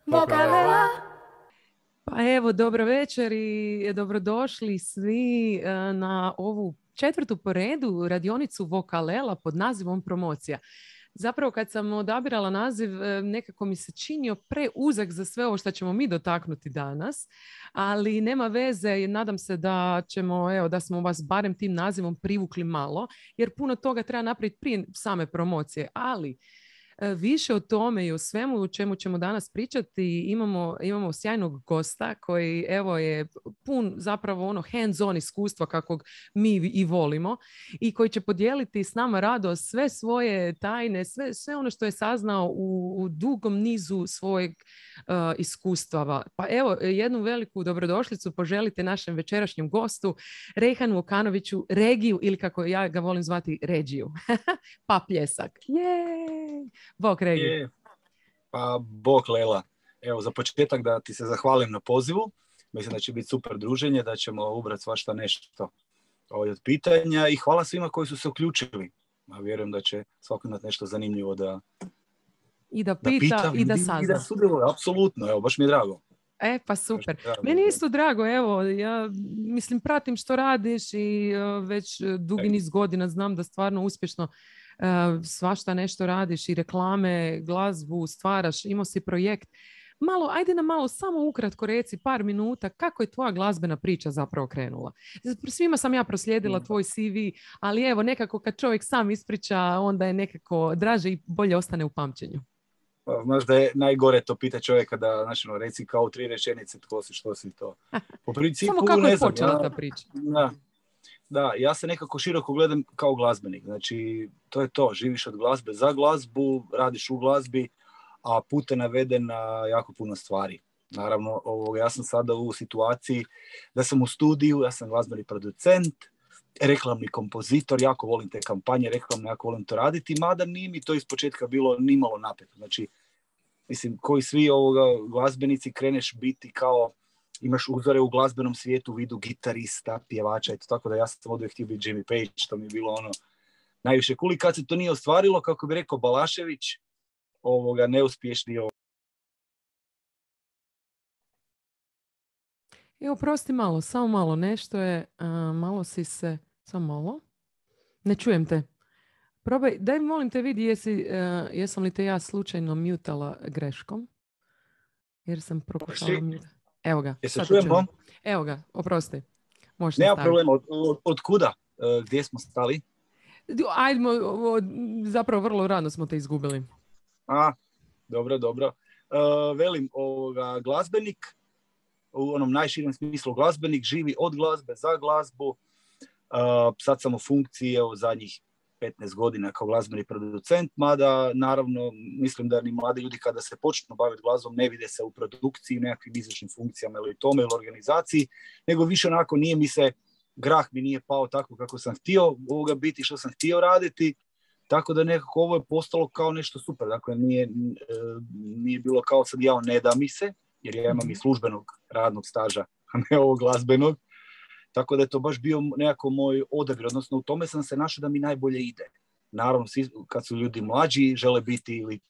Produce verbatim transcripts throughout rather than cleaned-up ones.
Vokalela. Pa evo, dobro večer i dobrodošli svi na ovu četvrtu po redu radionicu Vokalela pod nazivom Promocija. Zapravo kad sam odabirala naziv, nekako mi se činio preuzak za sve ovo što ćemo mi dotaknuti danas, ali nema veze i nadam se da ćemo, evo, da smo vas barem tim nazivom privukli malo, jer puno toga treba napraviti prije same promocije, ali više o tome i o svemu o čemu ćemo danas pričati imamo, imamo sjajnog gosta koji evo je pun zapravo ono hands-on iskustva kakvog mi i volimo i koji će podijeliti s nama rado sve svoje tajne, sve, sve ono što je saznao u, u dugom nizu svojeg uh, iskustava. Pa evo, jednu veliku dobrodošlicu poželite našem večerašnjem gostu Rejhanu Vukanoviću, Regiju ili kako ja ga volim zvati Regiju. Pa pljesak. Jej! Bok, Regi. Pa, bok, Lela. Evo, za početak da ti se zahvalim na pozivu. Mislim da će biti super druženje, da ćemo ubrati svašta nešto od pitanja i hvala svima koji su se uključili. Ja vjerujem da će svako imati nešto zanimljivo da i da pita, da pita i da sazna. I da sudjeluje, apsolutno. Evo, baš mi je drago. E, pa super. Meni je isto drago, evo, ja mislim pratim što radiš i uh, već dugi niz godina znam da stvarno uspješno uh, svašta nešto radiš i reklame, glazbu stvaraš, imao si projekt. Malo, ajde nam malo samo ukratko reci par minuta kako je tvoja glazbena priča zapravo krenula. Svima sam ja proslijedila tvoj C V, ali evo nekako kad čovjek sam ispriča onda je nekako draže i bolje ostane u pamćenju. Pa, znaš da je najgore to pita čovjeka da, znači, no, reci kao tri rečenice tko si, što si to. Po principu, samo kako ne je znam, počela ja, ta priča? Da, da, ja se nekako široko gledam kao glazbenik. Znači, to je to. Živiš od glazbe za glazbu, radiš u glazbi, a put te navede na jako puno stvari. Naravno, ovoga, ja sam sada u situaciji da sam u studiju, ja sam glazbeni producent, reklamni kompozitor, jako volim te kampanje, reklamno jako volim to raditi, mada nije mi to ispočetka bilo nimalo napeto. Znači, mislim, koji svi ovoga glazbenici kreneš biti kao, imaš uzore u glazbenom svijetu u vidu gitarista, pjevača, eto, tako da ja sam oduvijek htio biti Jimmy Page, što mi je bilo ono najviše cool. I kad se to nije ostvarilo, kako bi rekao Balašević, ovoga neuspješni ovo. Evo, prosti malo, samo malo, nešto je, uh, malo si se, samo malo, ne čujem te. Probaj, daj molim te vidi jesi, uh, jesam li te ja slučajno mutala greškom, jer sam prokušala mutati. Evo ga, Jesi sad čujem, čujem. Evo ga, oprosti. Možeš nema nastaviti. problema, od, od, od kuda? Uh, gdje smo stali? Ajdemo, od, zapravo vrlo rano smo te izgubili. A, dobro, dobro. Uh, velim, ovoga, glazbenik, u onom najširem smislu glazbenik, živi od glazbe za glazbu. Uh, sad sam u funkciji evo, zadnjih petnaest godina kao glazbeni producent, mada naravno mislim da ni mladi ljudi kada se počnu baviti glazbom ne vide se u produkciji, nekakvim izvršnim funkcijama ili tome ili organizaciji, nego više onako nije mi se, grah mi nije pao tako kako sam htio ovoga biti, što sam htio raditi, tako da nekako ovo je postalo kao nešto super. Dakle, nije, nije bilo kao sad ja ne da mi se, jer ja imam i službenog radnog staža, a ne ovog glazbenog. Tako da je to baš bio nekako moj odabir, odnosno u tome sam se našao da mi najbolje ide. Naravno, kad su ljudi mlađi, žele biti ili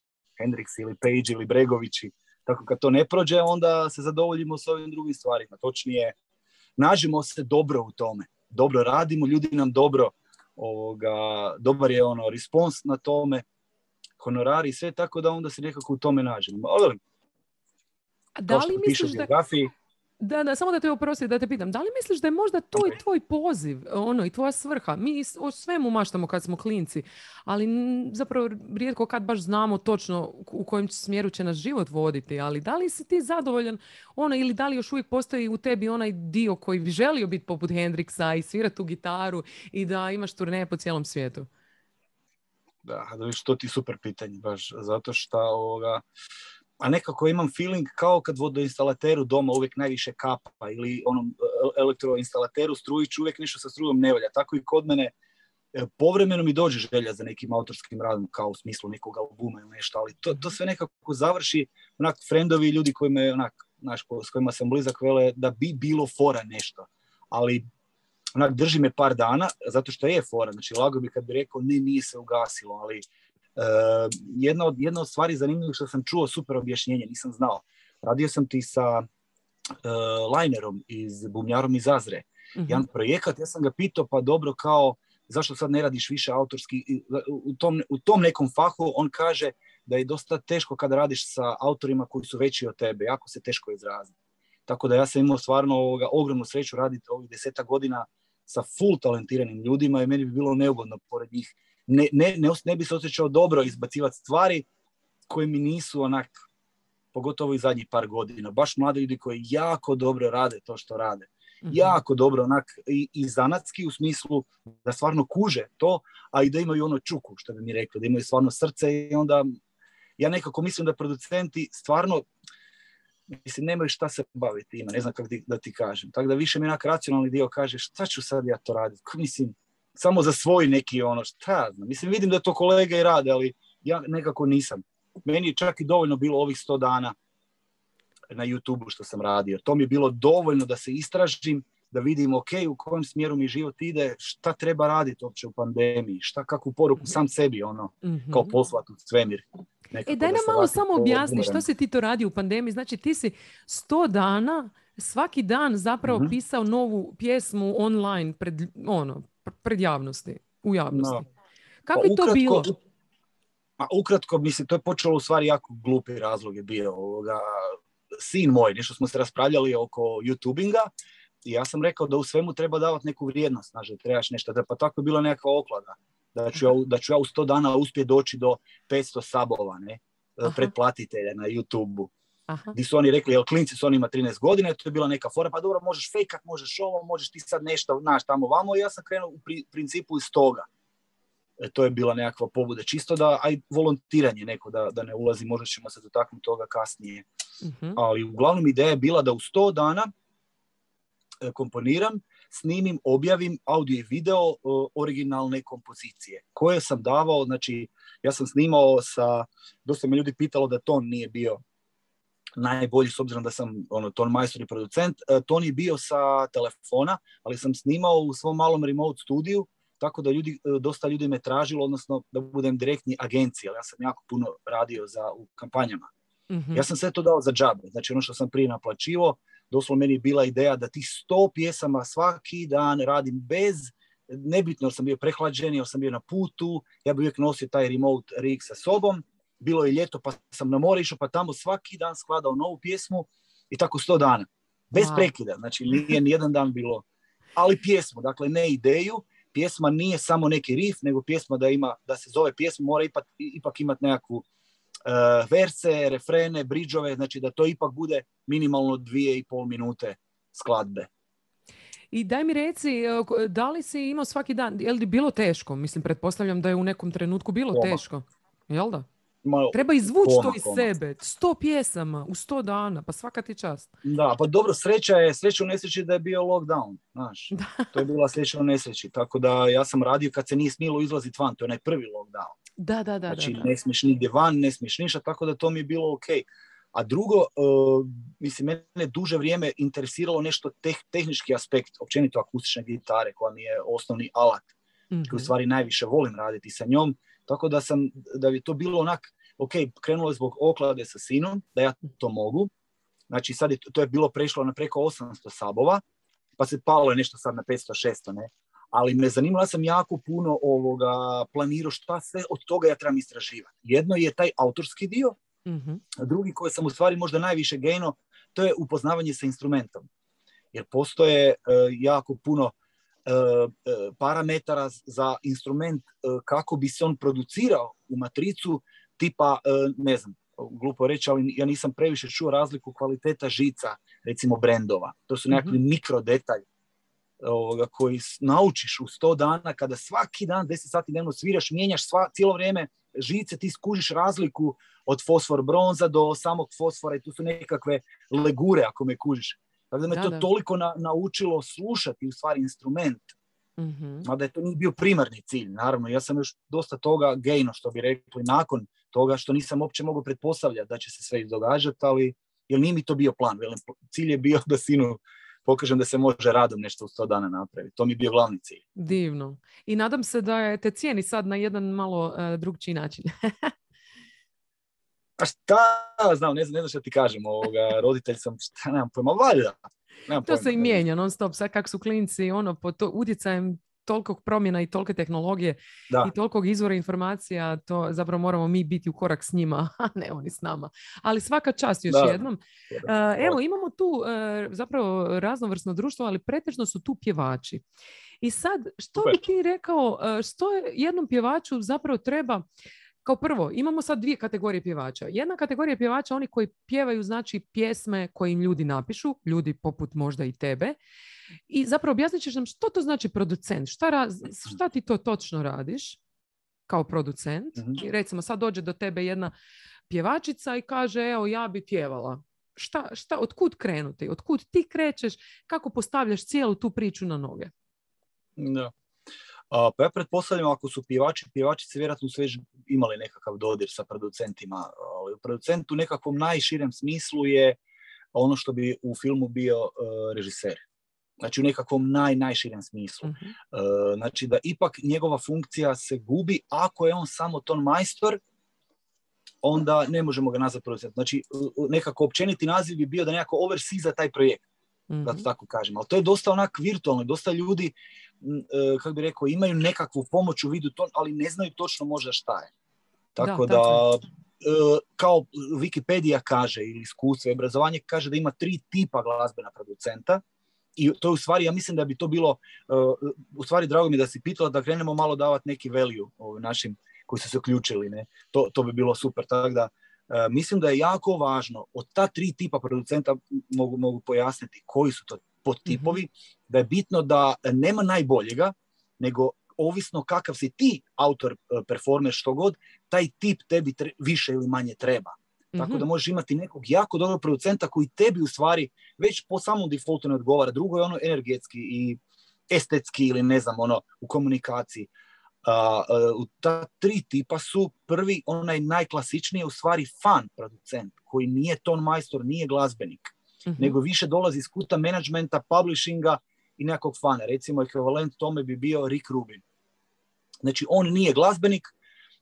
Hendrix ili Page ili Bregovići, tako kad to ne prođe, onda se zadovoljimo s ovim drugim stvarima. Točnije, nađemo se dobro u tome. Dobro radimo, ljudi nam dobro, ovoga, dobar je ono respons na tome, honorari i sve, tako da onda se nekako u tome nađemo. Ali, a da li misliš da... Da, da, samo da te oprosti, da te pitam, da li misliš da je možda to okay. i tvoj poziv, ono, i tvoja svrha? Mi o svemu maštamo kad smo klinci, ali zapravo rijetko kad baš znamo točno u kojem smjeru će nas život voditi, ali da li si ti zadovoljan, ono, ili da li još uvijek postoji u tebi onaj dio koji bi želio biti poput Hendrixa i svirati tu gitaru i da imaš turneje po cijelom svijetu? Da, da viš, to ti super pitanje, baš zato što ovoga... A nekako imam feeling kao kad vodoinstalateru doma uvijek najviše kapa ili onom elektroinstalateru strujić uvijek nešto sa strujom ne valja. Tako i kod mene povremeno mi dođe želja za nekim autorskim radom kao u smislu nekog albuma ili nešto, ali to, to sve nekako završi onak friendovi, ljudi kojima je onak, naš, s kojima sam blizak vele da bi bilo fora nešto. Ali onak drži me par dana zato što je fora. Znači lago bi kad bi rekao ne, nije se ugasilo, ali Uh, jedna, od, jedna od stvari zanimljivih što sam čuo super objašnjenje, nisam znao. Radio sam ti sa uh, Linerom, iz, bumnjarom iz Azre. Uh-huh. Jedan projekat, ja sam ga pitao, pa dobro, kao, zašto sad ne radiš više autorski? U tom, u tom nekom fahu on kaže da je dosta teško kada radiš sa autorima koji su veći od tebe, jako se teško izraziti. Tako da ja sam imao stvarno ovoga, ogromnu sreću raditi ovih deseta godina sa full talentiranim ljudima i meni bi bilo neugodno pored njih. Ne, ne, ne, ne bi se osjećao dobro izbacivati stvari koje mi nisu onak, pogotovo i zadnjih par godina. Baš mladi ljudi koji jako dobro rade to što rade. Mm-hmm. Jako dobro onak i, i zanatski u smislu da stvarno kuže to, a i da imaju ono čuku, što bi mi rekli, da imaju stvarno srce i onda ja nekako mislim da producenti stvarno mislim, nemaju šta se baviti ima, ne znam kako da ti kažem. Tako da više mi onak racionalni dio kaže šta ću sad ja to raditi? Mislim, samo za svoj neki ono, šta znam. Mislim, vidim da to kolege i rade, ali ja nekako nisam. Meni je čak i dovoljno bilo ovih sto dana na YouTubeu što sam radio. To mi je bilo dovoljno da se istražim, da vidim ok, u kojem smjeru mi život ide, šta treba raditi uopće u pandemiji, šta, kakvu poruku sam sebi ono, mm-hmm. kao poslati u svemir. E, daj nam malo samo objasni što si ti to radi u pandemiji. Znači ti si sto dana, svaki dan zapravo mm-hmm. pisao novu pjesmu online pred, ono, pred javnosti, u javnosti. No. Kako pa, je to ukratko, bilo? A ukratko, mislim, to je počelo u stvari jako glupi razlog je bio. Ovoga, sin moj, nešto smo se raspravljali oko YouTubinga i ja sam rekao da u svemu treba davati neku vrijednost. Znači, trebaš nešto, da pa tako je bila nekakva oklada. Da ću, ja, da ću ja u sto dana uspjeti doći do petsto sabova, ne, pretplatitelja na YouTubeu. Gdje su oni rekli, jel klinci su oni ima trinaest godina, to je bila neka fora, pa dobro, možeš fejkat, možeš ovo, možeš ti sad nešto, znaš, tamo vamo, i ja sam krenuo u pri, principu iz toga. E, to je bila nekakva pobuda, čisto da, aj volontiranje neko, da, da ne ulazi, možda ćemo se dotaknuti toga kasnije. Uh-huh. Ali uglavnom ideja je bila da u sto dana e, komponiram, snimim, objavim audio i video uh, originalne kompozicije koje sam davao, znači ja sam snimao sa, dosta me ljudi pitalo da ton nije bio najbolji s obzirom da sam ono, ton majstor i producent, uh, ton je bio sa telefona, ali sam snimao u svom malom remote studiju, tako da ljudi, uh, dosta ljudi me tražilo, odnosno da budem direktni agencija, ali ja sam jako puno radio za, u kampanjama. Mm-hmm. Ja sam sve to dao za džabe, znači ono što sam prije naplaćivo, doslovno meni je bila ideja da tih sto pjesama svaki dan radim bez, nebitno jer sam bio prehlađen, jer sam bio na putu, ja bih uvijek nosio taj remote rig sa sobom, bilo je ljeto pa sam na more išao, pa tamo svaki dan skladao novu pjesmu i tako sto dana, bez wow. prekida, znači nije nijedan dan bilo, ali pjesmu, dakle ne ideju, pjesma nije samo neki riff, nego pjesma da ima, da se zove pjesma, mora ipak, ipak imati nekakvu Uh, verse, refrene, bridžove, znači da to ipak bude minimalno dvije i pol minute skladbe. I daj mi reci, da li si imao svaki dan, je li bilo teško? Mislim, pretpostavljam da je u nekom trenutku bilo Koma. teško. Jel da? Malo, treba izvući koma, to iz koma. sebe. Sto pjesama u sto dana, pa svaka ti čast. Da, pa dobro, sreća je, sreća u nesreći da je bio lockdown, znaš. To je bila sreća u nesreći, tako da ja sam radio kad se nije smjelo izlaziti van, to je onaj prvi lockdown. Da, da, da. Znači, da, da. ne smiješ nigdje van, ne smiješ ništa, tako da to mi je bilo ok. A drugo, uh, mislim, mene duže vrijeme interesiralo nešto teh, tehnički aspekt, općenito akustične gitare, koja mi je osnovni alat, mm-hmm. koji u stvari najviše volim raditi sa njom, tako da sam, da bi to bilo onak, ok, krenulo je zbog oklade sa sinom, da ja to mogu, znači sad je, to je bilo prešlo na preko osamsto sabova, pa se palo je nešto sad na petsto šesto, ne? Ali me zanimala sam jako puno ovoga planirao šta sve od toga ja trebam istraživati. Jedno je taj autorski dio, mm-hmm. a drugi koji sam u stvari možda najviše gejno, to je upoznavanje sa instrumentom. Jer postoje uh, jako puno uh, uh, parametara za instrument uh, kako bi se on producirao u matricu, tipa, uh, ne znam, glupo reći, ali ja nisam previše čuo razliku kvaliteta žica, recimo brendova. To su nekakvi mm-hmm. mikro detalji ovoga, koji naučiš u sto dana, kada svaki dan deset sati dnevno sviraš, mijenjaš sva, cijelo vrijeme žice, ti skužiš razliku od fosfor bronza do samog fosfora i tu su nekakve legure ako me kužiš. Tako da me da, to da. toliko na, naučilo slušati u stvari instrument. Mm-hmm. Mada je to nije bio primarni cilj, naravno. Ja sam još dosta toga gejno, što bi rekli, nakon toga što nisam uopće mogao pretpostavljati da će se sve događati, ali jer nije mi to bio plan. Velim, cilj je bio da sinu pokažem da se može radom nešto u sto dana napraviti. To mi je bio glavni cilj. Divno. I nadam se da te cijeni sad na jedan malo uh, drugčiji način. A šta, znam, ne znam, ne znam šta ti kažem, ovoga, roditelj sam, šta, nemam pojma, valjda. Nemam To pojma, se i ne znam. mijenja non stop, sad kak su klinci, ono, pod to, utjecajem tolikog promjena i tolike tehnologije Da. i tolikog izvora informacija, to zapravo moramo mi biti u korak s njima, a ne oni s nama. Ali svaka čast još Da. jednom. Uh, evo, imamo tu uh, zapravo raznovrsno društvo, ali pretežno su tu pjevači. I sad, što Super. bi ti rekao, uh, što je jednom pjevaču zapravo treba. Kao prvo, imamo sad dvije kategorije pjevača. Jedna kategorija pjevača, oni koji pjevaju, znači, pjesme koje im ljudi napišu, ljudi poput možda i tebe. I zapravo objasnit ćeš nam što to znači producent, šta, raz, šta ti to točno radiš kao producent. Mm-hmm. I recimo sad dođe do tebe jedna pjevačica i kaže, evo, ja bi pjevala. Šta, šta, otkud krenuti? Otkud ti krećeš? Kako postavljaš cijelu tu priču na noge? Da. A, pa ja pretpostavljam, ako su pjevači, pjevačice vjerojatno su već imali nekakav dodir sa producentima. Ali u producentu u nekakvom najširem smislu je ono što bi u filmu bio uh, režiser. Znači u nekakvom naj, najširem smislu. Uh-huh. Uh, znači da ipak njegova funkcija se gubi ako je on samo ton majstor, onda ne možemo ga nazvati producent. Znači nekako općeniti naziv bi bio da nekako oversee za taj projekt. Uh-huh. Da to tako kažem. Ali to je dosta onak virtualno. Dosta ljudi, uh, kako bi rekao, imaju nekakvu pomoć u vidu ton, ali ne znaju točno možda šta je. Tako da, da uh, kao Wikipedia kaže, ili iskustvo i obrazovanje kaže da ima tri tipa glazbena producenta. I to je u stvari, ja mislim da bi to bilo, uh, u stvari drago mi da si pitala da krenemo malo davati neki value ovim našim koji su se uključili, ne? To, to bi bilo super. Tako da uh, mislim da je jako važno od ta tri tipa producenta, mogu, mogu pojasniti koji su to podtipovi, mm-hmm. da je bitno da nema najboljega, nego ovisno kakav si ti autor, uh, performer, što god, taj tip tebi tre- više ili manje treba. Tako mm-hmm. da možeš imati nekog jako dobrog producenta koji tebi u stvari već po samom defaultu ne odgovara. Drugo je ono energetski i estetski ili ne znam, ono u komunikaciji. Uh, uh, ta tri tipa su prvi, onaj najklasičniji u stvari fan producent koji nije ton majstor, nije glazbenik, mm-hmm. nego više dolazi iz kuta managementa, publishinga i nekog fana. Recimo ekvivalent tome bi bio Rick Rubin. Znači on nije glazbenik,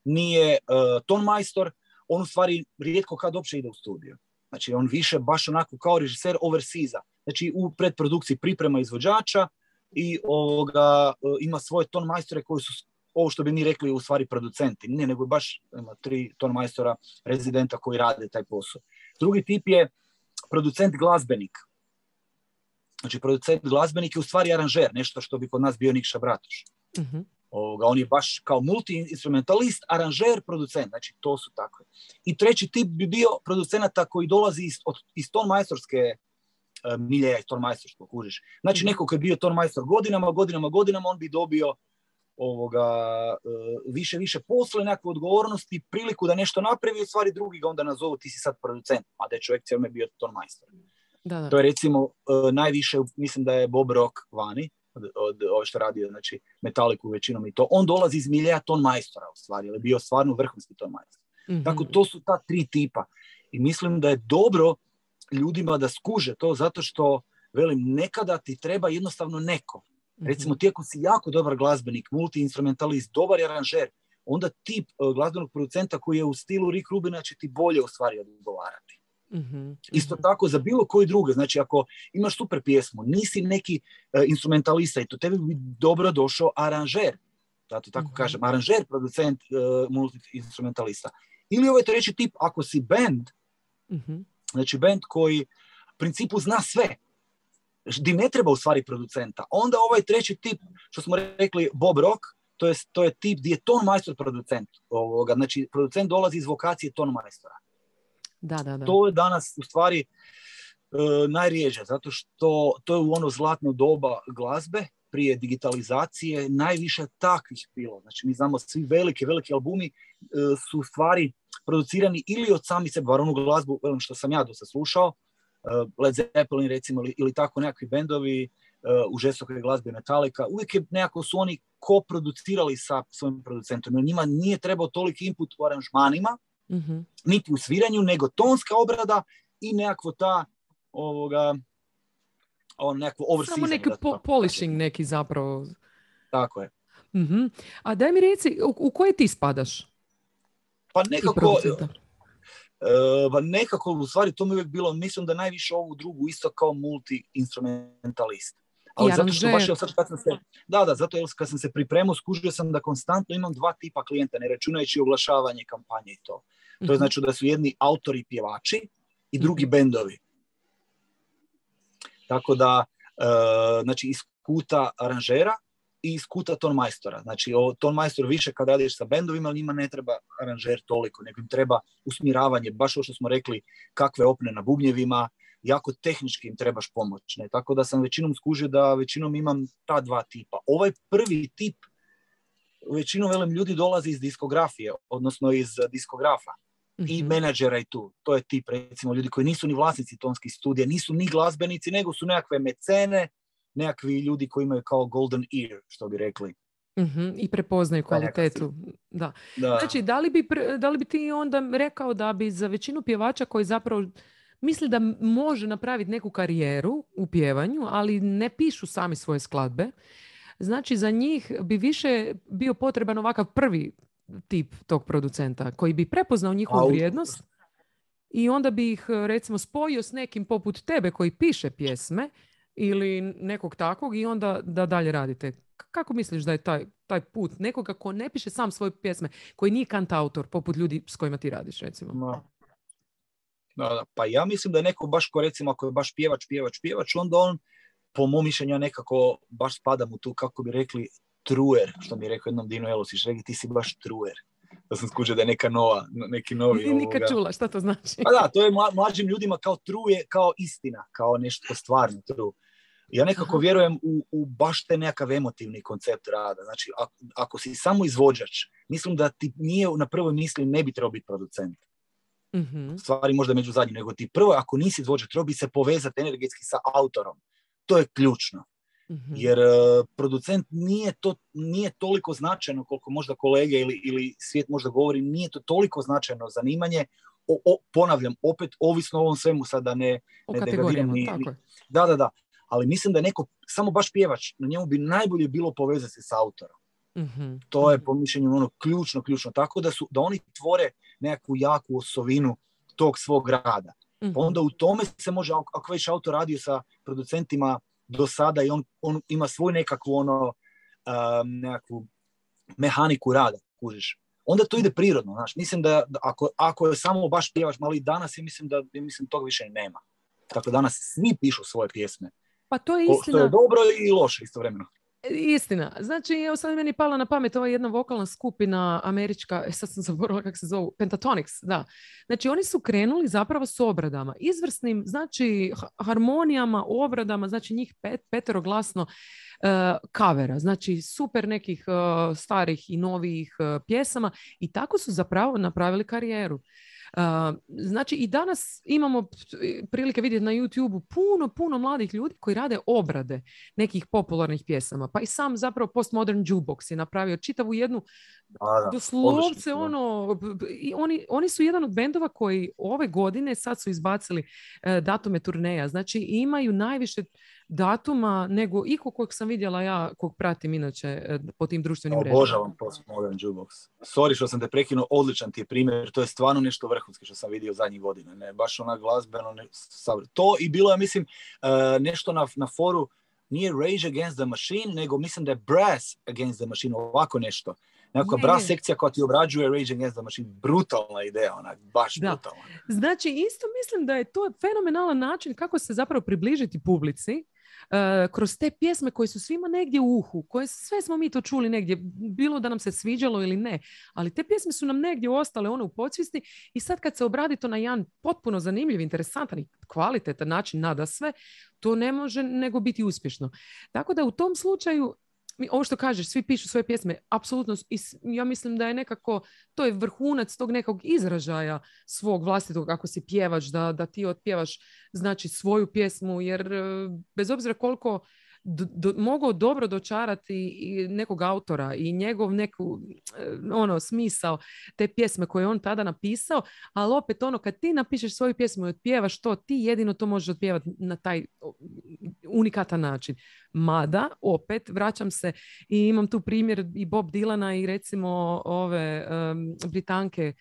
nije uh, ton majstor, on u stvari rijetko kad uopće ide u studio. Znači on više baš onako kao režiser overseeza. Znači u predprodukciji priprema izvođača i ovoga, ima svoje ton majstore koji su ovo što bi mi rekli u stvari producenti. Ne, nego baš ima tri ton majstora rezidenta koji rade taj posao. Drugi tip je producent glazbenik. Znači producent glazbenik je u stvari aranžer, nešto što bi kod nas bio Nikša Bratoš. Mm-hmm. Ovoga, on je baš kao multi-instrumentalist, aranžer, producent, znači to su takve. I treći tip bi bio producenata koji dolazi iz, od, iz ton majstorske uh, miljeja, iz ton majstorskog, kužiš. Znači neko koji je bio ton majstor godinama, godinama, godinama, on bi dobio ovoga, uh, više, više posla, nekakve odgovornosti, priliku da nešto napravi, u stvari drugi ga onda nazovu, ti si sad producent, a da je čovjek cijelo bio ton majstor. Da, da. To je recimo uh, najviše, mislim da je Bob Rock vani, od, od ove što radio, znači Metallicu većinom i to. On dolazi iz miljeja ton majstora u stvari, ali je bio stvarno vrhunski ton majstor. Mm-hmm. Tako to su ta tri tipa. I mislim da je dobro ljudima da skuže to, zato što, velim, nekada ti treba jednostavno neko. Mm-hmm. Recimo ti ako si jako dobar glazbenik, multi-instrumentalist, dobar aranžer, onda tip uh, glazbenog producenta koji je u stilu Rick Rubina će ti bolje u stvari odgovarati. Mm-hmm. Isto tako za bilo koji druge, znači ako imaš super pjesmu, nisi neki uh, instrumentalista i to tebi bi dobro došao aranžer, zato tako mm-hmm. kažem, aranžer, producent, uh, multi-instrumentalista. Ili ovaj treći tip, ako si band, mm-hmm. znači band koji u principu zna sve, di ne treba u stvari producenta, onda ovaj treći tip, što smo rekli Bob Rock, to je, to je tip gdje je ton majstor producent, ovoga, znači producent dolazi iz vokacije ton majstora. Da, da, da. To je danas u stvari uh, najrijeđe, zato što to je u ono zlatno doba glazbe, prije digitalizacije, najviše takvih bilo. Znači mi znamo svi velike, velike albumi uh, su stvari producirani ili od sami sebe, bar onu glazbu što sam ja dosta slušao, uh, Led Zeppelin recimo, ili, ili tako nekakvi bendovi uh, u žestokoj glazbi Metallica, uvijek je nekako su oni koproducirali sa svojim producentom. Njima nije trebao toliki input u aranžmanima, mm-hmm. niti u sviranju, nego tonska obrada i nekakvo ta ovoga on nekakvo overseasing. Samo neki po- polishing neki zapravo. Tako je. Mm-hmm. A daj mi reci, u, u koje ti spadaš? Pa nekako Uh, nekako, u stvari, to mi uvijek bilo, mislim da najviše ovu drugu isto kao multi-instrumentalist. Ali zato što baš je sad kad sam se, da, da, zato jer kad sam se pripremao, skužio sam da konstantno imam dva tipa klijenta, ne računajući oglašavanje kampanje i to. To je znači da su jedni autori i pjevači i drugi bendovi. Tako da, uh, znači, iz kuta aranžera i iz kuta tonmajstora. Znači, tonmajstor više kad radiš sa bendovima, ali njima ne treba aranžer toliko, nego im treba usmjeravanje, baš ovo što smo rekli, kakve opne na bubnjevima, jako tehnički im trebaš pomoć. Ne? Tako da sam većinom skužio da većinom imam ta dva tipa. Ovaj prvi tip, većinom velim, ljudi dolazi iz diskografije, odnosno iz diskografa mm-hmm. i menadžera i tu. To je tip, recimo, ljudi koji nisu ni vlasnici tonskih studija, nisu ni glazbenici, nego su nekakve mecene, nekakvi ljudi koji imaju kao golden ear, što bi rekli. Mm-hmm. I prepoznaju kvalitetu. Da. Da. Znači, da li, bi, da li bi ti onda rekao da bi za većinu pjevača koji zapravo misli da može napraviti neku karijeru u pjevanju, ali ne pišu sami svoje skladbe, znači za njih bi više bio potreban ovakav prvi tip tog producenta koji bi prepoznao njihovu vrijednost i onda bi ih recimo spojio s nekim poput tebe koji piše pjesme ili nekog takvog i onda da dalje radite. Kako misliš da je taj, taj put nekoga ko ne piše sam svoje pjesme, koji nije kantautor poput ljudi s kojima ti radiš recimo? No. Da, da. Pa ja mislim da je neko baš ko recimo ako je baš pjevač, pjevač, pjevač, onda on po mom mišljenju nekako baš spada mu tu, kako bi rekli, truer, što mi je rekao jednom Dino Elosić, rekli ti si baš truer. Da sam skužio da je neka nova, neki novi... Nije nikad čula, šta to znači? Pa da, to je mla, mlađim ljudima kao truje, kao istina, kao nešto stvarno true. Ja nekako Aha. vjerujem u, u baš te nekakav emotivni koncept rada. Znači, ako, ako si samo izvođač, mislim da ti nije na prvoj misli ne bi trebao biti producent. Mm-hmm. Stvari možda među zadnjim, nego ti prvo, ako nisi izvođač, treba bi se povezati energetski sa autorom. To je ključno. Mm-hmm. Jer uh, producent nije, to, nije toliko značajno koliko možda kolege ili, ili svijet možda govori, nije to toliko značajno zanimanje. O, o, ponavljam, opet ovisno o ovom svemu sada ne, ne degradiram. Ni, ni, da, da, da. Ali mislim da je neko, samo baš pjevač, na njemu bi najbolje bilo povezati se sa autorom. Mm-hmm. To je po mišljenju ono ključno, ključno. Tako da, su, da oni tvore nekakvu jaku osovinu tog svog rada. Mm-hmm. Pa onda u tome se može, ako već autor radio sa producentima do sada i on, on ima svoju nekakvu ono, um, nekakvu mehaniku rada, kužiš. Onda to ide prirodno, znaš. Mislim da, da ako, ako je samo baš pjevač, ali danas ja mislim da mislim tog više i nema. Tako danas svi pišu svoje pjesme. Pa to je istina. Što je dobro i loše istovremeno. Istina. Znači, evo sad meni pala na pamet ova jedna vokalna skupina američka, sad sam zaboravila kako se zovu, Pentatonix, da. Znači, oni su krenuli zapravo s obradama, izvrsnim, znači, harmonijama, obradama, znači njih pet, peteroglasno uh, kavera, znači super nekih uh, starih i novih uh, pjesama i tako su zapravo napravili karijeru. Uh, znači i danas imamo prilike vidjeti na YouTubeu puno, puno mladih ljudi koji rade obrade nekih popularnih pjesama. Pa i sam zapravo Postmodern Jukebox je napravio čitavu jednu A, doslovce ono, i oni, oni su jedan od bendova koji ove godine sad su izbacili uh, datume turneja. Znači imaju najviše datuma nego iko kojeg sam vidjela ja, kog pratim inače po tim društvenim mrežama. Obožavam Postmodern Jukebox. Sorry što sam te prekinuo, odličan ti je primjer, to je stvarno nešto vrhunski što sam vidio zadnjih godina, ne, baš ona glazbeno, ne, to i bilo je, mislim, uh, nešto na, na foru, nije Rage Against the Machine, nego mislim da je Brass Against the Machine, ovako nešto. Nekakva brass sekcija koja ti obrađuje Rage Against the Machine, brutalna ideja, ona, baš da. brutalna. Znači, isto mislim da je to fenomenalan način kako se zapravo približiti publici, Uh, kroz te pjesme koje su svima negdje u uhu, koje sve smo mi to čuli negdje, bilo da nam se sviđalo ili ne, ali te pjesme su nam negdje ostale one u podsvijesti i sad kad se obradi to na jedan potpuno zanimljiv, interesantan i kvalitetan način nada sve, to ne može nego biti uspješno. Tako da u tom slučaju ovo što kažeš, svi pišu svoje pjesme, apsolutno, ja mislim da je nekako, to je vrhunac tog nekog izražaja svog vlastitog, ako si pjevač, da, da ti otpjevaš znači svoju pjesmu, jer bez obzira koliko do, do, mogao dobro dočarati i nekog autora i njegov neku ono, smisao te pjesme koje je on tada napisao, ali opet ono, kad ti napišeš svoju pjesmu i otpjevaš to, ti jedino to možeš otpjevati na taj unikatan način. Mada, opet, vraćam se i imam tu primjer i Bob Dylana i recimo ove um, Britanke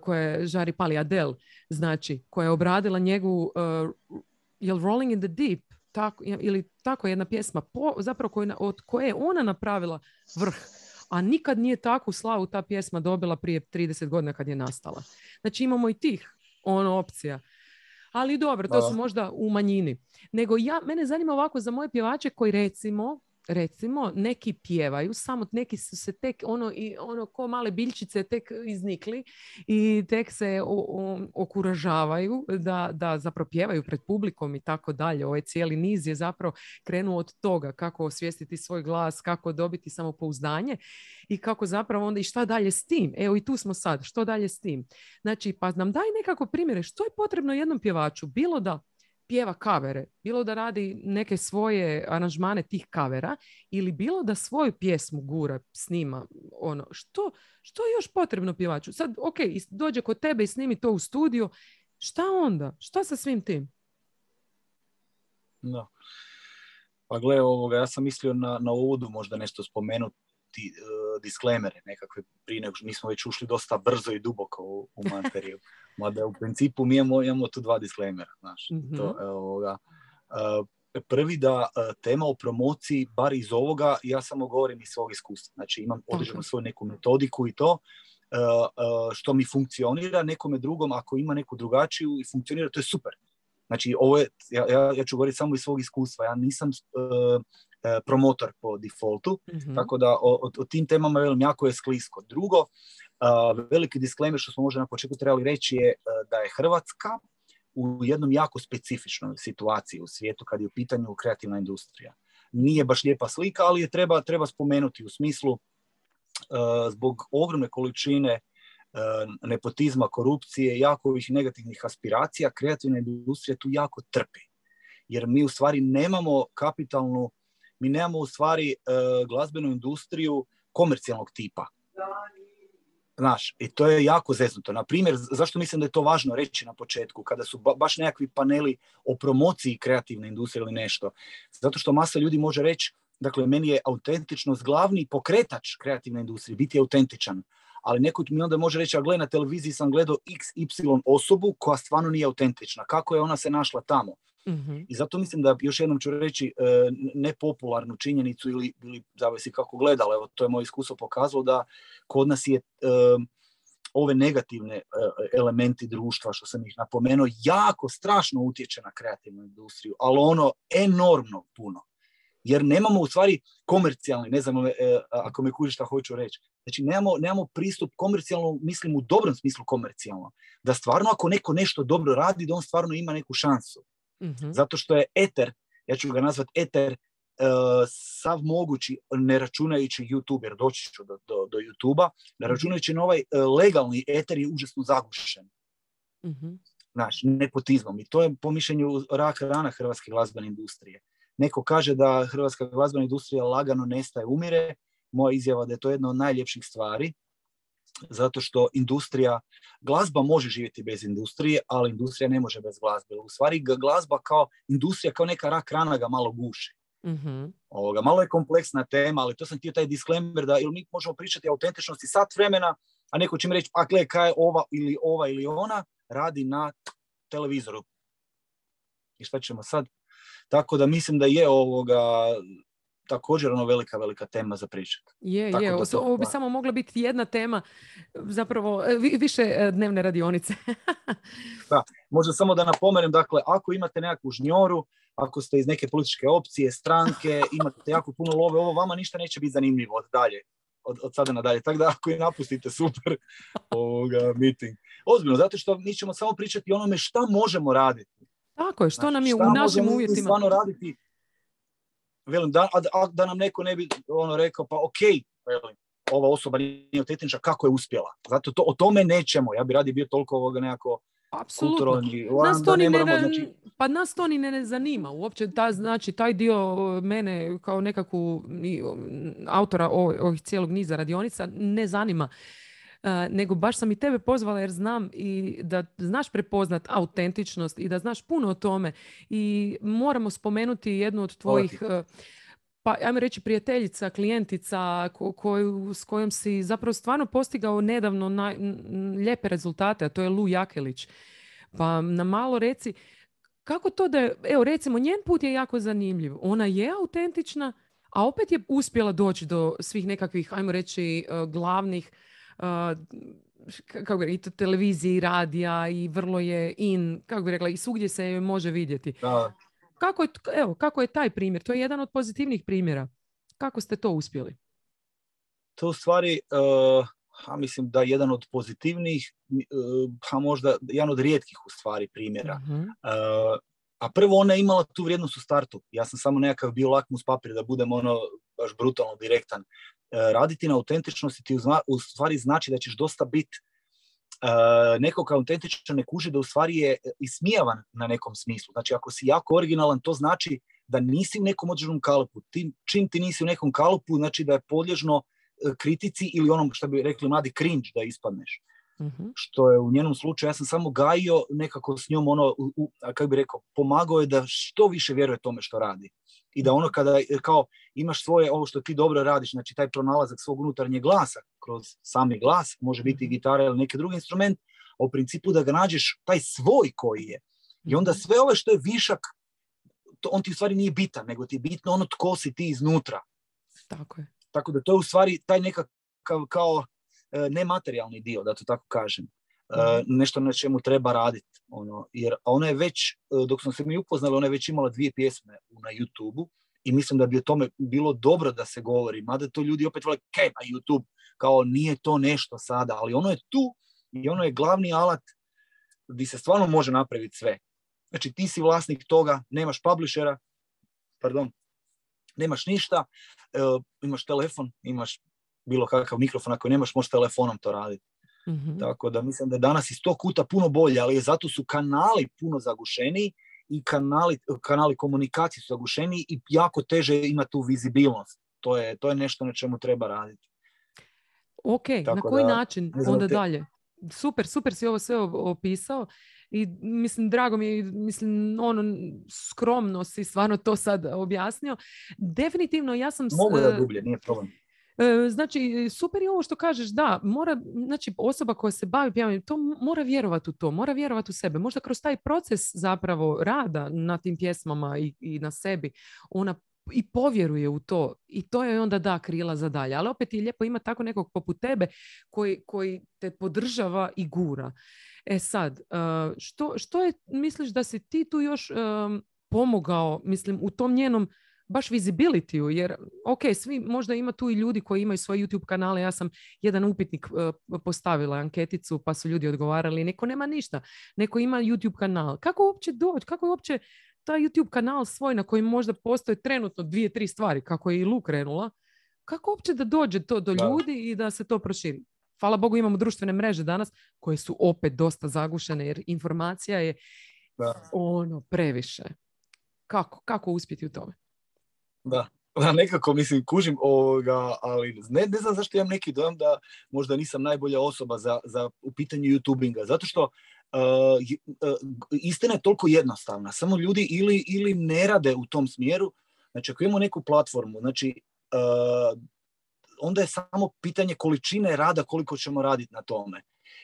koja je Žari Pali Adele, znači, koja je obradila njegovu uh, jel Rolling in the Deep, tako, ili tako jedna pjesma, po, zapravo koju, od koje je ona napravila vrh, a nikad nije takvu slavu ta pjesma dobila prije trideset godina kad je nastala. Znači imamo i tih ono opcija. Ali dobro, to su možda u manjini. Nego ja, mene zanima ovako za moje pjevače koji recimo, recimo neki pjevaju, samo neki su se tek ono, i, ono ko male biljčice tek iznikli i tek se o, o, okuražavaju da, da zapravo pjevaju pred publikom i tako dalje. Ovaj cijeli niz je zapravo krenuo od toga kako osvijestiti svoj glas, kako dobiti samopouzdanje i kako zapravo onda i šta dalje s tim. Evo i tu smo sad, što dalje s tim. Znači, pa nam daj nekako primjere što je potrebno jednom pjevaču, bilo da pjeva kavere, bilo da radi neke svoje aranžmane tih kavera ili bilo da svoju pjesmu gura, snima, ono, što, što je još potrebno pjevaču? Sad, ok, dođe kod tebe i snimi to u studiju, šta onda? Šta sa svim tim? No. Pa gle, ovoga, ja sam mislio na, na uvodu možda nešto spomenuti, uh, disclaimere nekakve, prije nego što mi smo već ušli dosta brzo i duboko u, u materiju. Mada u principu mi imamo, imamo tu dva disclaimera. Znaš, mm-hmm. to, ovoga. Uh, prvi da uh, tema o promociji, bar iz ovoga, ja samo govorim iz svog iskustva. Znači imam određenu svoju neku metodiku i to, uh, uh, što mi funkcionira, nekome drugom, ako ima neku drugačiju i funkcionira, to je super. Znači, ovo je, ja, ja, ja ću govoriti samo iz svog iskustva. Ja nisam uh, promotor po defaultu, mm-hmm. tako da o, o, o tim temama velim, jako je sklisko. Drugo, uh, veliki disclaimer što smo možda na početku trebali reći je uh, da je Hrvatska u jednom jako specifičnoj situaciji u svijetu kad je u pitanju kreativna industrija. Nije baš lijepa slika, ali je treba, treba spomenuti u smislu uh, zbog ogromne količine uh, nepotizma, korupcije, jako ovih negativnih aspiracija, kreativna industrija tu jako trpi. Jer mi u stvari nemamo kapitalnu Mi nemamo u stvari uh, glazbenu industriju komercijalnog tipa. Znaš, i to je jako zeznuto. Na primjer, zašto mislim da je to važno reći na početku, kada su ba- baš nekakvi paneli o promociji kreativne industrije ili nešto. Zato što masa ljudi može reći, dakle, meni je autentičnost glavni pokretač kreativne industrije, biti autentičan. Ali neko mi onda može reći, a gle, na televiziji sam gledao iks ipsilon osobu koja stvarno nije autentična. Kako je ona se našla tamo? Mm-hmm. I zato mislim da, još jednom ću reći, nepopularnu činjenicu ili, ili zavisi kako gledala, evo, to je moje iskustvo pokazalo da kod nas je um, ove negativne uh, elementi društva, što sam ih napomenuo, jako strašno utječe na kreativnu industriju, ali ono enormno puno. Jer nemamo u stvari komercijalni, ne znam uh, ako me kužiš šta hoću reći, znači nemamo, nemamo pristup komercijalno, mislim u dobrom smislu komercijalno, da stvarno ako neko nešto dobro radi, da on stvarno ima neku šansu. Mm-hmm. Zato što je eter, ja ću ga nazvati eter, uh, sav mogući, ne računajući YouTube, jer doći ću do, do, do YouTube-a, ne računajući na ovaj uh, legalni eter je užasno zagušen. Mm-hmm. Znaš, nepotizmom. I to je po mišljenju rak rana hrvatske glazbene industrije. Neko kaže da hrvatska glazbena industrija lagano nestaje, umire. Moja izjava da je to jedna od najljepših stvari, zato što industrija, glazba može živjeti bez industrije, ali industrija ne može bez glazbe. U stvari glazba kao industrija, kao neka rak rana ga malo guši. Mm-hmm. Ovoga, malo je kompleksna tema, ali to sam htio taj disclaimer da ili mi možemo pričati o autentičnosti sat vremena, a neko će mi reći, a gle, kaj je ova ili ova ili ona, radi na televizoru. I šta ćemo sad? Tako da mislim da je ovoga također ono velika, velika tema za pričati. Je, Tako je. To, ovo bi samo mogla biti jedna tema, zapravo više dnevne radionice. Da, možda samo da napomenem, dakle, ako imate nekakvu žnjoru, ako ste iz neke političke opcije, stranke, imate jako puno love, ovo vama ništa neće biti zanimljivo od dalje, od, od sada nadalje. Tako da ako i napustite, super ovoga meeting. Ozbiljno, zato što mi ćemo samo pričati o onome šta možemo raditi. Tako je, što znači, nam je u našim uvjetima. Stvarno raditi. Velim, da, a, da nam neko ne bi ono rekao, pa ok, velim, ova osoba nije autentična, kako je uspjela. Zato to, o tome nećemo. Ja bi radi bio toliko ovoga nekako kulturalni. Nas to ni ne, moramo, znači... Pa nas to ni ne, ne zanima. Uopće ta, znači, taj dio mene kao nekakvu autora ovih cijelog niza radionica ne zanima. Uh, nego baš sam i tebe pozvala jer znam i da znaš prepoznat autentičnost i da znaš puno o tome i moramo spomenuti jednu od tvojih uh, pa ajmo reći prijateljica, klijentica ko, koju, s kojom si zapravo stvarno postigao nedavno na, n, lijepe rezultate, a to je Lu Jakelić. Pa na malo reci, kako to da je, evo recimo, njen put je jako zanimljiv. Ona je autentična, a opet je uspjela doći do svih nekakvih, ajmo reći, uh, glavnih uh, kako bi rekla, i televizije i radija i vrlo je in, kako bi rekla, i svugdje se joj može vidjeti. Da. Kako je, evo, kako je taj primjer? To je jedan od pozitivnih primjera. Kako ste to uspjeli? To u stvari, uh, a mislim da je jedan od pozitivnijih, uh, a možda jedan od rijetkih u stvari primjera. Uh-huh. Uh, a prvo ona je imala tu vrijednost u startu. Ja sam samo nekakav bio lakmus papir, da budem ono baš brutalno direktan. Uh, raditi na autentičnosti ti u stvari znači da ćeš dosta biti uh, nekog autentičan ne kuži da u stvari je ismijavan na nekom smislu. Znači ako si jako originalan, to znači da nisi u nekom određenom kalupu. Ti, čim ti nisi u nekom kalupu, znači da je podlježno kritici ili onom što bi rekli mladi cringe da ispadneš. Uh-huh. Što je u njenom slučaju, ja sam samo gajio nekako s njom ono, u, u, kako bi rekao, pomagao je da što više vjeruje tome što radi. I da ono kada kao imaš svoje, ovo što ti dobro radiš, znači taj pronalazak svog unutarnjeg glasa kroz sami glas, može biti gitara ili neki drugi instrument, a u principu da ga nađeš taj svoj koji je. I onda sve ove što je višak, to, on ti u stvari nije bitan, nego ti je bitno ono tko si ti iznutra. Tako je. Tako da to je u stvari taj nekakav kao e, nematerijalni dio, da to tako kažem. E, nešto na čemu treba raditi. Ono, jer ona je već, dok smo se mi upoznali, ona je već imala dvije pjesme na YouTubeu i mislim da bi o tome bilo dobro da se govori. Mada to ljudi opet vole, kaj na YouTube, kao nije to nešto sada, ali ono je tu i ono je glavni alat gdje se stvarno može napraviti sve. Znači ti si vlasnik toga, nemaš publishera, pardon, nemaš ništa, e, imaš telefon, imaš bilo kakav mikrofon, ako nemaš, možeš telefonom to raditi. Mm-hmm. Tako da mislim da je danas iz tog kuta puno bolje, ali zato su kanali puno zagušeniji i kanali, kanali komunikacije su zagušeniji i jako teže ima tu vizibilnost. To je, to je nešto na čemu treba raditi. Ok, tako na koji da, način onda te... dalje? Super, super si ovo sve opisao. I mislim, drago mi je, mislim, ono, skromno si stvarno to sad objasnio. Definitivno, ja sam... Mogu da dublje, nije problem. Znači, super je ovo što kažeš, da, mora, znači, osoba koja se bavi pjevanjem, to mora vjerovati u to, mora vjerovati u sebe. Možda kroz taj proces zapravo rada na tim pjesmama i, i na sebi, ona i povjeruje u to i to je onda da krila za dalje. Ali opet je lijepo ima tako nekog poput tebe koji, koji te podržava i gura. E sad, što, što je, misliš da si ti tu još um, pomogao, mislim, u tom njenom baš visibility-u, jer ok, svi, možda ima tu i ljudi koji imaju svoje YouTube kanale, ja sam jedan upitnik uh, postavila anketicu pa su ljudi odgovarali, neko nema ništa, neko ima YouTube kanal. Kako uopće doći, kako je uopće taj YouTube kanal svoj na kojem možda postoje trenutno dvije, tri stvari, kako je i Lu krenula, kako uopće da dođe to do ljudi da. I da se to proširi? Hvala Bogu imamo društvene mreže danas koje su opet dosta zagušene jer informacija je da. Ono previše. Kako, kako uspjeti u tome? Da, da nekako mislim kužim ovoga, ali ne, ne znam zašto imam neki dojam da možda nisam najbolja osoba za, za u pitanju YouTubinga, zato što uh, uh, istina je toliko jednostavna, samo ljudi ili, ili ne rade u tom smjeru, znači ako imamo neku platformu, znači uh, onda je samo pitanje količine rada koliko ćemo raditi na tome.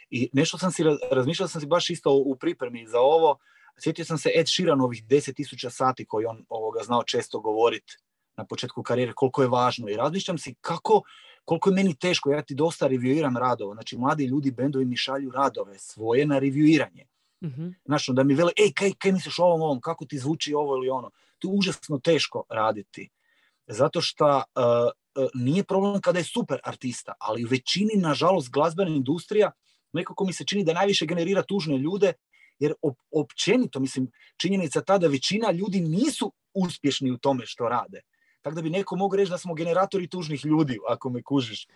I nešto sam si, razmišljao sam si baš isto u pripremi za ovo, sjetio sam se Ed Sheeranovih deset tisuća sati koji on ovoga znao često govoriti na početku karijere, koliko je važno. I razmišljam si kako, koliko je meni teško, ja ti dosta reviuiram radova. Znači, mladi ljudi, bendovi mi šalju radove svoje na reviuiranje. Mm-hmm. Znači, da mi vele, ej, kaj, kaj misliš o ovom, ovom, kako ti zvuči ovo ili ono. To je užasno teško raditi. Zato što uh, uh, nije problem kada je super artista, ali u većini, nažalost, glazbena industrija nekako mi se čini da najviše generira tužne ljude, jer op- općenito, mislim, činjenica ta da većina ljudi nisu uspješni u tome što rade. Tako da bi neko mogao reći da smo generatori tužnih ljudi, ako me kužiš.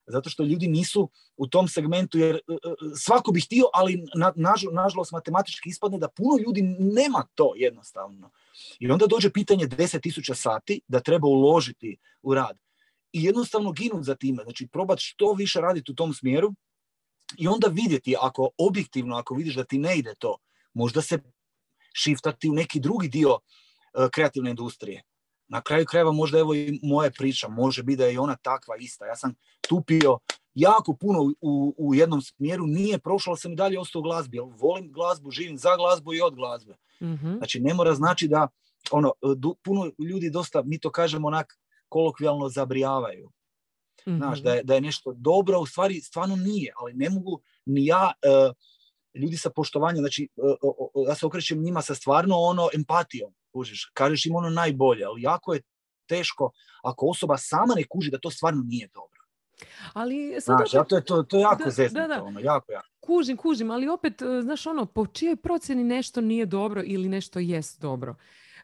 Zato što ljudi nisu u tom segmentu, jer uh, svako bi htio, ali na, naž, nažalost matematički ispadne da puno ljudi nema to jednostavno. I onda dođe pitanje deset tisuća sati da treba uložiti u rad. I jednostavno ginut za time. Znači, probati što više raditi u tom smjeru i onda vidjeti, ako objektivno, ako vidiš da ti ne ide to, možda se šiftati u neki drugi dio uh, kreativne industrije. Na kraju krajeva možda evo i moja priča, može biti da je i ona takva ista. Ja sam tupio jako puno u, u jednom smjeru, nije prošlo, sam i dalje ostao u glazbi. Volim glazbu, živim za glazbu i od glazbe. Mm-hmm. Znači, ne mora znači da ono, du, puno ljudi dosta, mi to kažemo onak kolokvijalno zabrijavaju. Mm-hmm. Znaš, da je, da je nešto dobro, u stvari stvarno nije, ali ne mogu ni ja, uh, ljudi sa poštovanjem, znači, uh, uh, ja se okrećem njima sa stvarno ono empatijom, kužiš, kažeš im ono najbolje, ali jako je teško ako osoba sama ne kuži da to stvarno nije dobro. Ali sad znaš, opet, to je to, to je jako da, zeznuto, da, da. ono, jako, jako. Kužim, kužim, ali opet, znaš ono, po čijoj procjeni nešto nije dobro ili nešto jest dobro.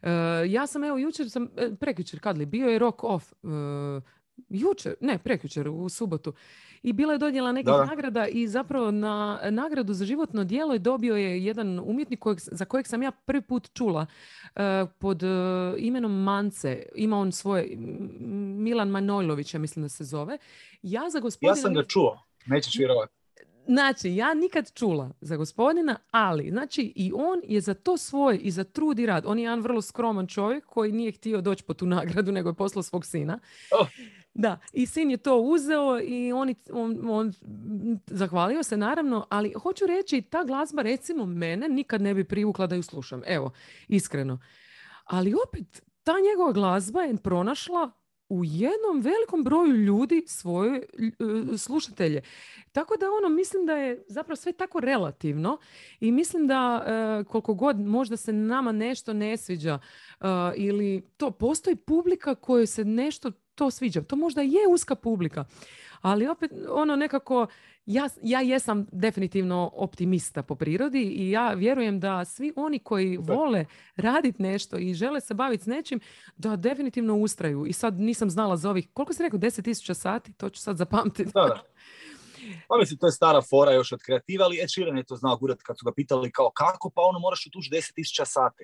Uh, ja sam, evo, jučer sam, prekjučer, kad li, bio je Rock Off, uh, jučer, ne, prekjučer, u subotu. I bila je dodjela nekih da, da. nagrada i zapravo na nagradu za životno djelo je dobio je jedan umjetnik kojeg, za kojeg sam ja prvi put čula uh, pod uh, imenom Mance. Ima on svoje, Milan Manojlović, ja mislim da se zove. Ja za gospodina... Ja sam ga čuo, nećeš vjerovati. Znači, ja nikad čula za gospodina, ali, znači, i on je za to svoj i za trud i rad. On je jedan vrlo skroman čovjek koji nije htio doći po tu nagradu, nego je poslao svog sina. Oh. Da, i sin je to uzeo i on, on, on zahvalio se, naravno, ali hoću reći, ta glazba, recimo, mene nikad ne bi privukla da ju slušam. Evo, iskreno. Ali opet, ta njegova glazba je pronašla u jednom velikom broju ljudi svoje uh, slušatelje. Tako da ono, mislim da je zapravo sve tako relativno i mislim da uh, koliko god možda se nama nešto ne sviđa uh, ili to, postoji publika kojoj se nešto to sviđa. To možda je uska publika, ali opet ono nekako, ja, ja jesam definitivno optimista po prirodi i ja vjerujem da svi oni koji vole raditi nešto i žele se baviti s nečim, da definitivno ustraju. I sad nisam znala za ovih, koliko si rekao, deset tisuća sati? To ću sad zapamtiti. Da, da. Pa mislim, to je stara fora još od kreativa, ali Ed Sheeran je to znao gurat kad su ga pitali kao kako, pa ono moraš utući deset tisuća sati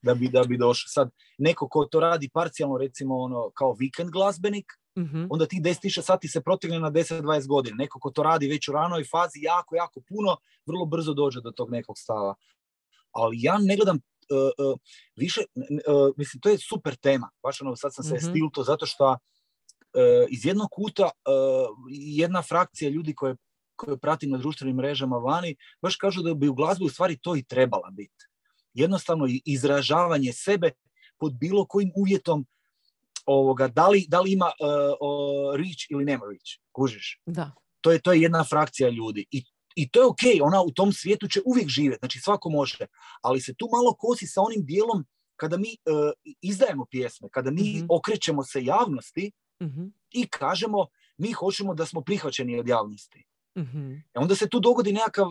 da bi, da bi došao. Sad, neko ko to radi parcijalno, recimo ono, kao vikend glazbenik, mm-hmm. onda tih deset tisuća sati se protegne na deset do dvadeset godina. Neko ko to radi već u ranoj fazi jako, jako puno, vrlo brzo dođe do tog nekog stava. Ali ja ne gledam uh, uh, više, uh, mislim, to je super tema. Baš ono, sad sam se mm-hmm. stilto zato što Uh, iz jednog kuta uh, jedna frakcija ljudi koje, koje pratim na društvenim mrežama vani baš kažu da bi u glazbi u stvari to i trebala biti. Jednostavno izražavanje sebe pod bilo kojim uvjetom ovoga, da li, da li ima uh, uh, reach ili nema reach, kužiš? Da. To je, to je jedna frakcija ljudi i, i to je ok, ona u tom svijetu će uvijek živjeti, znači svako može, ali se tu malo kosi sa onim dijelom kada mi uh, izdajemo pjesme, kada mi mm-hmm. okrećemo se javnosti. Mm-hmm. I kažemo, mi hoćemo da smo prihvaćeni od javnosti. Mm-hmm. E onda se tu dogodi nekakav,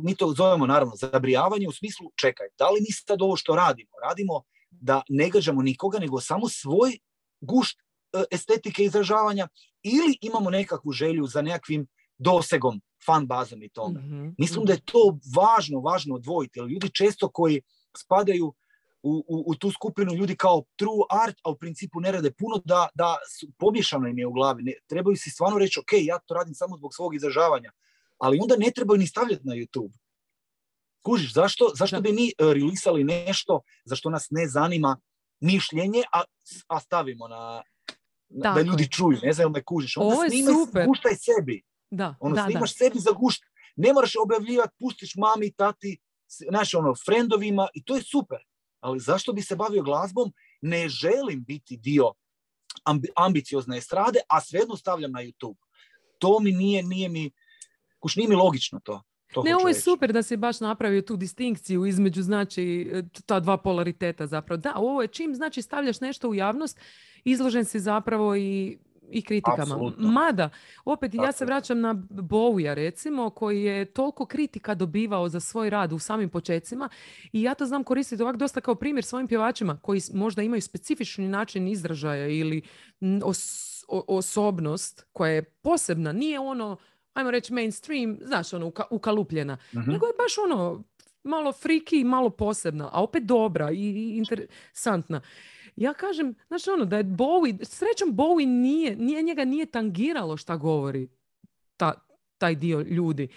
mi to zovemo naravno zabrijavanje u smislu, čekaj, da li mi sad ovo što radimo, radimo da ne gađamo nikoga, nego samo svoj gušt estetike izražavanja ili imamo nekakvu želju za nekakvim dosegom, fan bazom i tome. Mm-hmm. Mislim da je to važno, važno odvojiti, jer ljudi često koji spadaju U, u, u tu skupinu ljudi kao true art, a u principu ne rade puno, da, da su, pomiješano im je u glavi. Ne, trebaju si stvarno reći, ok, ja to radim samo zbog svog izražavanja, ali onda ne trebaju ni stavljati na YouTube. Kužiš, zašto, zašto bi mi uh, releasali nešto za što nas ne zanima mišljenje, a, a stavimo na, na da ljudi čuju, ne znam, me kužiš. Onda snimaj, guštaj sebi. Da, ono, da, snimaš da. sebi za gušt. Ne moraš objavljivati, pustiš mami, tati, znaš, ono, frendovima i to je super. Ali zašto bi se bavio glazbom? Ne želim biti dio ambi- ambiciozne estrade, a svejedno stavljam na YouTube. To mi nije, nije mi, kuš, nije mi logično to. to ne, ovo je reći. super da si baš napravio tu distinkciju između, znači, ta dva polariteta zapravo. Da, ovo je čim, znači, stavljaš nešto u javnost, izložen si zapravo i i kritikama. Apsolutno. Mada, opet Tako. Ja se vraćam na Bowija, recimo, koji je toliko kritika dobivao za svoj rad u samim počecima i ja to znam koristiti ovak dosta kao primjer svojim pjevačima koji možda imaju specifični način izražaja ili os- osobnost koja je posebna. Nije ono, ajmo reći mainstream, znaš, ono, uka- ukalupljena. Mm-hmm. Nego je baš ono, malo friki i malo posebna, a opet dobra i interesantna. Ja kažem, znaš ono, da je Bowie, srećom Bowie nije, nije, njega nije tangiralo šta govori ta, taj dio ljudi.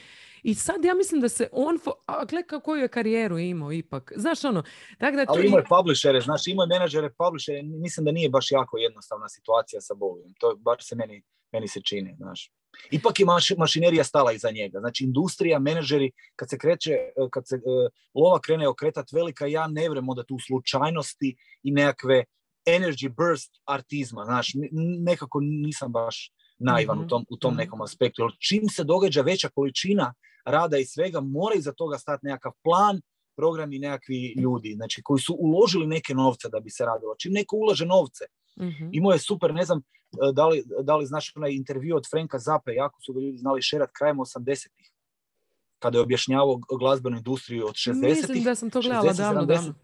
I sad ja mislim da se on, fo- a gle koju je karijeru imao ipak. Znaš ono, tako da to Ali i- imao je publishere, znači imao je menadžere, publishere, mislim da nije baš jako jednostavna situacija sa Bowiem. To baš se meni, meni se čini, znaš. Ipak je maš, mašinerija stala iza njega. Znači, industrija, menadžeri, kad se kreće, kad se uh, lova krene okretat velika, ja ne vrem onda tu slučajnosti i nekakve energy burst artizma, znaš, nekako nisam baš naivan mm-hmm. u tom, u tom nekom aspektu. Jer čim se događa veća količina rada i svega, mora iza toga stati nekakav plan, program i nekakvi ljudi, znači, koji su uložili neke novce da bi se radilo. Čim neko ulaže novce, mm-hmm. imao je super, ne znam, da li, da li znaš onaj intervju od Franka Zappe, jako su ga ljudi znali šerat krajem osamdesetih, kada je objašnjavao glazbenu industriju od šezdesetih. Mislim da sam to gledala davno, davno.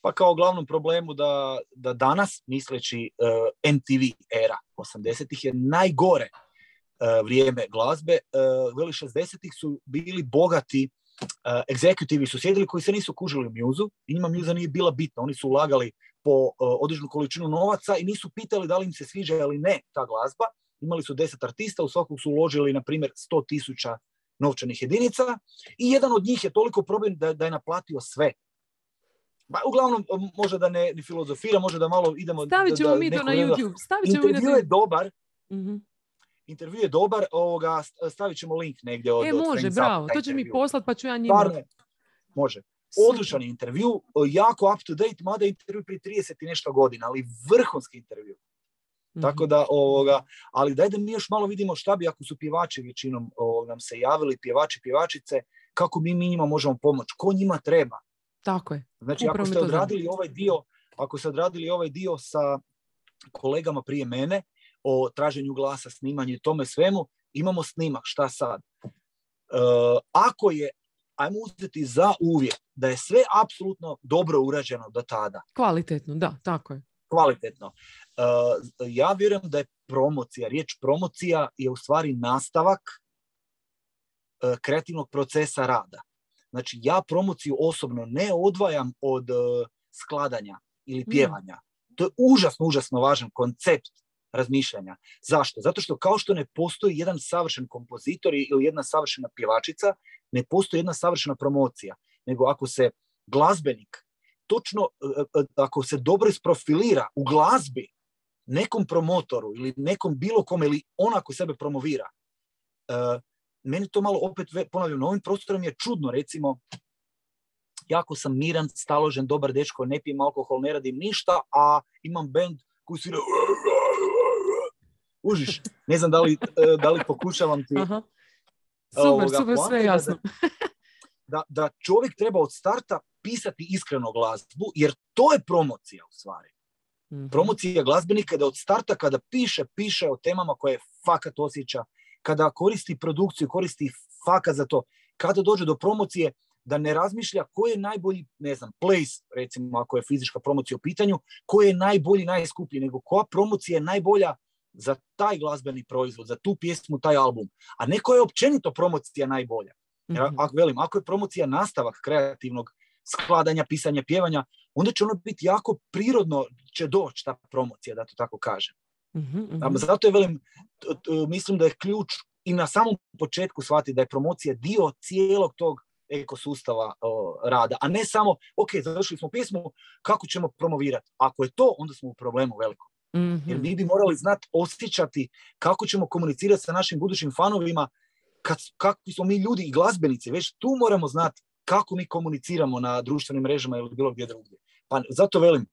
Pa kao glavnom problemu da, da danas, misleći uh, M T V era osamdesetih je najgore uh, vrijeme glazbe. Uh, veli šezdesetih su bili bogati uh, egzekutivi su sjedili koji se nisu kužili u mjuzu i njima mjuza nije bila bitna. Oni su ulagali po uh, određenu količinu novaca i nisu pitali da li im se sviđa ili ne ta glazba. Imali su deset artista, u svakog su uložili, na primjer, sto tisuća novčanih jedinica i jedan od njih je toliko problem da, da je naplatio sve. Ba, uglavnom, može da ne, ne filozofira, može da malo idemo... Stavit ćemo da, mi to na YouTube. Stavit ćemo intervju mi na... je dobar. Mm-hmm. Intervju je dobar, ovoga, stavit ćemo link negdje od... E, može, od bravo. To će mi poslat, pa ću ja njima... Parne. Može. Odličan intervju, jako up to date, mada intervju prije trideset i nešto godina, ali vrhunski intervju. Mm-hmm. Tako da, ovoga, ali daj da mi još malo vidimo šta bi ako su pjevači većinom ovoga, nam se javili, pjevači, pjevačice, kako mi, mi njima možemo pomoći, ko njima treba. Tako je. Znači, Upravo ako ste odradili ovaj dio, ako ste odradili ovaj dio sa kolegama prije mene o traženju glasa, snimanju i tome svemu, imamo snimak, šta sad? Uh, ako je, ajmo uzeti za uvjet da je sve apsolutno dobro urađeno do tada. Kvalitetno, da, tako je. Kvalitetno. Uh, ja vjerujem da je promocija, riječ promocija je u stvari nastavak uh, kreativnog procesa rada. Znači, ja promociju osobno ne odvajam od uh, skladanja ili pjevanja. Mm. To je užasno, užasno važan koncept razmišljanja. Zašto? Zato što kao što ne postoji jedan savršen kompozitor ili jedna savršena pjevačica, ne postoji jedna savršena promocija. Nego ako se glazbenik točno, uh, ako se dobro isprofilira u glazbi nekom promotoru ili nekom bilo kome ili on ako sebe promovira, uh, meni to malo opet, ponavljam, na ovim prostorom je čudno, recimo, jako sam miran, staložen, dobar dečko, ne pijem alkohol, ne radim ništa, a imam bend koji svira... Užiš, ne znam da li, da li pokušavam ti... Aha. Super, ovoga, super, sve jasno. Da, da čovjek treba od starta pisati iskreno glazbu, jer to je promocija u stvari. Mm-hmm. Promocija glazbenika da od starta kada piše, piše o temama koje fakat osjeća, kada koristi produkciju, koristi fakat za to, kada dođe do promocije, da ne razmišlja koji je najbolji, ne znam, place, recimo ako je fizička promocija u pitanju, koji je najbolji, najskuplji, nego koja promocija je najbolja za taj glazbeni proizvod, za tu pjesmu, taj album. A neko je općenito promocija najbolja. Jer, mm-hmm. ako, velim, ako je promocija nastavak kreativnog skladanja, pisanja, pjevanja, onda će ono biti jako prirodno će doći ta promocija, da to tako kažem. Mm-hmm. Zato je, velim, t- t- mislim da je ključ i na samom početku shvatiti da je promocija dio cijelog tog ekosustava o, rada, a ne samo, ok, završili smo pjesmu, kako ćemo promovirati. Ako je to, onda smo u problemu velikom. Mm-hmm. Jer mi bi morali znati, osjećati kako ćemo komunicirati sa našim budućim fanovima, kad, kako smo mi ljudi i glazbenici, već tu moramo znati kako mi komuniciramo na društvenim mrežama ili bilo gdje drugdje. Pa zato velim,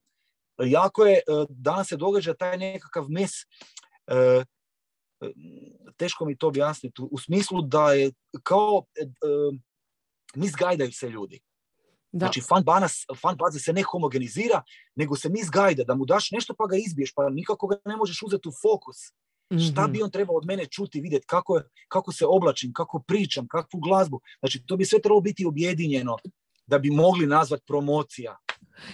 jako je, danas se događa taj nekakav mes, e, teško mi to objasniti, u smislu da je kao e, misgajdaju se ljudi. Da. Znači, fan, banas, fan baza se ne homogenizira, nego se misgajda, da mu daš nešto pa ga izbiješ, pa nikako ga ne možeš uzeti u fokus. Mm-hmm. Šta bi on trebao od mene čuti, vidjeti, kako, kako se oblačim, kako pričam, kakvu glazbu. Znači, to bi sve trebalo biti objedinjeno da bi mogli nazvati promocija.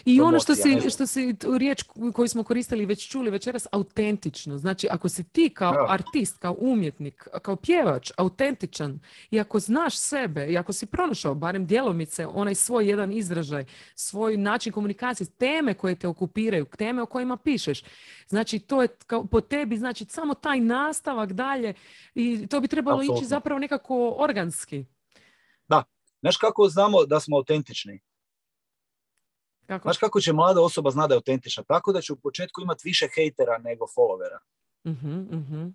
I ono što promocija, ne si, znam. što si tu riječ koju smo koristili već čuli večeras, autentično. Znači, ako si ti kao Ja. artist, kao umjetnik, kao pjevač, autentičan i ako znaš sebe i ako si pronašao barem djelomice onaj svoj jedan izražaj, svoj način komunikacije, teme koje te okupiraju, teme o kojima pišeš, znači to je kao po tebi, znači samo taj nastavak dalje i to bi trebalo Apsolutno. ići zapravo nekako organski. Da. Znaš kako znamo da smo autentični? Kako? Znaš kako će mlada osoba zna da je autentična? Tako da će u početku imati više hejtera nego followera. Uh-huh, uh-huh.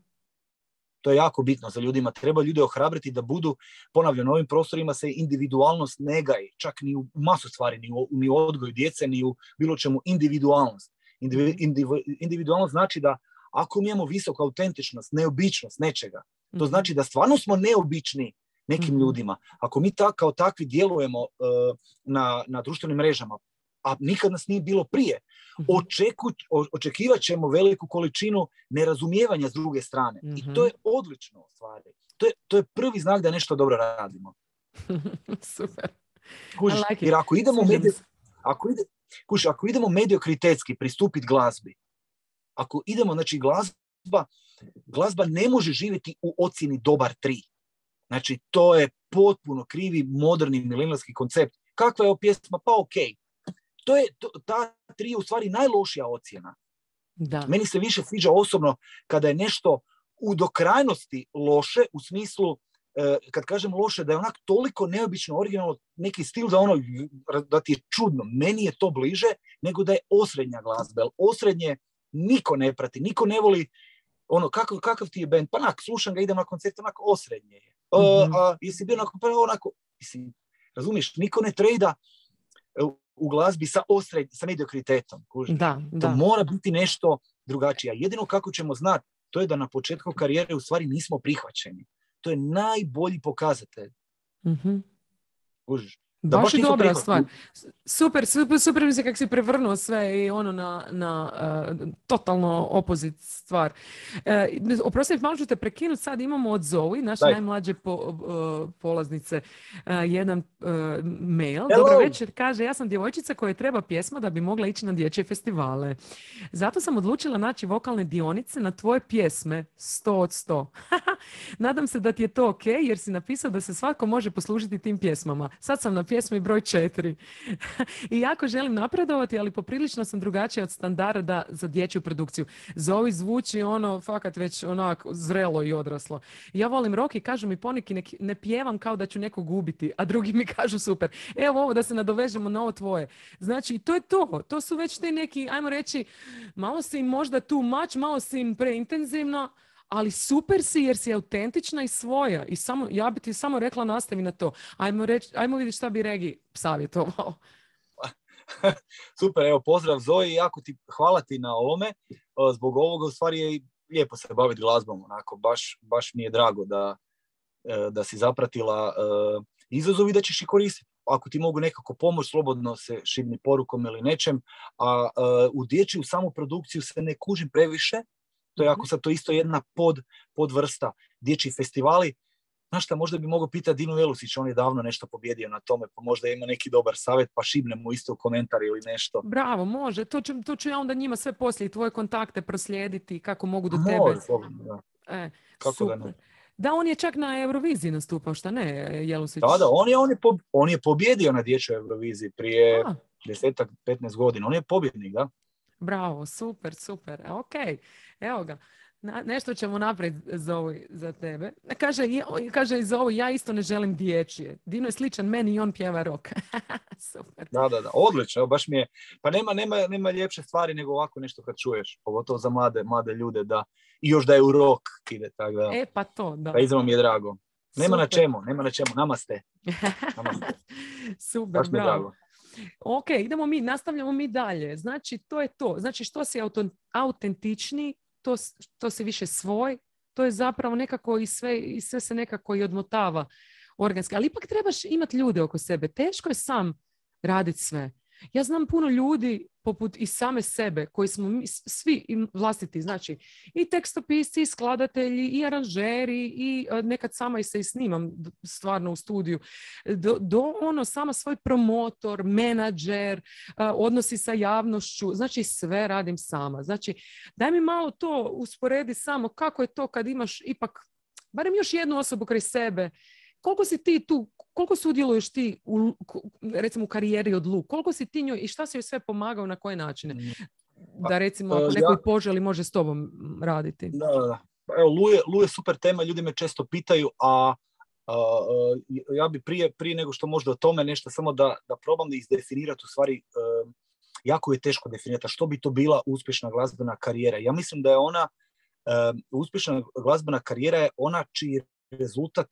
To je jako bitno za ljudima. Treba ljude ohrabriti da budu, ponavljam, na ovim prostorima se individualnost ne gaji. Čak ni u masu stvari, ni u, ni u odgoju djece, ni u bilo čemu individualnost. Indivi, individu, individualnost znači da ako mi imamo visoku autentičnost, neobičnost nečega, to znači da stvarno smo neobični nekim mm-hmm. ljudima. Ako mi ta, kao takvi djelujemo uh, na, na društvenim mrežama, a nikad nas nije bilo prije, očeku, o, očekivat ćemo veliku količinu nerazumijevanja s druge strane. Mm-hmm. I to je odlično u stvari. To je, to je prvi znak da nešto dobro radimo. Super. Kužiš, like jer ako idemo, medio, ako, ide, kužiš, ako idemo mediokritetski pristupiti glazbi, ako idemo, znači glazba, glazba ne može živjeti u ocjeni dobar tri. Znači, to je potpuno krivi, moderni, milenijski koncept. Kakva je ovo pjesma? Pa okej. Okay. To je, to, ta tri je u stvari najlošija ocjena. Da. Meni se više sviđa osobno kada je nešto u do krajnosti loše, u smislu, eh, kad kažem loše, da je onak toliko neobično, originalno, neki stil da, ono, da ti je čudno. Meni je to bliže nego da je osrednja glazba. Osrednje niko ne prati, niko ne voli ono, kakav, kakav ti je band? Pa onak, slušam ga, idem na koncert, onako osrednje je. Mm-hmm. A, a jesi bio onako, pa onako, mislim, razumiješ, niko ne trejda u glazbi sa osred, sa mediokritetom. Da, to da. mora biti nešto drugačije. Jedino kako ćemo znati, to je da na početku karijere u stvari nismo prihvaćeni. To je najbolji pokazatelj. Mm-hmm. Kužiš? Da baš je dobra stvar. Super, super, super mi se kako si prevrnuo sve i ono na, na uh, totalno opozit stvar. Uh, oprosti, malo ću te prekinuti, sad imamo od Zoe, naše Daj. najmlađe po, uh, polaznice, uh, jedan uh, mail. Hello. Dobar večer, kaže, ja sam djevojčica koja treba pjesma da bi mogla ići na dječje festivale. Zato sam odlučila naći vokalne dionice na tvoje pjesme sto od sto. Nadam se da ti je to ok, jer si napisao da se svatko može poslužiti tim pjesmama. Sad sam na pjesmi broj četiri. I jako želim napredovati, ali poprilično sam drugačija od standarda za dječju produkciju. Zoe zvuči ono, fakat već onako zrelo i odraslo. Ja volim rock i kažu mi poneki ne, ne pjevam kao da ću nekog ubiti, a drugi mi kažu super. Evo ovo da se nadovežemo na ovo tvoje. Znači, to je to. To su već te neki, ajmo reći, malo si im možda too much, malo si im preintenzivno, ali super si jer si autentična i svoja. I samo, ja bi ti samo rekla nastavi na to. Ajmo, reći, ajmo vidjeti šta bi Regi savjetovao. Super, evo pozdrav Zoe i jako ti hvala ti na ovome. Zbog ovoga u stvari je lijepo se baviti glazbom. Onako, baš, baš mi je drago da, da si zapratila izazov i da ćeš i koristiti. Ako ti mogu nekako pomoći, slobodno se šibni porukom ili nečem. A u dječju samu produkciju se ne kužim previše. To je ako sad to isto jedna pod, podvrsta, dječji festivali. Znaš šta, možda bi mogao pitati Dinu Jelusić, on je davno nešto pobjedio na tome, pa možda ima neki dobar savjet, pa šibnemo isto u komentar ili nešto. Bravo, može. To ću, to ću ja onda njima sve poslije tvoje kontakte proslijediti, kako mogu do može, tebe. Slobodno, da. E, kako super. da ne? Da, on je čak na Euroviziji nastupao, šta ne, Jelusić? Da, da, on je, on je, po, on je pobjedio na dječjoj Euroviziji prije A. desetak, petnaest godina. On je pobjednik, da. Bravo, super, super. Ok, evo ga. Na, nešto ćemo naprijed Zoe za tebe. Kaže, kaže Zoe, ja isto ne želim dječje. Dino je sličan meni i on pjeva rock. Super. Da, da, da, odlično. Baš mi je, pa nema, nema, nema ljepše stvari nego ovako nešto kad čuješ. Pogotovo za mlade, mlade ljude da, i još da je u rock ide. Tak da, e, pa to, da. Pa izravno mi je drago. Nema Super. na čemu, nema na čemu. Namaste. Namaste. Super, baš bravo. Drago. Ok, idemo mi, nastavljamo mi dalje. Znači, to je to. Znači, što si autentični, to, to si više svoj, to je zapravo nekako i sve, i sve se nekako i odmotava organski. Ali ipak trebaš imati ljude oko sebe. Teško je sam raditi sve. Ja znam puno ljudi poput i same sebe, koji smo mi, svi vlastiti, znači i tekstopisci, i skladatelji, i aranžeri, i nekad sama i se i snimam stvarno u studiju, do, do ono sama svoj promotor, menadžer, odnosi sa javnošću, znači sve radim sama. Znači, daj mi malo to usporedi samo kako je to kad imaš ipak barem još jednu osobu kraj sebe. Koliko si ti tu, koliko sudjeluješ ti u, recimo u karijeri od Lu? Koliko si ti njoj i šta si joj sve pomagao, na koje načine? Da recimo ako neko ja, i poželi može s tobom raditi. Da, da. Evo, Lu je, Lu je super tema, ljudi me često pitaju, a, a, a ja bi prije, prije nego što možda o tome nešto samo da, da probam da izdefinirati u stvari, uh, jako je teško definirati što bi to bila uspješna glazbena karijera. Ja mislim da je ona, uh, uspješna glazbena karijera je ona čiji rezultat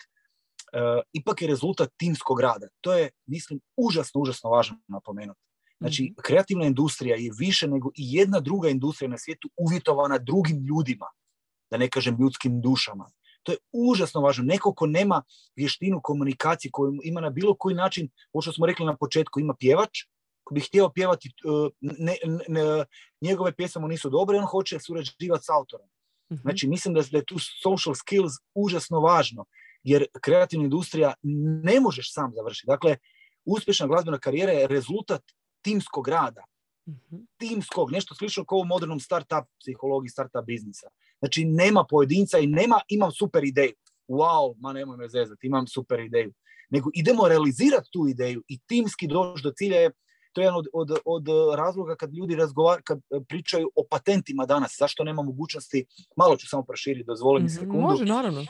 Uh, ipak je rezultat timskog rada. To je, mislim, užasno, užasno važno napomenuti. Znači, mm-hmm. kreativna industrija je više nego i jedna druga industrija na svijetu uvjetovana drugim ljudima, da ne kažem ljudskim dušama. To je užasno važno. Neko ko nema vještinu komunikacije, koju ima na bilo koji način, ovo što smo rekli na početku, ima pjevač, ko bi htio pjevati, uh, ne, ne, ne, njegove pjesme mu nisu dobre, on hoće surađivati s autorom. Mm-hmm. Znači, mislim da, da je tu social skills užasno važno. Jer kreativna industrija ne možeš sam završiti. Dakle, uspješna glazbena karijera je rezultat timskog rada. Mm-hmm. Timskog, nešto slično kao u modernom start-up psihologiji, start-up biznisa. Znači, nema pojedinca i nema imam super ideju. Wow, ma nemoj me zezati, imam super ideju. Nego idemo realizirati tu ideju i timski doći do cilja je, to je jedan od, od, od razloga kad ljudi razgovaraju, kad pričaju o patentima danas, zašto nema mogućnosti, malo ću samo proširiti, dozvoli mi sekundu. Može, naravno. Uh,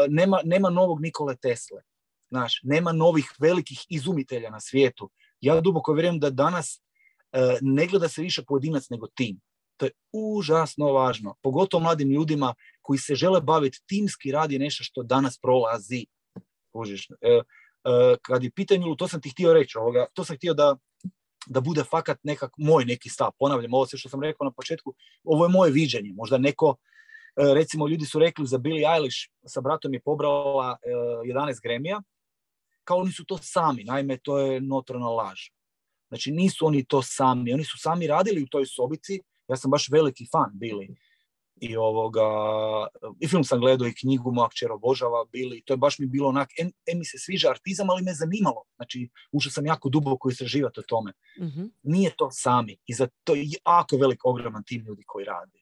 nema, nema novog Nikole Tesle, znaš, nema novih velikih izumitelja na svijetu. Ja duboko vjerujem da danas uh, ne gleda se više pojedinac nego tim. To je užasno važno, pogotovo mladim ljudima koji se žele baviti timski rad je nešto što danas prolazi. Užiš. Uh, uh, kad je pitanje, to sam ti htio reći, ovoga, to sam htio da da bude fakat nekak moj neki stav. Ponavljam, ovo sve što sam rekao na početku, ovo je moje viđenje. Možda neko, recimo ljudi su rekli za Billie Eilish, sa bratom je pobrala jedanaest Grammy-a, kao oni su to sami. Naime, to je notorna laž. Znači, nisu oni to sami. Oni su sami radili u toj sobici. Ja sam baš veliki fan Billie. I, ovoga, i film sam gledao i knjigu moja kćer obožava Billie. To je baš mi bilo onak, em, em mi se sviđa artizam, ali me zanimalo. Znači, ušao sam jako duboko istraživati o tome. Mm-hmm. Nije to sami. I za to je jako velik, ogroman tim ljudi koji rade.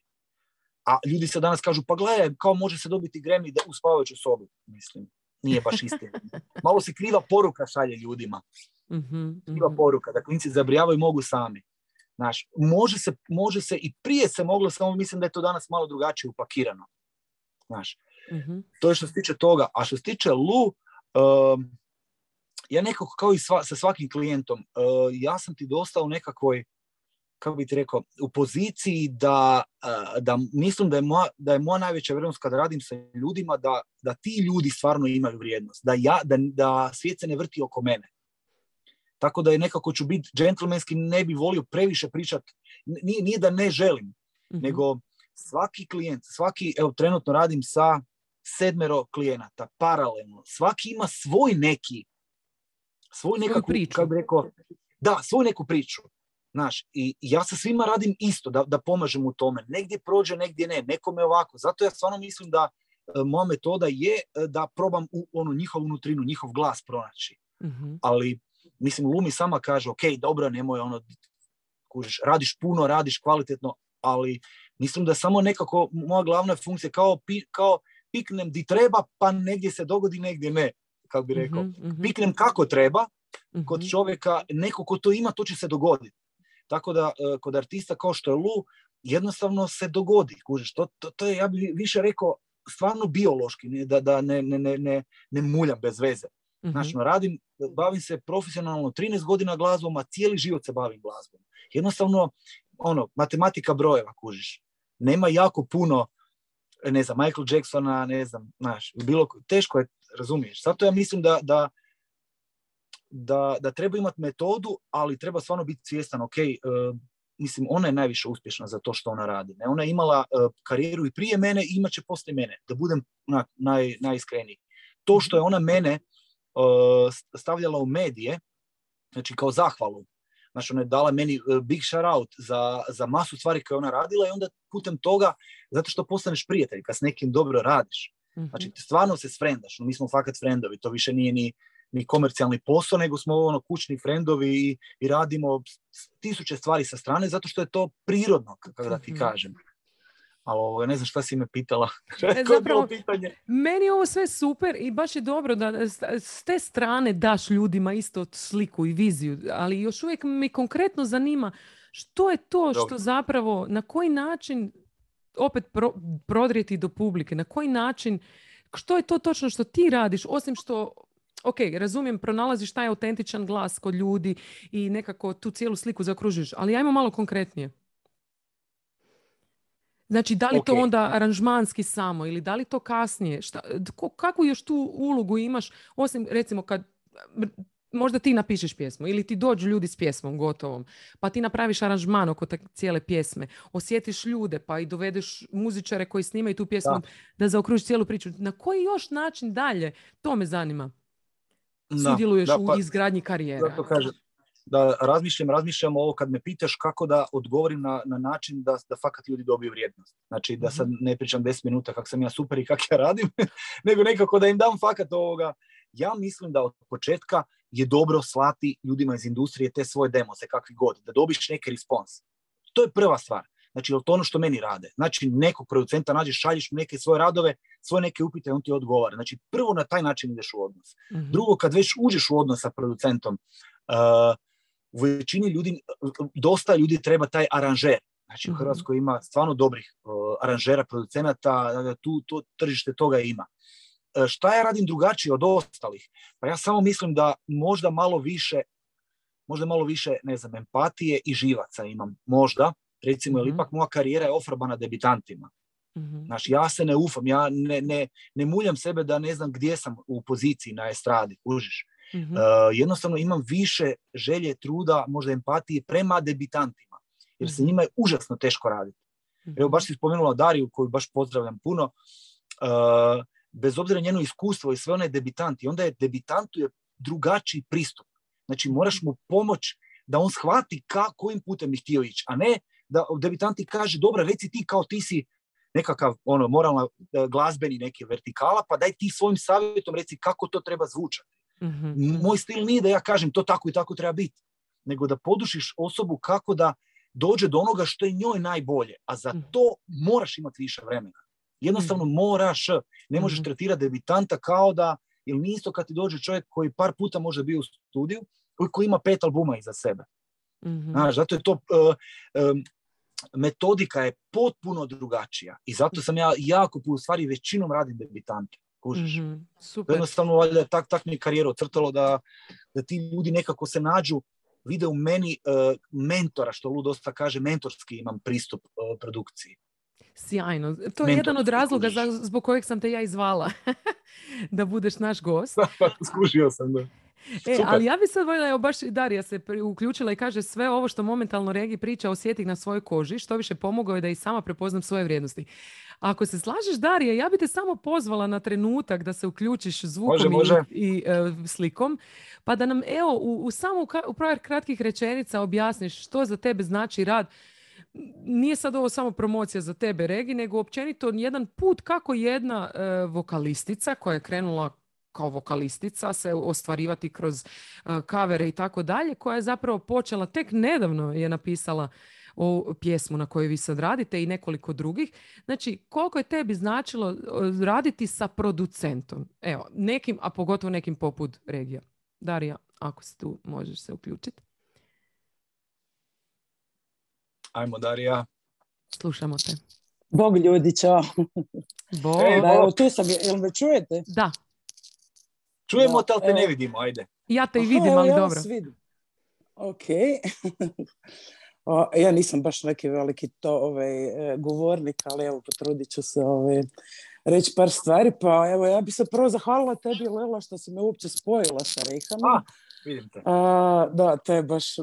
A ljudi se danas kažu, pa gledaj, kao može se dobiti Grammy da u spavajućoj sobi. Mislim, nije baš istina. Malo se kriva poruka šalje ljudima. Mm-hmm. Kriva poruka, da klinci zabrijavaju mogu sami. Znaš, može se, može se i prije se moglo, samo mislim da je to danas malo drugačije upakirano. Znaš, mm-hmm. to je što se tiče toga. A što se tiče Lu, um, ja nekako kao i sva, sa svakim klijentom, uh, ja sam ti dosta u nekakvoj, kako bi ti rekao, u poziciji da, uh, da mislim da je, moja, da je moja najveća vrijednost kada radim sa ljudima, da, da ti ljudi stvarno imaju vrijednost. Da, ja, da, da svijet se ne vrti oko mene. Tako da je nekako ću biti džentlmenski, ne bi volio previše pričati. Nije, nije da ne želim, mm-hmm. nego svaki klijent, svaki, evo trenutno radim sa sedmero klijenata, paralelno. Svaki ima svoj neki, svoj nekakvu, kako bi rekao, da, svoju neku priču. Znaš, i ja sa svima radim isto, da, da pomažem u tome. Negdje prođe, negdje ne, nekome ovako. Zato ja stvarno mislim da uh, moja metoda je uh, da probam u onu njihovu nutrinu, njihov glas pronaći. Mm-hmm. Ali mislim, Lumi sama kaže, ok, dobro, nemoj ono, kužiš, radiš puno, radiš kvalitetno, ali mislim da samo nekako moja glavna funkcija kao, pi, kao piknem di treba, pa negdje se dogodi, negdje ne, kako bi rekao. Mm-hmm. Piknem kako treba, mm-hmm. kod čovjeka, neko ko to ima, to će se dogoditi. Tako da, kod artista kao što je Lu, jednostavno se dogodi, kužiš, to, to, to je, ja bih više rekao, stvarno biološki, ne, da, da ne, ne, ne, ne, ne muljam bez veze. Znači, radim, bavim se profesionalno trinaest godina glazbom, a cijeli život se bavim glazbom. Jednostavno, ono, matematika brojeva, kužiš. Nema jako puno, ne znam, Michael Jacksona, ne znam, znaš, bilo, teško je, razumiješ. Zato ja mislim da, da, da, da treba imati metodu, ali treba stvarno biti svjestan, ok, uh, mislim, ona je najviše uspješna za to što ona radi. Ne? Ona je imala uh, karijeru i prije mene i imat će poslije mene, da budem na, naj, najiskreniji. To što je ona mene stavljala u medije, znači kao zahvalu, Znači, ona je dala meni uh, big shout out za, za masu stvari koje ona radila i onda putem toga, zato što postaneš prijatelj, kad s nekim dobro radiš. Mm-hmm. Znači, stvarno se sfrendaš. No, mi smo fakat frendovi, to više nije ni, ni komercijalni posao, nego smo ono kućni frendovi i, i radimo tisuće stvari sa strane, zato što je to prirodno, kako da ti kažem. Ali ne znam šta si me pitala. E, zapravo, meni je ovo sve super i baš je dobro da s te strane daš ljudima isto sliku i viziju, ali još uvijek mi konkretno zanima što je to što zapravo, na koji način opet pro, prodrijeti do publike, na koji način, što je to točno što ti radiš, osim što, ok, razumijem, pronalaziš taj autentičan glas kod ljudi i nekako tu cijelu sliku zaokružiš, ali ajmo malo konkretnije. Znači, da li okay. to onda aranžmanski samo ili da li to kasnije? Šta, kakvu još tu ulogu imaš, osim recimo kad možda ti napišeš pjesmu ili ti dođu ljudi s pjesmom gotovom, pa ti napraviš aranžman oko te cijele pjesme, osjetiš ljude pa i dovedeš muzičare koji snimaju tu pjesmu da, da zaokružiš cijelu priču. Na koji još način dalje? To me zanima. Sudjeluješ da, pa, u izgradnji karijere. Zato kažem, da razmišljam, razmišljam ovo kad me pitaš kako da odgovorim na, na način da, da fakat ljudi dobiju vrijednost. Znači da sad ne pričam deset minuta kako sam ja super i kako ja radim, nego nekako da im dam fakat ovoga. Ja mislim da od početka je dobro slati ljudima iz industrije te svoje demose, kakvi god, da dobiš neki respons. To je prva stvar. Znači, to ono što meni rade. Znači, nekog producenta nađeš, šalješ mu neke svoje radove, svoje neke upite, on ti odgovara. Znači, prvo na taj način ideš u odnos. Mm-hmm. Drugo, kad već uđeš u odnos sa producentom, uh, u većini ljudi, dosta ljudi treba taj aranžer. Znači, u Hrvatskoj ima stvarno dobrih uh, aranžera, producenata, tu to, tržište toga ima. Uh, šta ja radim drugačije od ostalih? Pa ja samo mislim da možda malo više, možda malo više, ne znam, empatije i živaca imam. Možda, recimo, jer ipak moja karijera je ofarbana debitantima. Mm-hmm. Znači, ja se ne ufam, ja ne, ne, ne muljam sebe da ne znam gdje sam u poziciji na estradi, kužiš. Mm-hmm. Uh, jednostavno imam više želje, truda, možda empatije prema debitantima, jer mm-hmm. se njima je užasno teško raditi. Mm-hmm. Evo, baš si spomenula Dariju, koju baš pozdravljam puno, uh, bez obzira njeno iskustvo i sve one debitanti, onda je debitantu je drugačiji pristup. Znači, moraš mu pomoći da on shvati ka, kojim putem bi htio ići, a ne da debitanti kaže, dobro, reci ti kao ti si nekakav ono, moralna glazbeni neki vertikala, pa daj ti svojim savjetom reci kako to treba zvučati. Mm-hmm. Moj stil nije da ja kažem to tako i tako treba biti, nego da podušiš osobu kako da dođe do onoga što je njoj najbolje, a za to moraš imati više vremena. Jednostavno moraš, ne možeš mm-hmm. tretirati debitanta kao da, ili nije isto kad ti dođe čovjek koji par puta može bio u studiju, koji ima pet albuma iza sebe. Mm-hmm. Znaš, zato je to, uh, um, metodika je potpuno drugačija i zato sam ja jako, u stvari većinom radim debitante. Kužiš. Mm-hmm. Super. Jednostavno, valjda, tak, tak mi je karijera ocrtalo da, da ti ljudi nekako se nađu, vide u meni uh, mentora, što Lu dosta kaže, mentorski imam pristup uh, produkciji. Sjajno. To je jedan od razloga za, zbog kojeg sam te ja izvala da budeš naš gost. Skužio sam, da. E, ali ja bi sad voljela, evo baš Darija se uključila i kaže sve ovo što momentalno Regi priča osjeti na svojoj koži, što više pomogao je da i sama prepoznam svoje vrijednosti. Ako se slažeš, Darija, ja bi te samo pozvala na trenutak da se uključiš zvukom može, može. i, i uh, slikom, pa da nam evo u, u samo u par kratkih rečenica objasniš što za tebe znači rad. Nije sad ovo samo promocija za tebe, Regi, nego općenito jedan put kako jedna uh, vokalistica koja je krenula kao vokalistica se ostvarivati kroz uh, kavere i tako dalje, koja je zapravo počela, tek nedavno je napisala o pjesmu na kojoj vi sad radite i nekoliko drugih. Znači, koliko je tebi značilo raditi sa producentom? Evo, nekim, a pogotovo nekim poput Regija. Darija, ako si tu, možeš se uključiti. Ajmo, Darija. Slušamo te. Bog ljudi, čao. Bog. Ej, da, evo, tu sam, jel me čujete? Da. Čujemo te, ali te evo. Ne vidimo, ajde. Ja te i vidim, aha, ali ja dobro. Vidim. Ok. O, ja nisam baš neki veliki to, ovaj, govornik, ali evo, potrudit ću se ovaj, reći par stvari. Pa evo, ja bi se prvo zahvalila tebi, Lela, što si me uopće spojila sa Rejhanom. A, vidim te. A, da, to je baš...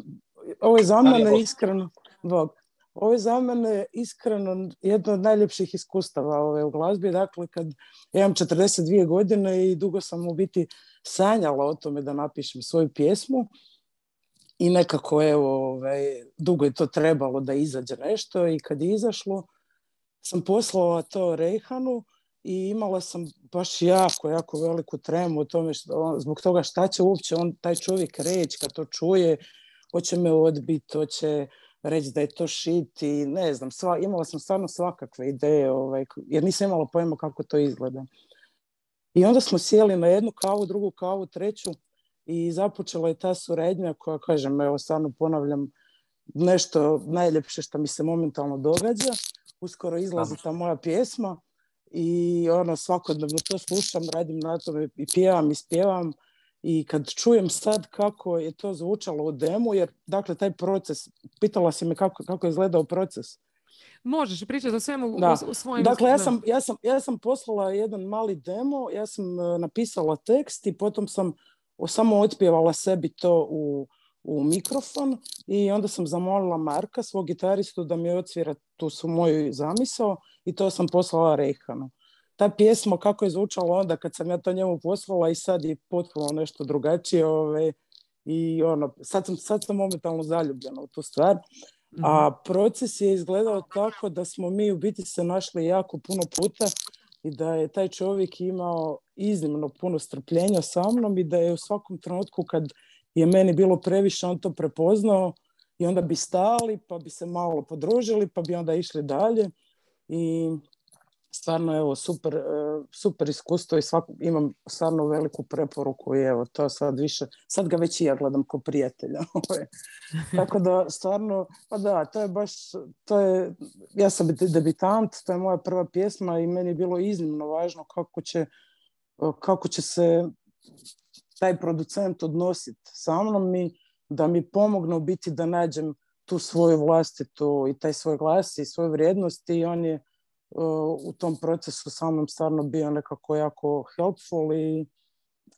Ovo je za mene iskreno... Bog. Ovo je za mene iskreno jedno od najljepših iskustava ove u glazbi. Dakle, kad ja imam četrdeset dvije godine i dugo sam u biti sanjala o tome da napišem svoju pjesmu. i nekako evo, ovaj, dugo je to trebalo da izađe nešto i kad je izašlo sam poslala to Rejhanu i imala sam baš jako, jako veliku tremu o tome što, on, zbog toga šta će uopće on, taj čovjek reći kad to čuje, hoće me odbiti, hoće reći da je to shit i ne znam, sva, imala sam stvarno svakakve ideje, ovaj, jer nisam imala pojma kako to izgleda. I onda smo sjeli na jednu kavu, drugu kavu, treću i započela je ta suradnja koja, kažem, evo stvarno ponavljam, nešto najljepše što mi se momentalno događa. Uskoro izlazi ta moja pjesma i ono, svakodnevno to slušam, radim na tome i pjevam i spjevam i kad čujem sad kako je to zvučalo u demu, jer dakle taj proces, pitala si me kako, kako je izgledao proces. Možeš pričati o svemu Da. u, u svojim... Dakle, ja sam, ja, sam, ja sam poslala jedan mali demo, ja sam napisala tekst i potom sam samo otpjevala sebi to u, u mikrofon i onda sam zamolila Marka, svog gitaristu, da mi odsvira tu su moju zamisao i to sam poslala Rejhanu. Ta pjesma kako je zvučala onda kad sam ja to njemu poslala i sad je potpuno nešto drugačije. Ove, i ono, sad, sam, sad sam momentalno zaljubljena u tu stvar. A proces je izgledao tako da smo mi u biti se našli jako puno puta i da je taj čovjek imao iznimno puno strpljenja sa mnom i da je u svakom trenutku kad je meni bilo previše on to prepoznao i onda bi stali pa bi se malo podružili pa bi onda išli dalje i stvarno evo super, super iskustvo i svak, imam stvarno veliku preporuku i evo to sad više, sad ga već i ja gledam ko prijatelja. Tako da stvarno, pa da, to je baš, to je, ja sam debitant, to je moja prva pjesma i meni je bilo iznimno važno kako će, kako će se taj producent odnositi sa mnom i da mi pomogne u biti da nađem tu svoju vlastitu i taj svoj glas i svoju vrijednost i on je u tom procesu sa mnom stvarno bio nekako jako helpful i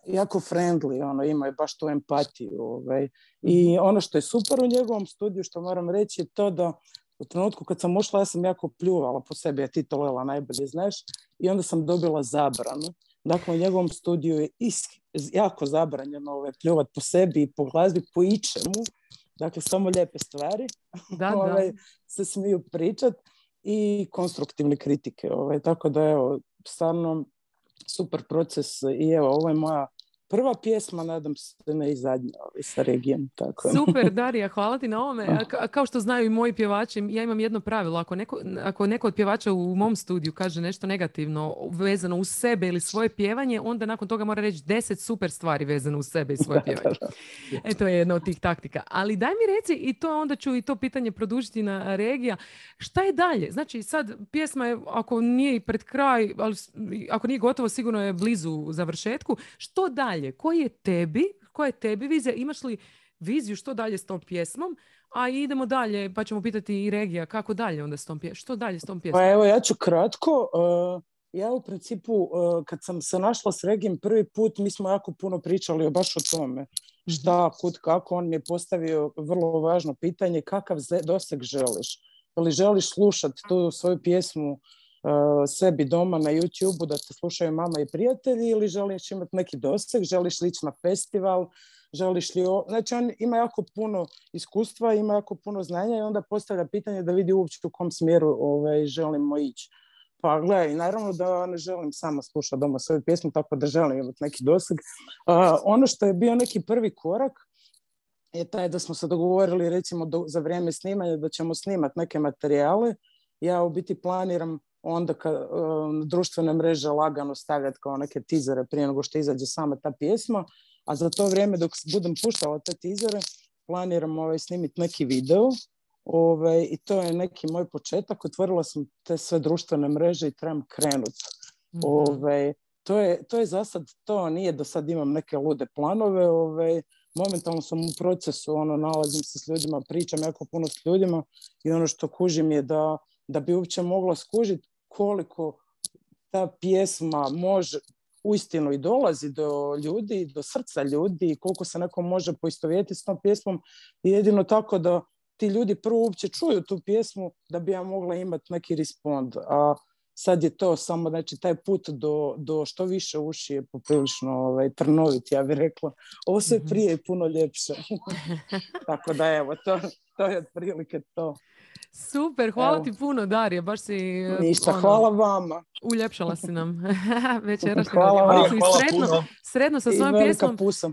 jako friendly, ono, ima je baš tu empatiju. Ovaj. I ono što je super u njegovom studiju, što moram reći, je to da u trenutku kad sam ušla, ja sam jako pljuvala po sebi, a ti to Lela najbolje znaš, i onda sam dobila zabranu. Dakle, u njegovom studiju je is, jako zabranjeno ovaj, pljuvat po sebi i po glazbi, po ičemu. Dakle, samo lijepe stvari da, ovaj, da. se smiju pričat i konstruktivne kritike. Ovaj. Tako da, evo, stvarno super proces i evo, ovo je moja prva pjesma, nadam se ne i zadnja ovaj, sa Regijom. Tako. Super, Darija, hvala ti na ovome. A, kao što znaju i moji pjevači, ja imam jedno pravilo. Ako neko, ako neko od pjevača u mom studiju kaže nešto negativno vezano uz sebe ili svoje pjevanje, onda nakon toga mora reći deset super stvari vezano uz sebe i svoje pjevanje. E, to je jedna od tih taktika. Ali daj mi reci, i to onda ću i to pitanje produžiti na Regija, šta je dalje? Znači sad pjesma je, ako nije i pred kraj, ali ako nije gotovo, sigurno je blizu završetku. Što dalje? Koji je tebi, koja je tebi vizija? Imaš li viziju što dalje s tom pjesmom? A idemo dalje, pa ćemo pitati i Regija kako dalje onda s tom pjesmom. Što dalje s tom pjesmom? Pa evo, ja ću kratko. Uh, ja u principu, uh, kad sam se našla s Regijem prvi put, mi smo jako puno pričali baš o tome. Šta, kud, kako. On mi je postavio vrlo važno pitanje, kakav doseg želiš? Ali želiš slušati tu svoju pjesmu Uh, sebi doma na YouTubeu da te slušaju mama i prijatelji ili želiš imati neki doseg, želiš li ići na festival, želiš li... O... Znači on ima jako puno iskustva, ima jako puno znanja i onda postavlja pitanje da vidi uopće u kom smjeru ovaj, želimo ići. Pa gledaj, naravno da ne želim sama slušati doma svoju pjesmu, tako da želim imati neki doseg. Uh, ono što je bio neki prvi korak je taj da smo se dogovorili recimo do, za vrijeme snimanja da ćemo snimati neke materijale. Ja u biti planiram onda kad um, društvene mreže lagano stavljati kao neke tizere prije nego što izađe sama ta pjesma, a za to vrijeme dok budem puštala te tizere planiram ovaj, snimiti neki video ovaj, i to je neki moj početak. Otvorila sam te sve društvene mreže i trebam krenuti. Mm-hmm. Ovaj, to, je, to je za sad, to nije da sad imam neke lude planove, ovaj, momentalno sam u procesu, ono, nalazim se s ljudima, pričam jako puno s ljudima i ono što kužim je da da bi uopće mogla skužiti koliko ta pjesma može uistinu i dolazi do ljudi, do srca ljudi, koliko se neko može poistovjetiti s tom pjesmom i jedino tako da ti ljudi prvo uopće čuju tu pjesmu da bi ja mogla imati neki respond. A sad je to samo, znači taj put do, do što više uši je poprilično ovaj, trnovit, ja bih rekla. Ovo sve prije je puno ljepše. Tako da evo, to, to je otprilike to. Super, hvala Evo. ti puno, Darija, baš si... Ništa, ono, hvala vama. Uljepšala si nam večerašnju Hvala vam. radionicu i Hvala sretno, puno. sretno sa I svojom velika pjesmom. pusa.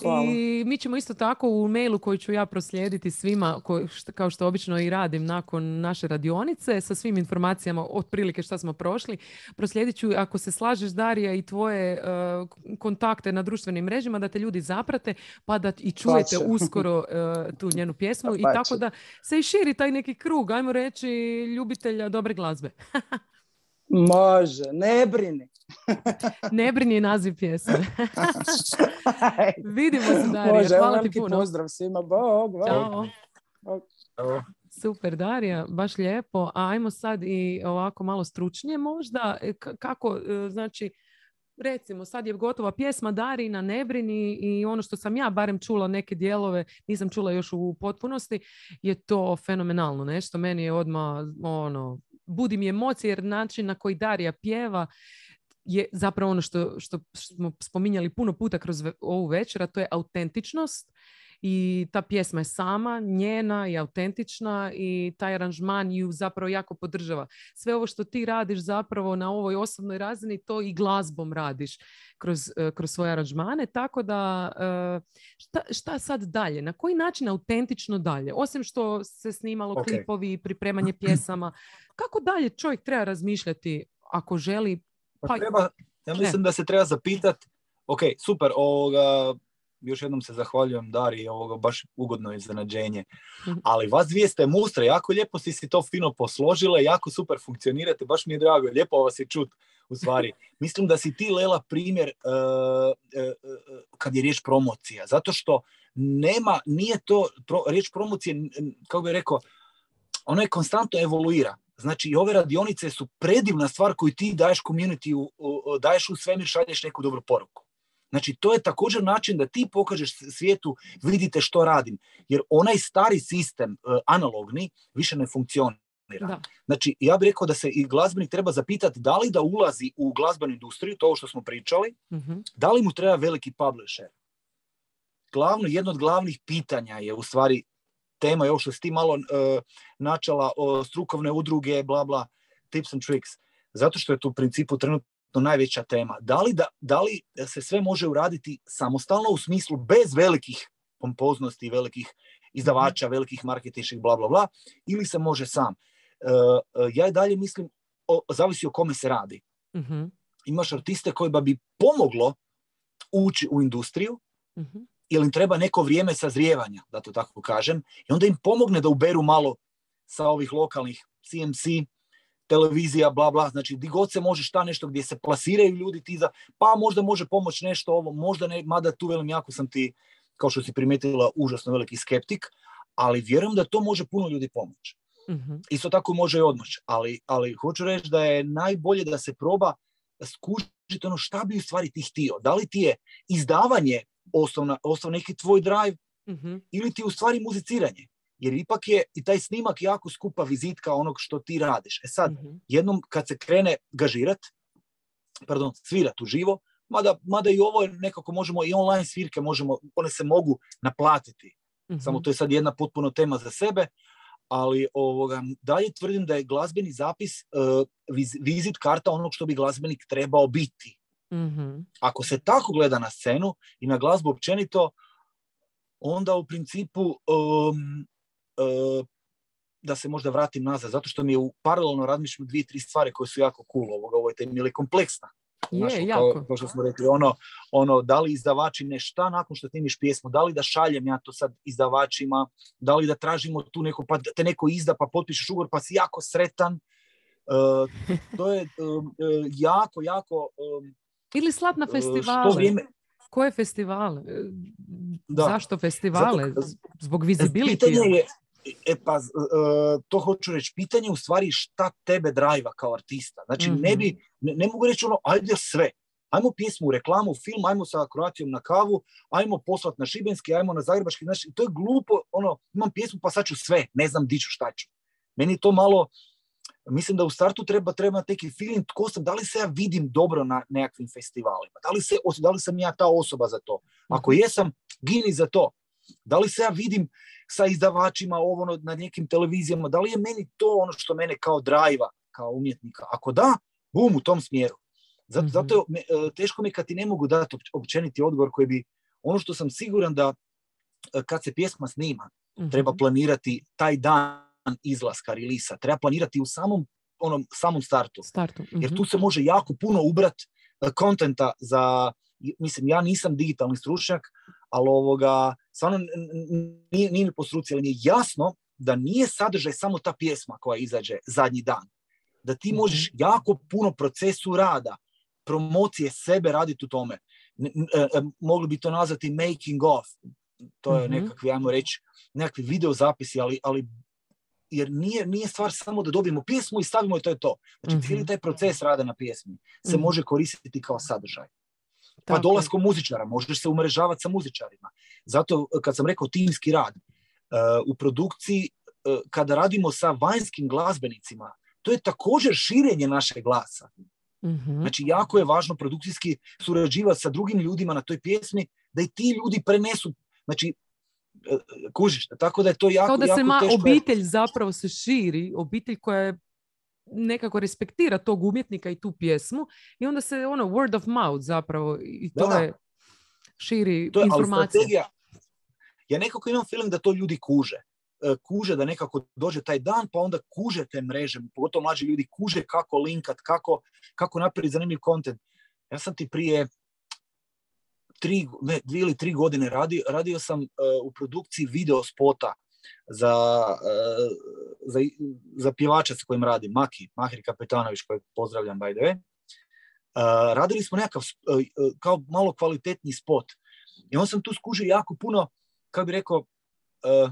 Hvala. I mi ćemo isto tako u mailu koji ću ja proslijediti svima, ko, šta, kao što obično i radim nakon naše radionice, sa svim informacijama otprilike šta smo prošli, proslijedit ću, ako se slažeš, Darija, i tvoje uh, kontakte na društvenim mrežama, da te ljudi zaprate, pa da i čujete Pače. uskoro uh, tu njenu pjesmu. Pače. I tako da se i širi taj neki krug, ajmo reći, ljubitelja dobre glazbe. Može, ne brini. Ne brini je naziv pjesme. Vidimo se, Darija. Može, Hvala ti veliki puno. pozdrav svima. Bog, bog. Ćao. Bog. Evo. Super, Darija, baš lijepo. A ajmo sad i ovako malo stručnije možda. E, k- kako, e, znači, recimo, sad je gotova pjesma Darina, Ne brini, i ono što sam ja barem čula neke dijelove, nisam čula još u potpunosti, je to fenomenalno nešto. Meni je odmah, ono, budi mi emocije, jer način na koji Darija pjeva je zapravo ono što, što smo spominjali puno puta kroz ve- ovu večer, a to je autentičnost. I ta pjesma je sama, njena i autentična, i taj aranžman ju zapravo jako podržava. Sve ovo što ti radiš zapravo na ovoj osobnoj razini, to i glazbom radiš kroz, eh, kroz svoje aranžmane. Tako da, eh, šta, šta sad dalje? Na koji način autentično dalje? Osim što se snimalo Ok. klipovi, pripremanje pjesama, kako dalje čovjek treba razmišljati ako želi? Pa Pa- treba, ja mislim da se treba zapitat, ok, super, ovoga, još jednom se zahvaljujem Dari, ovoga, baš ugodno iznenađenje, Mhm. ali vas dvije ste mustre, jako lijepo si si to fino posložile, jako super funkcionirate, baš mi je drago, lijepo vas je čut, u stvari. Mislim da si ti, Lela, primjer uh, uh, uh, kad je riječ promocija, zato što nema, nije to, pro, riječ promocije, n- kako bih rekao, ona je konstantno evoluira. Znači, i ove radionice su predivna stvar koju ti daješ community, daješ u svemir, šalješ neku dobru poruku. Znači, to je također način da ti pokažeš svijetu, vidite što radim. Jer onaj stari sistem, uh, analogni, više ne funkcionira. Da. Znači, ja bih rekao da se i glazbenik treba zapitati da li da ulazi u glazbenu industriju, to što smo pričali, Mhm. da li mu treba veliki publisher. Glavno, jedno od glavnih pitanja je u stvari tema je ovo što si ti malo uh, načala o strukovne udruge, bla bla, tips and tricks. Zato što je to u principu trenutno najveća tema. Da li, da, da li se sve može uraditi samostalno u smislu bez velikih pompoznosti, velikih izdavača, velikih marketinških, bla bla bla, ili se može sam? Uh, uh, ja i dalje mislim, o, zavisi o kome se radi. Mhm. Imaš artiste koji bi pomoglo ući u industriju, Mhm. jer im treba neko vrijeme sazrijevanja, da to tako kažem, i onda im pomogne da uberu malo sa ovih lokalnih C M C, televizija, bla, bla, znači di god se može šta nešto gdje se plasiraju ljudi ti za, pa možda može pomoći nešto ovo, možda ne, mada tu velim, jako sam ti, kao što si primijetila, užasno veliki skeptik, ali vjerujem da to može puno ljudi pomoći. Mhm. Isto tako može i odmoć, ali, ali hoću reći da je najbolje da se proba skužiti ono šta bi u stvari ti htio. Da li ti je izdavanje osnovna, osnovna neki tvoj drive, Mhm. ili ti u stvari muziciranje. Jer ipak je i taj snimak jako skupa vizitka onog što ti radiš. E sad, Mhm. jednom kad se krene gažirat, pardon, svirat uživo, mada, mada i ovo je nekako možemo, i online svirke možemo, one se mogu naplatiti. Mhm. Samo to je sad jedna potpuno tema za sebe, ali ovoga, dalje tvrdim da je glazbeni zapis uh, viz, vizit karta onog što bi glazbenik trebao biti. Mhm. Ako se tako gleda na scenu i na glazbu općenito, onda u principu um, uh, da se možda vratim nazad, zato što mi je u paralelno razmišljam dvije, tri stvari koje su jako cool ovoga, ovo je tema ili kompleksna. Je, Znaš, jako. kao, kao što smo rekli, ono, ono, da li izdavači ne šta nakon što snimiš pjesmu, da li da šaljem ja to sad izdavačima, da li da tražimo tu neko, pa te neko izda, pa potpišeš ugovor, pa si jako sretan. Uh, to je um, uh, jako, jako... Um, Ili slat na uh, festivale. što vrijeme... Koje festivale? E, Da. Zašto festivale? Zato- Z- Zbog visibility? Pitanje je, e pa, uh, to hoću reći, pitanje je u stvari šta tebe drajva kao artista. Znači, Mhm. ne bi, ne, ne mogu reći ono, ajde sve. Ajmo pjesmu u reklamu, film, ajmo sa Croacijom na kavu, ajmo poslat na Šibenski, ajmo na Zagrebački. Znači, to je glupo, ono, imam pjesmu pa sad ću sve, ne znam di ću, šta ću. Meni je to malo, mislim da u startu treba, treba neki feeling tko sam, da li se ja vidim dobro na nekakvim festivalima, da li, se, da li sam ja ta osoba za to. Ako jesam, gini za to. Da li se ja vidim sa izdavačima ovo na nekim televizijama, da li je meni to ono što mene kao drajva, kao umjetnika. Ako da, bum, u tom smjeru. Zato, mm-hmm. zato me, teško mi kad ti ne mogu dati općeniti odgovor koji bi, ono što sam siguran da kad se pjesma snima, mm-hmm. treba planirati taj dan izlaska, relisa, treba planirati u samom, onom, samom startu. startu. Mm-hmm. Jer tu se može jako puno ubrat kontenta za, mislim, ja nisam digitalni stručnjak, ali ovoga, stvarno nije, nije mi po struci, ali mi je jasno da nije sadržaj samo ta pjesma koja izađe zadnji dan. Da ti mm-hmm. možeš jako puno procesu rada, promocije sebe raditi u tome. N- n- mogli bi to nazvati making of. To je mm-hmm. nekakvi, ajmo reći, nekakvi video zapisi, ali, ali jer nije, nije stvar samo da dobijemo pjesmu i stavimo i to je to. Znači, mm-hmm. cijeli taj proces rada na pjesmi se mm-hmm. može koristiti kao sadržaj. Pa tako. Dolaskom muzičara, možeš se umrežavati sa muzičarima. Zato, kad sam rekao timski rad, uh, u produkciji, uh, kada radimo sa vanjskim glazbenicima, to je također širenje našeg glasa. Mm-hmm. Znači, jako je važno produkcijski surađivati sa drugim ljudima na toj pjesmi, da i ti ljudi prenesu, znači, uh, kužiš, tako da je to jako, kao da jako se ma, teško. Obitelj zapravo se širi, obitelj koja je nekako respektira tog umjetnika i tu pjesmu i onda se ono word of mouth zapravo i to da, je širi to je, informacije. Ja nekako imam film da to ljudi kuže. Kuže da nekako dođe taj dan, pa onda kuže te mreže, pogotovo mlađi ljudi kuže kako linkat, kako, kako napraviti zanimljiv kontent. Ja sam ti prije tri, ne, dvije ili tri godine radio, radio sam uh, u produkciji video spota za, uh, za, za pjevača s kojim radim, Maki, Mahir Kapetanović, kojeg pozdravljam, by the way. Uh, radili smo nekakav uh, kao malo kvalitetni spot. I on sam tu skužio jako puno, kako bi rekao, uh,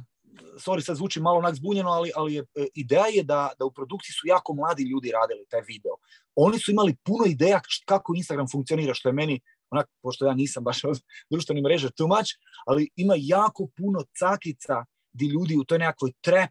sorry, sad zvuči malo onak zbunjeno, ali, ali je, uh, ideja je da, da u produkciji su jako mladi ljudi radili taj video. Oni su imali puno ideja kako Instagram funkcionira, što je meni, onak, pošto ja nisam baš od društvenih mreža too much, ali ima jako puno cakica di ljudi u toj nekakvoj trap,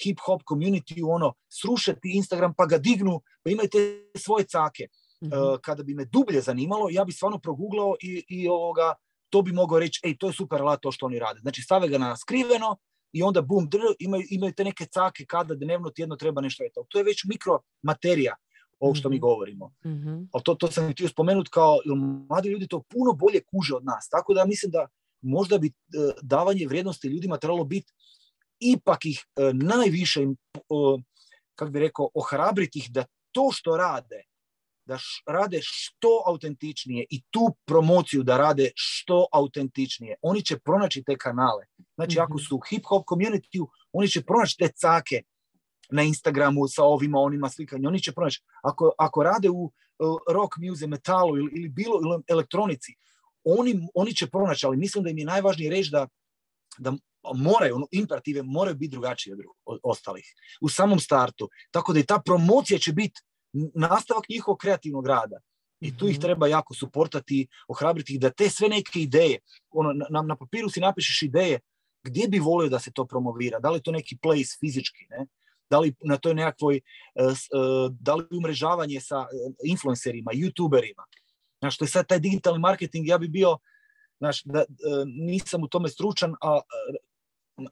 hip-hop community, ono, srušati Instagram pa ga dignu, pa imaju te svoje cake. Mm-hmm. Uh, kada bi me dublje zanimalo, ja bi stvarno proguglao i, i ovoga, to bi mogao reći, ej, to je super alat to što oni rade. Znači, stave ga na skriveno i onda bum, dr, imaju, imaju te neke cake kada dnevno tjedno treba nešto. Eto. To je već mikromaterija ovo što mm-hmm. mi govorimo. Mm-hmm. Ali to, to sam htio spomenuti kao, mladi ljudi to puno bolje kuže od nas. Tako da mislim da možda bi uh, davanje vrijednosti ljudima trebalo biti ipak ih uh, najviše, uh, kako bi rekao, ohrabriti ih da to što rade, da š, rade što autentičnije i tu promociju da rade što autentičnije. Oni će pronaći te kanale. Znači, mm-hmm. ako su u hip-hop community, oni će pronaći te cake na Instagramu sa ovima, onima slikanja. Oni će pronaći. Ako, ako rade u uh, rock music, metalu ili, ili bilo ili elektronici, oni, oni će pronaći, ali mislim da im je najvažnije reći da, da moraju, ono, imperative moraju biti drugačije od, od ostalih. U samom startu. Tako da i ta promocija će biti nastavak njihovog kreativnog rada. I tu ih treba jako suportati, ohrabriti ih da te sve neke ideje, ono, na, na papiru si napišeš ideje, gdje bi volio da se to promovira, da li je to neki place fizički, ne? Da li na toj nekakvoj, uh, uh, da li umrežavanje sa uh, influencerima, youtuberima. Znaš, to je sad taj digitalni marketing, ja bi bio, znaš, da, uh, nisam u tome stručan, a uh,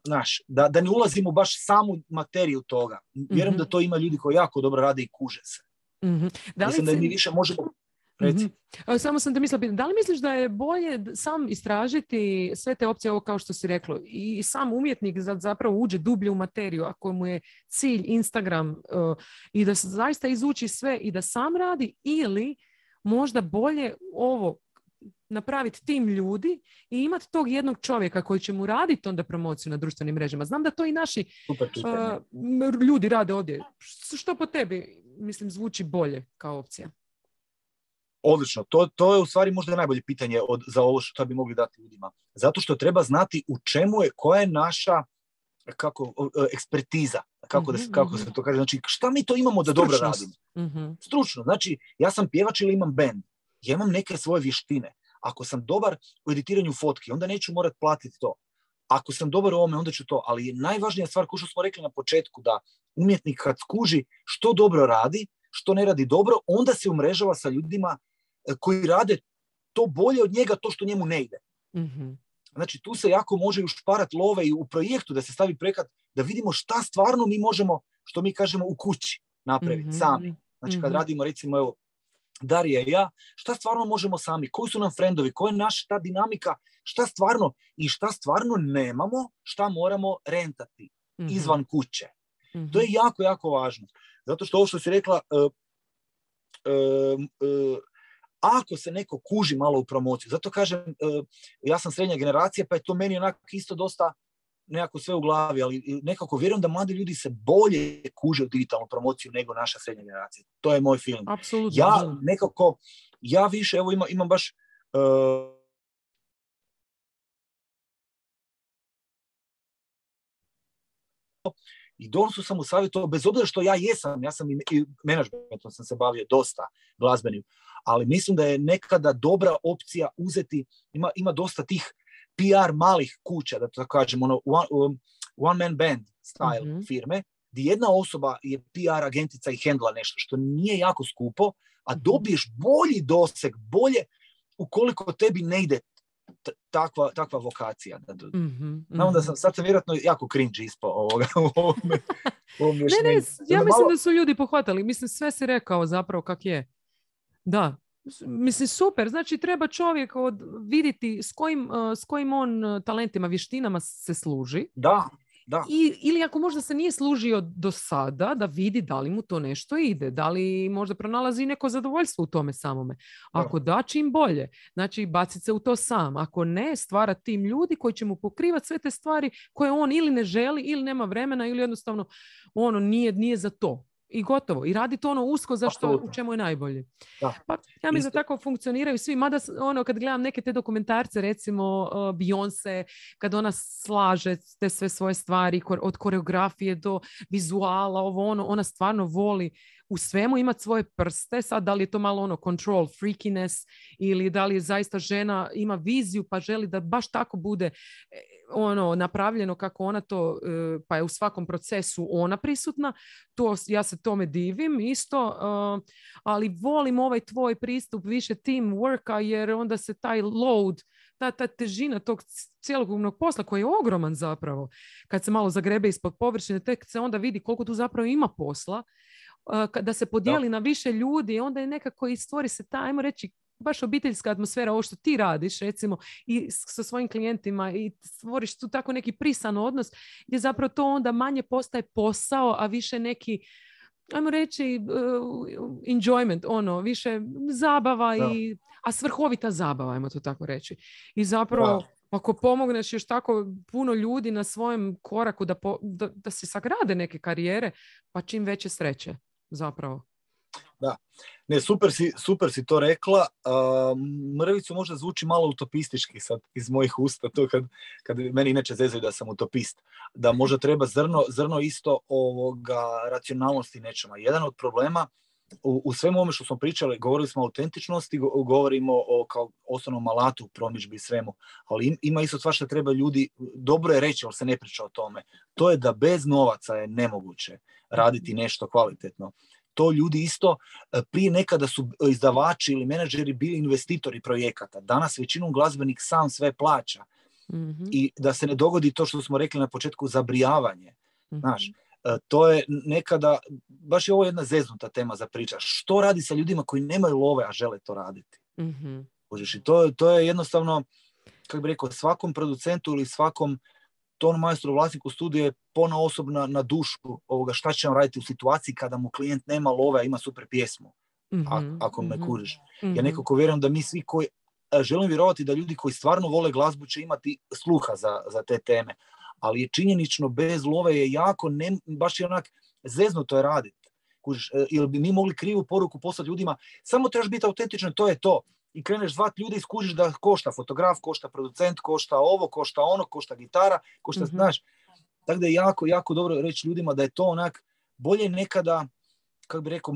znaš, da, da ne ulazimo baš samu materiju toga. Vjerujem mm-hmm. da to ima ljudi koji jako dobro rade i kuže se. Mm-hmm. Da Mislim si... da mi više možemo... Mm-hmm. Samo sam te mislila, da li misliš da je bolje sam istražiti sve te opcije, ovo kao što si reklo, i sam umjetnik zapravo uđe dublje u materiju, ako mu je cilj Instagram, uh, i da zaista izuči sve i da sam radi, ili možda bolje ovo napraviti tim ljudi i imati tog jednog čovjeka koji će mu raditi onda promociju na društvenim mrežama. Znam da to i naši uh, ljudi rade ovdje. Što po tebi, mislim, zvuči bolje kao opcija? Odlično. To, to je u stvari možda najbolje pitanje od, za ovo što bi mogli dati ljudima. Zato što treba znati u čemu je, koja je naša kako, ekspertiza, kako, mm-hmm, da, kako se to kaže. Znači, šta mi to imamo da dobro radimo? Mm-hmm. Stručno. Znači, ja sam pjevač ili imam band. Ja imam neke svoje vještine. Ako sam dobar u editiranju fotki, onda neću morat platiti to. ako sam dobar u ovome, onda ću to. Ali najvažnija stvar, kao što smo rekli na početku, da umjetnik kad skuži što dobro radi, što ne radi dobro, onda se umrežava sa ljudima koji rade to bolje od njega, to što njemu ne ide. Mm-hmm. Znači, tu se jako može ušparati love i u projektu da se stavi projekat, da vidimo šta stvarno mi možemo, što mi kažemo, u kući napraviti, mm-hmm. sami. Znači, kad mm-hmm. radimo, recimo, evo, Darija i ja, šta stvarno možemo sami, koji su nam frendovi, koja je naša ta dinamika, šta stvarno i šta stvarno nemamo, šta moramo rentati mm-hmm. izvan kuće. Mm-hmm. To je jako, jako važno. Zato što ovo što si rekla, uh, uh, uh, ako se neko kuži malo u promociju, zato kažem, uh, ja sam srednja generacija, pa je to meni onako isto dosta nekako sve u glavi, ali nekako vjerujem da mladi ljudi se bolje kuže u digitalnu promociju nego naša srednja generacija. To je moj film. Apsolutno. Ja nekako, ja više, evo ima, imam baš uh, i donosu sam u savjetu, bez obzira što ja jesam, ja sam i, i menadžmentom sam se bavio dosta glazbenim, ali mislim da je nekada dobra opcija uzeti, ima, ima dosta tih P R malih kuća, da to kažem, ono, one, um, one man band style mm-hmm. firme, gdje jedna osoba je P R agentica i hendla nešto, što nije jako skupo, a dobiješ bolji doseg, bolje ukoliko tebi ne ide t- takva, takva vokacija. Mm-hmm. Znam da sam, sad sam vjerojatno jako cringe ispao ovoga. ovome, ovome ne, ne, ja mislim malo... da su ljudi pohvatali. Mislim, sve si rekao zapravo kak je. Da. Mislim, super. Znači, treba čovjek od, vidjeti s kojim, uh, s kojim on uh, talentima, vještinama se služi. Da, da. I, ili ako možda se nije služio do sada, da vidi da li mu to nešto ide, da li možda pronalazi neko zadovoljstvo u tome samome. Ako da, čim bolje. Znači, baciti se u to sam. Ako ne, stvara tim ljudi koji će mu pokrivati sve te stvari koje on ili ne želi, ili nema vremena, ili jednostavno ono nije, nije za to. I gotovo. I radi to ono usko za što, u čemu je najbolje. Da. Pa ja mislim da tako funkcioniraju svi. Mada ono, kad gledam neke te dokumentarce, recimo uh, Beyoncé, kad ona slaže te sve svoje stvari, od koreografije do vizuala, ovo ono, ona stvarno voli u svemu imati svoje prste. Sad, da li je to malo ono control freakiness ili da li je zaista žena ima viziju pa želi da baš tako bude ono napravljeno kako ona to, pa je u svakom procesu ona prisutna, to, ja se tome divim isto, ali volim ovaj tvoj pristup više teamworka jer onda se taj load, ta, ta težina tog cjelokupnog posla koji je ogroman zapravo, kad se malo zagrebe ispod površine, tek se onda vidi koliko tu zapravo ima posla, da se podijeli da. na više ljudi, onda je nekako i stvori se ta, ajmo reći, baš obiteljska atmosfera, ovo što ti radiš recimo i sa svojim klijentima i stvoriš tu tako neki prisan odnos gdje zapravo to onda manje postaje posao, a više neki, ajmo reći, uh, enjoyment, ono, više zabava, i, a svrhovita zabava, ajmo to tako reći. I zapravo, da. ako pomogneš još tako puno ljudi na svojem koraku da, po, da, da se sagrade neke karijere, pa čim veće sreće zapravo. Da, ne, super si, super si to rekla. Uh, mrvicu možda zvuči malo utopistički sad iz mojih usta, to kad, kad meni inače zezaju da sam utopist, da možda treba zrno, zrno isto ovoga racionalnosti nečema. Jedan od problema u, u svemu ovome što smo pričali, govorili smo o autentičnosti, go, govorimo o kao osnovnom alatu, promidžbi i svemu, ali ima isto stvar što treba ljudi, dobro je reći, ali se ne priča o tome, to je da bez novaca je nemoguće raditi nešto kvalitetno. To ljudi isto, prije nekada su izdavači ili menadžeri bili investitori projekata. Danas većinom glazbenik sam sve plaća. Mm-hmm. I da se ne dogodi to što smo rekli na početku, zabrijavanje. Mm-hmm. Znaš, to je nekada, baš je ovo jedna zeznuta tema za priča. Što radi sa ljudima koji nemaju love, a žele to raditi? Mm-hmm. I to, to je jednostavno, kako bih rekao, svakom producentu ili svakom ton majstru, vlasniku studija je ponaosob na, na dušu ovoga šta će on raditi u situaciji kada mu klijent nema love, a ima super pjesmu, mm-hmm, a, ako me mm-hmm, kužiš. Mm-hmm. Ja nekako vjerujem da mi svi koji, želim vjerovati da ljudi koji stvarno vole glazbu će imati sluha za, za te teme, ali je činjenično bez love je jako, ne, baš je onak zeznuto je raditi. Kužiš, ili bi mi mogli krivu poruku poslati ljudima, samo trebaš biti autentičan, to je to. I kreneš zvat ljude i skužiš da košta fotograf, košta producent, košta ovo, košta ono, košta gitara, košta, mm-hmm. znaš. Tako da je jako, jako dobro reći ljudima da je to onak, bolje nekada, kako bi rekao,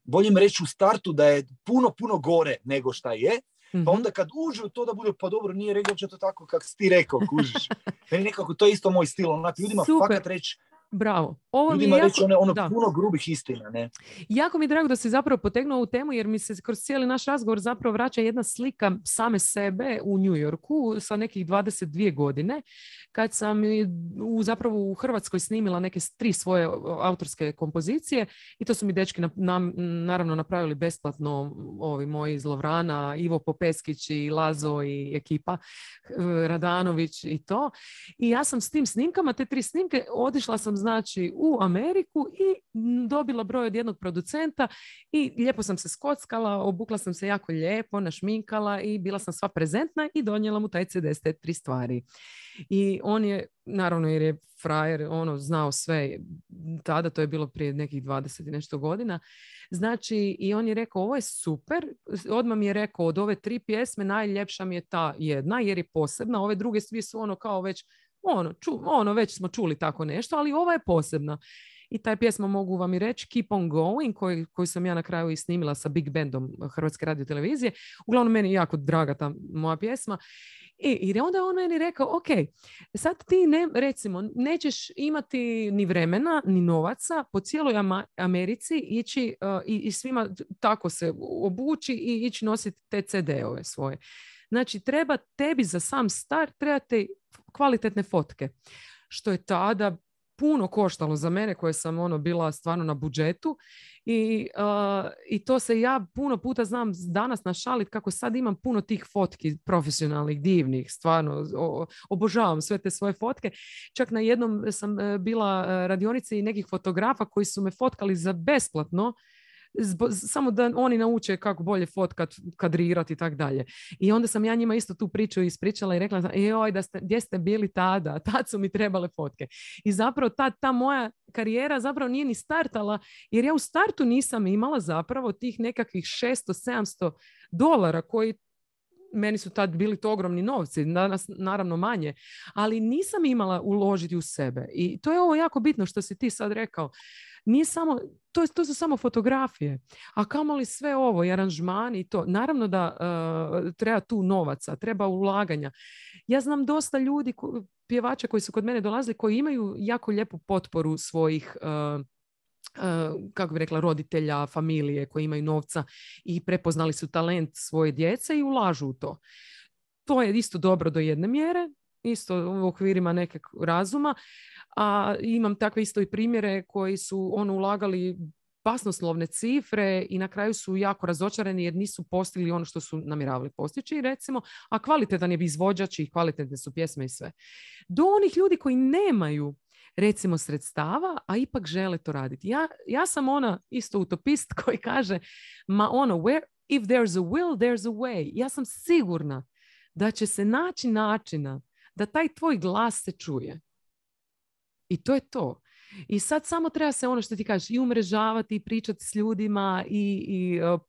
bolje im reći u startu da je puno, puno gore nego šta je, Mm-hmm. Pa onda kad uđu u to da bude, pa dobro, nije rekao će to tako kako si ti rekao, kužiš. Meni nekako, to je isto moj stil, onak ljudima Super. fakat reći, Bravo. Ovo ljudima mi je reći jako... ono, ono puno grubih istina, ne? Jako mi je drago da si zapravo potegnuo ovu temu, jer mi se kroz cijeli naš razgovor zapravo vraća jedna slika same sebe u New Yorku sa nekih dvadeset dvije godine, kad sam u, zapravo u Hrvatskoj snimila neke tri svoje autorske kompozicije i to su mi dečki na, na, naravno napravili besplatno, ovi moji iz Lovrana, Ivo Popeskić i Lazo i ekipa Radanović i to. I ja sam s tim snimkama, te tri snimke, otišla sam znači u Ameriku i dobila broj od jednog producenta i lijepo sam se skockala, obukla sam se jako lijepo, našminkala i bila sam sva prezentna i donijela mu taj ce de s te tri stvari. I on je, naravno jer je frajer, ono, znao sve, tada to je bilo prije nekih dvadeset i nešto godina, znači i on je rekao, ovo je super, odmah mi je rekao, od ove tri pjesme najljepša mi je ta jedna jer je posebna, ove druge svi su ono kao već Ono, ču, ono, već smo čuli tako nešto, ali ova je posebna. I taj pjesma mogu vam i reći Keep on Going, koju, koju sam ja na kraju i snimila sa Big Bandom Hrvatske radiotelevizije. Uglavnom, meni je jako draga ta moja pjesma. I, i onda on meni rekao, ok, sad ti ne, recimo, nećeš imati ni vremena, ni novaca po cijeloj Americi ići uh, i, i svima tako se obući i ići nositi te ce de-ove svoje. Znači, treba tebi za sam start, trebate kvalitetne fotke. Što je tada puno koštalo za mene, koje sam ono bila stvarno na budžetu. I, uh, i to se ja puno puta znam danas našalit kako sad imam puno tih fotki profesionalnih, divnih, stvarno o, obožavam sve te svoje fotke. Čak na jednom sam bila radionici nekih fotografa koji su me fotkali za besplatno, Zbo, samo da oni nauče kako bolje fotkat, kadrirati i tak dalje. I onda sam ja njima isto tu priču ispričala i rekla, joj, da ste, gdje ste bili tada? Tad su mi trebale fotke. I zapravo ta, ta moja karijera zapravo nije ni startala, jer ja u startu nisam imala zapravo tih nekakvih šesto sedamsto dolara koji meni su tad bili to ogromni novci, danas naravno manje, ali nisam imala uložiti u sebe. I to je ovo jako bitno što si ti sad rekao. Nije samo, to, to su samo fotografije, a kamoli sve ovo i aranžmani i to. Naravno da uh, treba tu novaca, treba ulaganja. Ja znam dosta ljudi, ko, pjevača koji su kod mene dolazili, koji imaju jako lijepu potporu svojih uh, Uh, kako bi rekla, roditelja, familije koji imaju novca i prepoznali su talent svoje djece i ulažu u to. To je isto dobro do jedne mjere, isto u okvirima nekog razuma, a imam takve isto i primjere koji su ono ulagali basnoslovne cifre i na kraju su jako razočarani jer nisu postigli ono što su namjeravali postići, recimo, a kvalitetan je izvođač i kvalitetne su pjesme i sve. Do onih ljudi koji nemaju recimo sredstava, a ipak žele to raditi. Ja, ja sam ona isto utopist koji kaže, ma ono, where, if there's a will, there's a way. Ja sam sigurna da će se naći načina da taj tvoj glas se čuje. I to je to. I sad samo treba se ono što ti kažeš i umrežavati i pričati s ljudima i, i uh,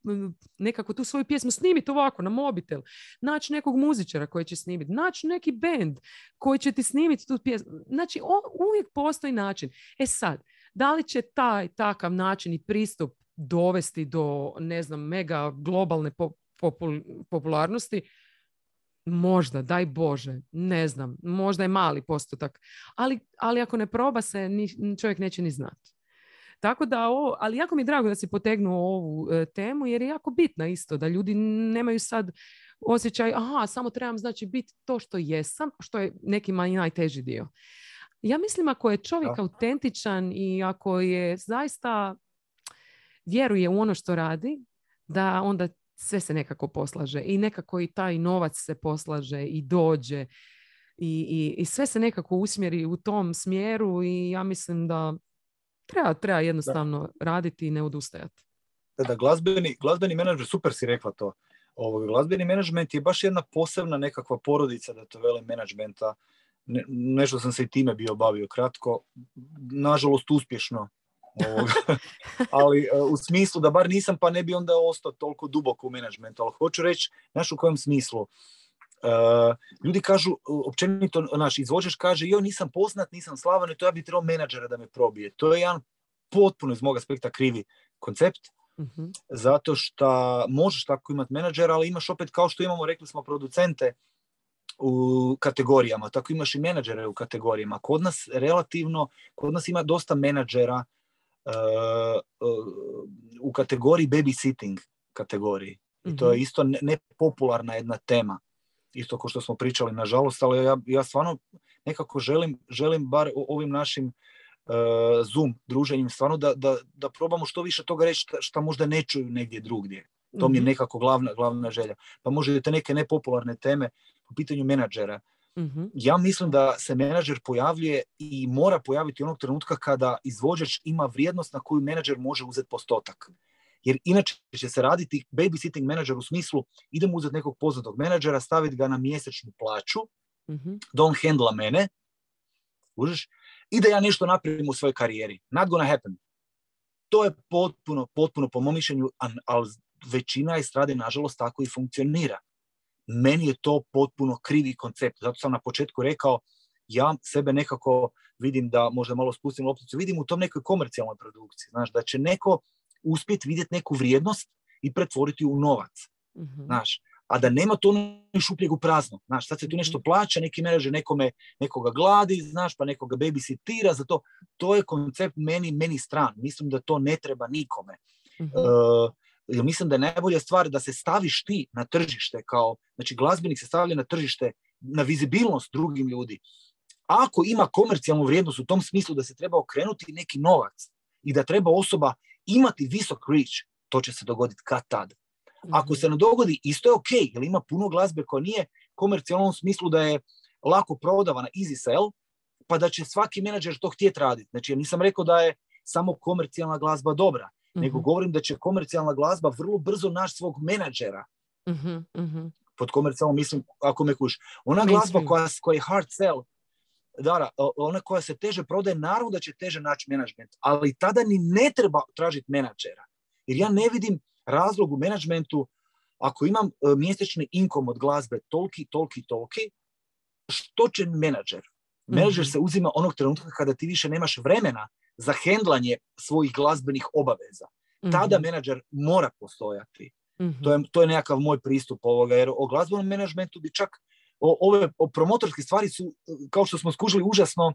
nekako tu svoju pjesmu snimiti ovako na mobitel. Naći nekog muzičara koji će snimiti. Naći neki bend koji će ti snimiti tu pjesmu. Znači o, uvijek postoji način. E sad, da li će taj takav način i pristup dovesti do, ne znam, mega globalne po, popul, popularnosti? Možda, daj Bože, ne znam, možda je mali postotak, ali, ali ako ne proba se, ni, čovjek neće ni znati. Tako da ovo, ali jako mi je drago da si potegnuo ovu e, temu, jer je jako bitna isto, da ljudi nemaju sad osjećaj, aha, samo trebam znači biti to što jesam, što je nekima i najteži dio. Ja mislim ako je čovjek da. autentičan i ako je zaista vjeruje u ono što radi, da onda sve se nekako poslaže i nekako i taj novac se poslaže i dođe i, i, i sve se nekako usmjeri u tom smjeru i ja mislim da treba, treba jednostavno da. raditi i ne odustajati. Da, da, glazbeni, glazbeni menadžment, super si rekla to. Ovo, glazbeni menadžment je baš jedna posebna nekakva porodica, da to vele menadžmenta. Ne, nešto sam se i time bio bavio kratko, nažalost uspješno. Ali uh, u smislu da bar nisam, pa ne bi onda ostao toliko duboko u menadžmentu. Ali hoću reći, znaš u kojem smislu? Uh, ljudi kažu, općenito, naš izvođač kaže, jo, nisam poznat, nisam slavan, i to ja bi trebao menadžera da me probije. To je jedan potpuno iz mog aspekta krivi koncept. Uh-huh. Zato što možeš tako imati menadžera, ali imaš opet, kao što imamo, rekli smo, producente u kategorijama, tako imaš i menadžere u kategorijama. Kod nas relativno, kod nas ima dosta menadžera uh, uh, u kategoriji babysitting kategoriji. I to je isto nepopularna ne jedna tema. Isto kao što smo pričali, nažalost, ali ja, ja stvarno nekako želim, želim bar ovim našim uh, Zoom druženjem stvarno da, da, da probamo što više toga reći što možda ne čuju negdje drugdje. To mm-hmm. mi je nekako glavna, glavna želja. Pa možete neke nepopularne teme po pitanju menadžera. Mm-hmm. Ja mislim da se menadžer pojavljuje i mora pojaviti onog trenutka kada izvođač ima vrijednost na koju menadžer može uzeti postotak. Jer inače će se raditi babysitting menadžer u smislu idemo uzeti nekog poznatog menadžera, staviti ga na mjesečnu plaću, mm-hmm. da on hendla mene, užiš, i da ja nešto napravim u svojoj karijeri. Not gonna happen. To je potpuno, potpuno po mom mišljenju, ali većina estrade nažalost tako i funkcionira. Meni je to potpuno krivi koncept. Zato sam na početku rekao, ja sebe nekako vidim da možda malo spustim lopticu, vidim u tom nekoj komercijalnoj produkciji. Znaš, da će neko uspjeti vidjeti neku vrijednost i pretvoriti u novac. Mm-hmm. Znaš, a da nema to šupljeg u prazno. Znaš, sad se tu nešto plaća, neki menadžer nekome, nekoga gladi, znaš, pa nekoga babysitira, zato to je koncept meni, meni stran. Mislim da to ne treba nikome. Mm-hmm. Uh, jer mislim da je najbolja stvar da se staviš ti na tržište kao, znači glazbenik se stavlja na tržište, na vizibilnost drugim ljudi. Ako ima komercijalnu vrijednost u tom smislu da se treba okrenuti neki novac i da treba osoba imati visok reach, to će se dogoditi kad tad. Ako se ne dogodi, isto je ok, jer ima puno glazbe koja nije komercijalnom smislu da je lako prodavana, easy sell, pa da će svaki menadžer to htjeti raditi. Znači, ja nisam rekao da je samo komercijalna glazba dobra, mm-hmm. nego govorim da će komercijalna glazba vrlo brzo naći svog menadžera. Mm-hmm. Mm-hmm. Pod komercijalnom mislim, ako me kuš. Ona glazba koja, koja je hard sell, Dara, ona koja se teže prodaje, naravno da će teže naći menadžment, ali tada ni ne treba tražiti menadžera. Jer ja ne vidim razlog u menadžmentu, ako imam uh, mjesečni inkom od glazbe toliki, toliki, toliki, što će menadžer? Menadžer mm-hmm. se uzima onog trenutka kada ti više nemaš vremena za hendlanje svojih glazbenih obaveza. Mm-hmm. Tada menadžer mora postojati. Mm-hmm. To je, to je nekakav moj pristup ovoga, jer o glazbenom menadžmentu bi čak O, ove o promotorske stvari su, kao što smo skužili, užasno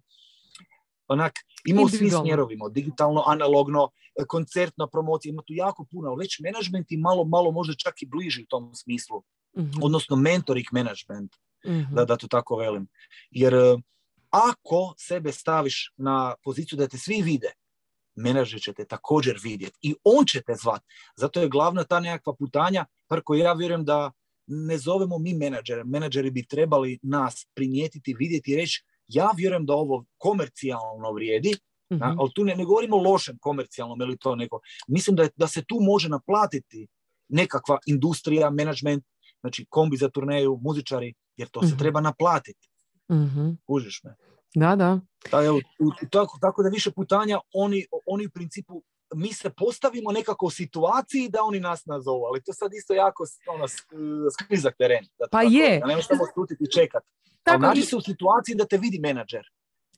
onak, ima u svim smjerovima, digitalno, analogno, koncertna promocija, ima tu jako puno, ali već menadžment i malo, malo možda čak i bliži u tom smislu, mm-hmm. odnosno mentoring management, mm-hmm. da, da to tako velim. Jer ako sebe staviš na poziciju da te svi vide, menadžer će te također vidjeti i on će te zvati. Zato je glavna ta nekakva putanja, par koju ja vjerujem da ne zovemo mi menadžere. Menadžeri bi trebali nas primijetiti, vidjeti i reći ja vjerujem da ovo komercijalno vrijedi, mm-hmm. na, ali tu ne, ne govorimo o lošem komercijalnom ili to neko. Mislim da, je, da se tu može naplatiti nekakva industrija, menadžment, znači kombi za turneju, muzičari, jer to mm-hmm. se treba naplatiti. Mm-hmm. Kužiš me? Da, da. Da, evo, tako, tako da više putanja oni, oni u principu mi se postavimo nekako u situaciji da oni nas nazovu, ali to sad isto jako ono, sklizak teren. Da pa tako, je. Da nemaš samo stutiti i čekat. Ali nađi se u situaciji da te vidi menadžer.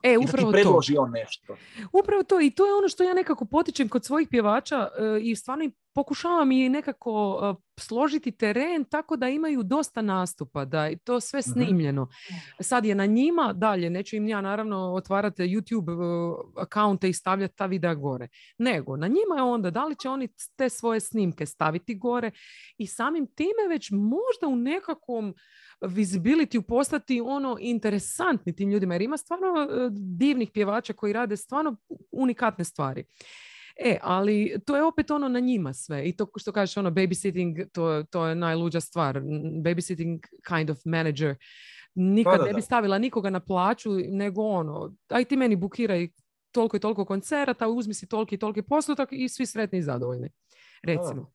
E, i da ti predloži on nešto. Upravo to. I to je ono što ja nekako potičem kod svojih pjevača uh, i stvarno pokušavam i nekako uh, složiti teren tako da imaju dosta nastupa, da je to sve snimljeno. Mm-hmm. Sad je na njima dalje, neću im ja naravno otvarati YouTube uh, akaunte i stavljati ta videa gore. Nego, na njima je onda da li će oni te svoje snimke staviti gore i samim time već možda u nekakvom visibility postati ono interesantni tim ljudima, jer ima stvarno uh, divnih pjevača koji rade stvarno unikatne stvari. E, ali to je opet ono na njima sve. I to što kažeš, ono, babysitting, to, to je najluđa stvar. Babysitting kind of manager. Nikad pa da, da. ne bi stavila nikoga na plaću, nego ono, aj ti meni bukiraj toliko i toliko koncerata, uzmi si toliki i toliki postotak i svi sretni i zadovoljni. Recimo.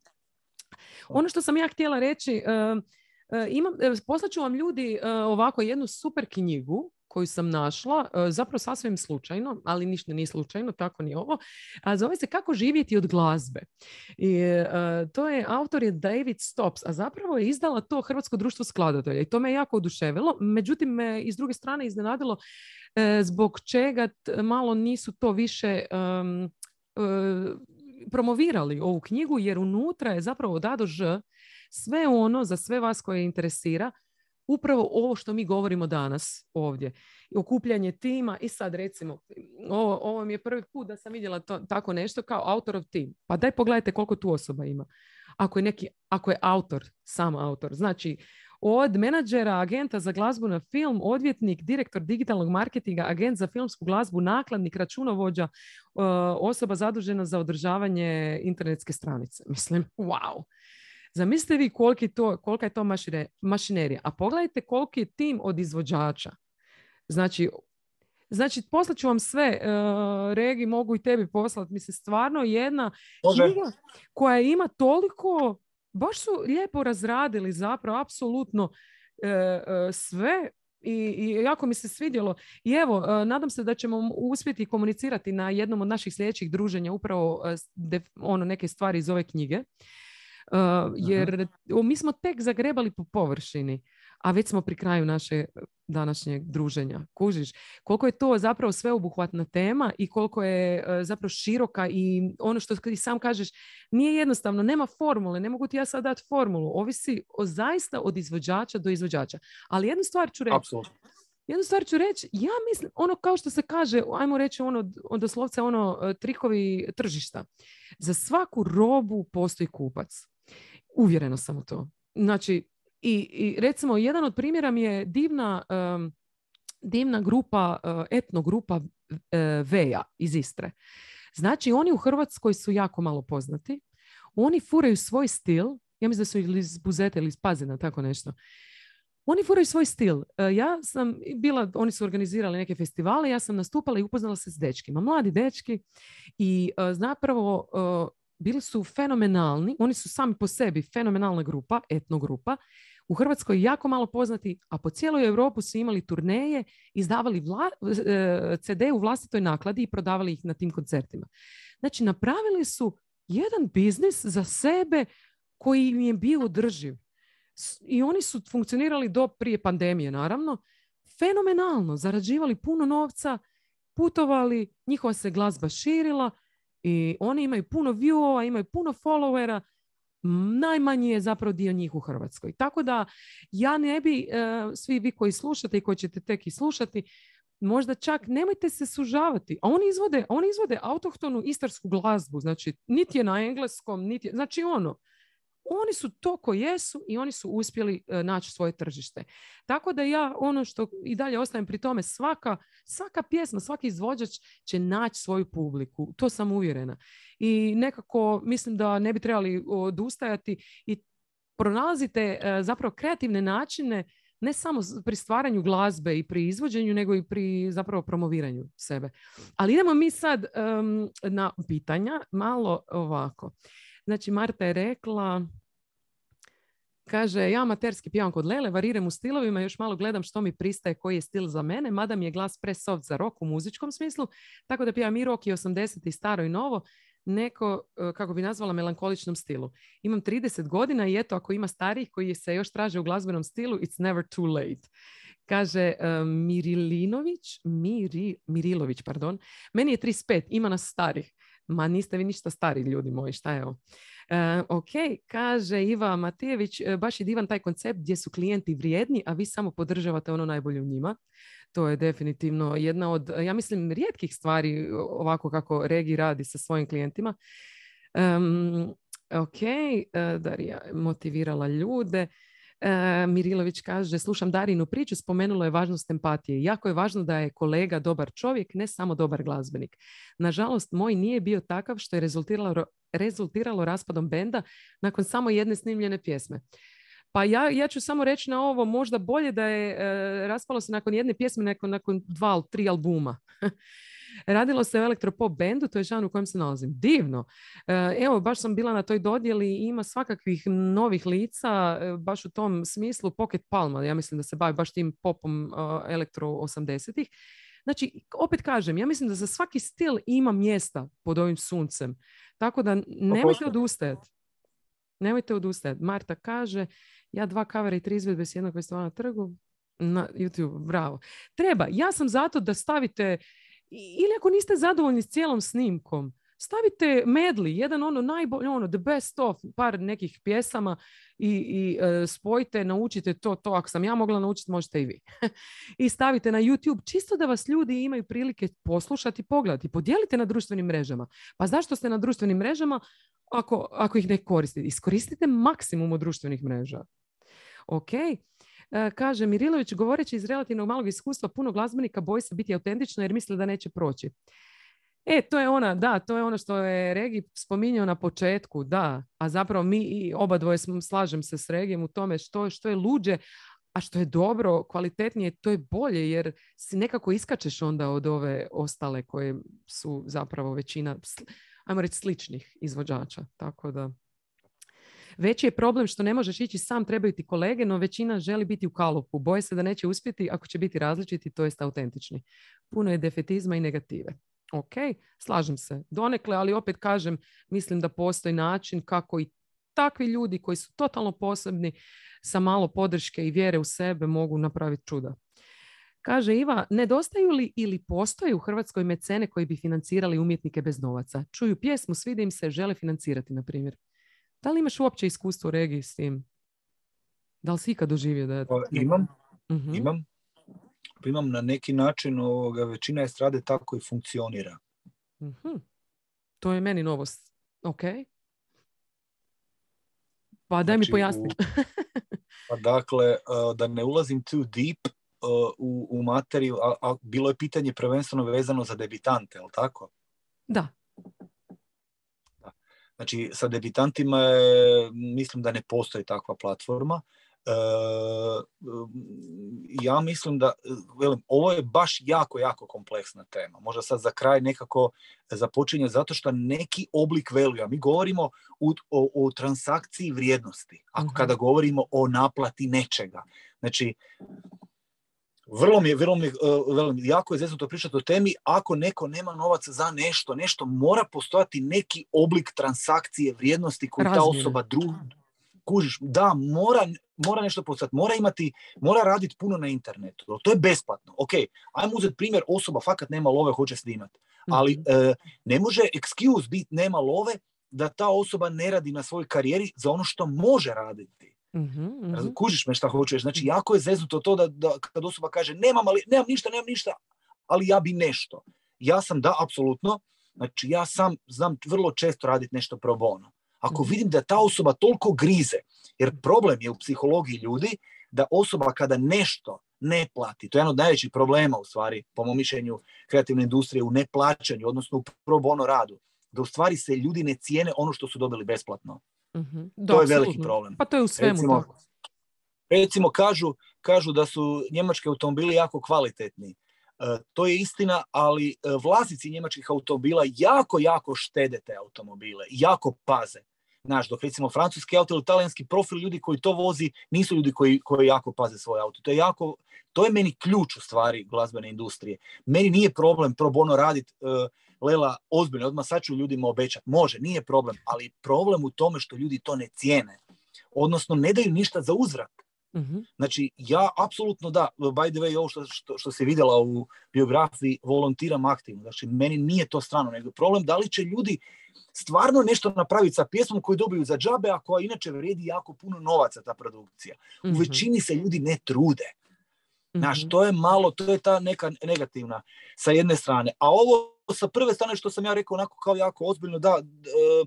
Ono što sam ja htjela reći, uh, uh, imam, uh, poslaću vam ljudi uh, ovako jednu super knjigu koju sam našla, zapravo sasvim slučajno, ali ništa nije slučajno, tako ni ovo. A zove se Kako živjeti od glazbe. I, uh, to je, autor je David Stops, a zapravo je izdala to Hrvatsko društvo skladatelja i to me jako oduševilo. Međutim, me i s druge strane iznenadilo uh, zbog čega t- malo nisu to više um, uh, promovirali ovu knjigu, jer unutra je zapravo od A do Ž sve ono za sve vas koje interesira, upravo ovo što mi govorimo danas ovdje. Okupljanje tima i sad recimo, ovo, ovo mi je prvi put da sam vidjela to, tako nešto kao autorov tim. Pa daj pogledajte koliko tu osoba ima. Ako je, neki, ako je autor, sam autor. Znači, od menadžera, agenta za glazbu na film, odvjetnik, direktor digitalnog marketinga, agent za filmsku glazbu, nakladnik, računovođa, osoba zadužena za održavanje internetske stranice. Mislim, wow. Zamislite vi koliki to, kolika je to mašine, mašinerija. A pogledajte koliki je tim od izvođača. Znači, znači poslat ću vam sve. Uh, Regi, mogu i tebi poslati. Mislim, stvarno jedna knjiga koja ima toliko, baš su lijepo razradili zapravo apsolutno uh, uh, sve. I, I jako mi se svidjelo. I evo, uh, nadam se da ćemo uspjeti komunicirati na jednom od naših sljedećih druženja upravo uh, def, ono, neke stvari iz ove knjige. Uh, jer uh-huh. mi smo tek zagrebali po površini, a već smo pri kraju naše današnjeg druženja. Kužiš, koliko je to zapravo sveobuhvatna tema i koliko je uh, zapravo široka i ono što ti sam kažeš, nije jednostavno, nema formule, ne mogu ti ja sad dati formulu, ovisi o, zaista od izvođača do izvođača. Ali jednu stvar ću reći. Apsolutno. Jednu stvar ću reći, ja mislim, ono kao što se kaže, ajmo reći ono, doslovce ono, trikovi tržišta. Za svaku robu postoji kupac. Uvjerena sam u to. Znači, i, i recimo, jedan od primjera mi je divna, um, divna grupa, uh, etno grupa uh, Veja iz Istre. Znači, oni u Hrvatskoj su jako malo poznati. Oni furaju svoj stil, ja mislim da su iz Buzeta ili iz Pazina, tako nešto. Oni furaju svoj stil. Uh, ja sam bila, oni su organizirali neke festivale, ja sam nastupala i upoznala se s dečkima. Mladi dečki i uh, zapravo uh, bili su fenomenalni, oni su sami po sebi fenomenalna grupa, etno grupa, u Hrvatskoj jako malo poznati, a po cijeloj Europu su imali turneje, izdavali vla, ce de u vlastitoj nakladi i prodavali ih na tim koncertima. Znači, napravili su jedan biznis za sebe koji im je bio održiv. I oni su funkcionirali do prije pandemije, naravno, fenomenalno, zarađivali puno novca, putovali, njihova se glazba širila, i oni imaju puno viewova, imaju puno followera, najmanji je zapravo dio njih u Hrvatskoj. Tako da ja ne bi, uh, svi vi koji slušate i koji ćete tek i slušati, možda čak nemojte se sužavati. A oni izvode, oni izvode autohtonu istarsku glazbu, znači niti je na engleskom, niti je, znači ono, oni su to ko jesu i oni su uspjeli uh, naći svoje tržište. Tako da ja ono što i dalje ostajem pri tome, svaka, svaka pjesma, svaki izvođač će naći svoju publiku. To sam uvjerena. I nekako mislim da ne bi trebali odustajati i pronalazite uh, zapravo kreativne načine ne samo pri stvaranju glazbe i pri izvođenju, nego i pri zapravo promoviranju sebe. Ali idemo mi sad um, na pitanja, malo ovako. Znači, Marta je rekla, kaže, ja amaterski pjevam kod Lele, variram u stilovima, još malo gledam što mi pristaje, koji je stil za mene, mada mi je glas pre-soft za rock u muzičkom smislu, tako da pjevam i rock i osamdeset i staro i novo, neko, kako bi nazvala, melankoličnom stilu. Imam trideset godina i eto, ako ima starijih koji se još traže u glazbenom stilu, it's never too late. Kaže uh, Mirilinović, Miri, Mirilović, pardon, meni je trideset pet, ima nas starih. Ma niste vi ništa stari, ljudi moji, šta je ovo? Uh, ok, kaže Iva Matijević, baš je divan taj koncept gdje su klijenti vrijedni, a vi samo podržavate ono najbolje u njima. To je definitivno jedna od, ja mislim, rijetkih stvari ovako kako Regi radi sa svojim klijentima. Um, ok, uh, Darija motivirala ljude. Uh, Mirilović kaže, slušam Darinu priču, spomenulo je važnost empatije. Jako je važno da je kolega dobar čovjek, ne samo dobar glazbenik. Nažalost, moj nije bio takav što je rezultiralo, rezultiralo raspadom benda nakon samo jedne snimljene pjesme. Pa ja, ja ću samo reći na ovo, možda bolje da je e, raspalo se nakon jedne pjesme, nakon, nakon dva, tri albuma. Radilo se o elektropop bendu, to je žanr u kojem se nalazim. Divno. E, evo, baš sam bila na toj dodjeli i ima svakakvih novih lica, e, baš u tom smislu. Pocket Palma, ja mislim da se bavi baš tim popom e, elektro osamdesetih. Znači, opet kažem, ja mislim da za svaki stil ima mjesta pod ovim suncem. Tako da nemojte odustajati. Nemojte odustajati. Marta kaže, ja dva kavera i tri izvedbe s jednog festivala na trgu. Na YouTube, bravo. Treba. Ja sam zato da stavite, ili ako niste zadovoljni s cijelom snimkom, stavite medley, jedan ono najbolji, ono the best of, par nekih pjesama i, i uh, spojite, naučite to, to. Ako sam ja mogla naučiti, možete i vi. I stavite na YouTube, čisto da vas ljudi imaju prilike poslušati, pogledati. Podijelite na društvenim mrežama. Pa zašto ste na društvenim mrežama ako, ako ih ne koristite? Iskoristite maksimum od društvenih mreža. Ok. Uh, kaže Mirilović, govoreći iz relativno malog iskustva, puno glazbenika boji se biti autentično jer misle da neće proći. E, to je ona, da, to je ono što je Regi spominjao na početku, da, a zapravo mi i oba dvoje smo, slažem se s Regijem u tome što, što je luđe, a što je dobro, kvalitetnije, to je bolje, jer si nekako iskačeš onda od ove ostale koje su zapravo većina, ajmo reći, sličnih izvođača, tako da... Veći je problem što ne možeš ići sam, trebaju ti kolege, no većina želi biti u kalupu. Boje se da neće uspjeti ako će biti različiti, to jest autentični. Puno je defetizma i negative. Ok, slažem se donekle, ali opet kažem, mislim da postoji način kako i takvi ljudi koji su totalno posebni sa malo podrške i vjere u sebe mogu napraviti čuda. Kaže Iva, nedostaju li ili postoje u Hrvatskoj mecene koji bi financirali umjetnike bez novaca? Čuju pjesmu, svide im se, žele financirati, na primjer. Da li imaš uopće iskustvo u Regiji s tim? Da li si ikad doživio da je... Imam, uh-huh. imam. Imam na neki način, ovoga, većina estrade tako i funkcionira. Uh-huh. To je meni novost. Ok. Pa daj znači, mi pojasni. Pa dakle, da ne ulazim too deep u, u materiju, a, a bilo je pitanje prvenstveno vezano za debitante, je li tako? Da. Znači, sa debitantima je, mislim da ne postoji takva platforma. E, ja mislim da, velim, ovo je baš jako, jako kompleksna tema. Možda sad za kraj nekako započinje zato što neki oblik value, mi govorimo o, o, o transakciji vrijednosti, ako uh-huh. kada govorimo o naplati nečega. Znači, Vrlo mi je, vrlo mi je, vrlo mi je jako je zeznuto pričati o temi, ako neko nema novaca za nešto, nešto mora postojati neki oblik transakcije vrijednosti koju ta osoba druga, kužiš, da, mora, mora nešto postojati, mora imati, mora raditi puno na internetu, to je besplatno. Ok, ajmo uzeti primjer, osoba fakat nema love, hoće snimati, ali mm-hmm. e, ne može excuse biti nema love da ta osoba ne radi na svojoj karijeri za ono što može raditi. Mm-hmm, mm-hmm. Kužiš me šta hoćeš, znači jako je zeznuto to da, da kad osoba kaže nemam, ali, nemam ništa, nemam ništa, ali ja bi nešto. Ja sam da, apsolutno, znači ja sam znam vrlo često raditi nešto pro bono. Ako mm-hmm. vidim da ta osoba toliko grize, jer problem je u psihologiji ljudi da osoba kada nešto ne plati, to je jedan od najvećih problema u stvari, po mom mišljenju kreativne industrije, u neplaćanju, odnosno u pro bono radu, da u stvari se ljudi ne cijene ono što su dobili besplatno. Mm-hmm. Da, to je veliki absolutno. Problem. Pa to je u svemu recimo, tako. Recimo kažu, kažu da su njemački automobili jako kvalitetni. E, to je istina, ali vlasnici njemačkih automobila jako, jako štede te automobile, jako paze. Znaš, dok recimo francuski auto ili talijanski profil ljudi koji to vozi nisu ljudi koji, koji jako paze svoj auto. To je, jako, to je meni ključ u stvari glazbene industrije. Meni nije problem pro bono raditi uh, Lela ozbiljno, odmah sad ću ljudima obećati. Može, nije problem, ali problem u tome što ljudi to ne cijene. Odnosno, ne daju ništa za uzvrat. Mm-hmm. Znači, ja apsolutno da, by the way, ovo što, što, što se vidjela u biografiji, volontiram aktivno. Znači, meni nije to strano, nego problem da li će ljudi stvarno nešto napraviti sa pjesmom koju dobiju za džabe, a koja inače vrijedi jako puno novaca ta produkcija. Mm-hmm. U većini se ljudi ne trude. Znaš, to je malo, to je ta neka negativna sa jedne strane. A ovo sa prve strane što sam ja rekao onako kao jako ozbiljno, da, e,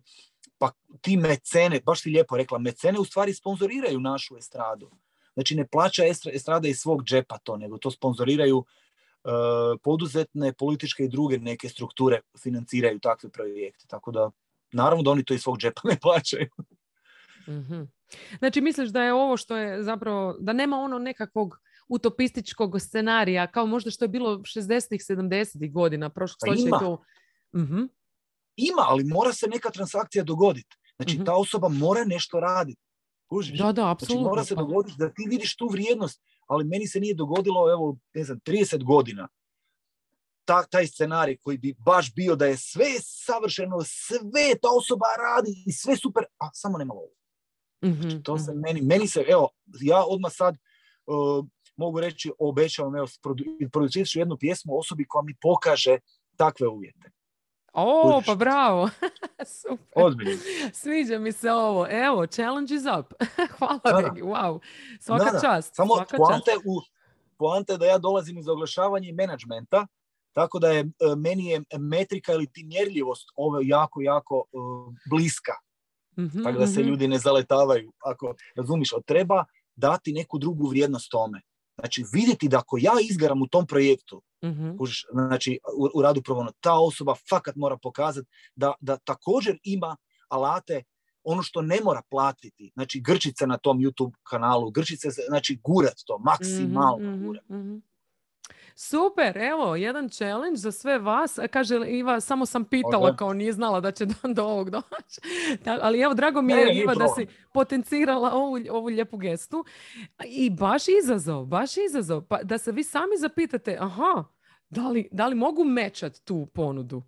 pa ti mecene, baš si lijepo rekla, mecene u stvari sponzoriraju našu estradu. Znači ne plaća estrada iz svog džepa to, nego to sponzoriraju e, poduzetne, političke i druge neke strukture financiraju takve projekte. Tako da, naravno da oni to iz svog džepa ne plaćaju. Mm-hmm. Znači misliš da je ovo što je zapravo, da nema ono nekakvog utopističkog scenarija, kao možda što je bilo šezdesetih, sedamdesetih godina prošlog stoljeća. Ima. To... Mm-hmm. Ima, ali mora se neka transakcija dogoditi. Znači mm-hmm. ta osoba mora nešto raditi. Kužiš? Da, da, apsolutno. Znači mora se dogoditi da ti vidiš tu vrijednost, ali meni se nije dogodilo, evo, ne znam, trideset godina. Ta, taj scenarij koji bi baš bio da je sve savršeno, sve ta osoba radi i sve super, a samo nema lovu. Mm-hmm. Znači, to se meni, meni se, evo, ja odmah sad uh, mogu reći, obećavam, evo, produ, producirat ću jednu pjesmu osobi koja mi pokaže takve uvjete. O, Kužiš? pa bravo. Super. Ozbiljno. Sviđa mi se ovo. Evo, challenge is up. Hvala, Da, da. Regi. Wow. Svaka Da, da. čast. Samo Svaka čast. poanta je, u, poanta je da ja dolazim iz oglašavanja i menadžmenta, tako da je e, meni je metrika ili ti mjerljivost ovo jako, jako e, bliska. Mm-hmm, tako da se mm-hmm. ljudi ne zaletavaju. Ako razumiš, treba dati neku drugu vrijednost tome. Znači, vidjeti da ako ja izgaram u tom projektu, mm-hmm. kužiš, znači, u, u radu pro bono, ta osoba fakat mora pokazati da, da također ima alate, ono što ne mora platiti. Znači, grčice na tom YouTube kanalu, grčice, znači, gurat to, maksimalno mm-hmm, gurat. Mm-hmm. Super, evo, jedan challenge za sve vas. Kaže Iva, samo sam pitala, okay. kao nije znala da će do, do ovog doći. Ali evo, drago mi je, ne, Iva, da si potencirala ovu, ovu lijepu gestu. I baš izazov, baš izazov. Pa da se vi sami zapitate, aha, da li, da li mogu mečat tu ponudu?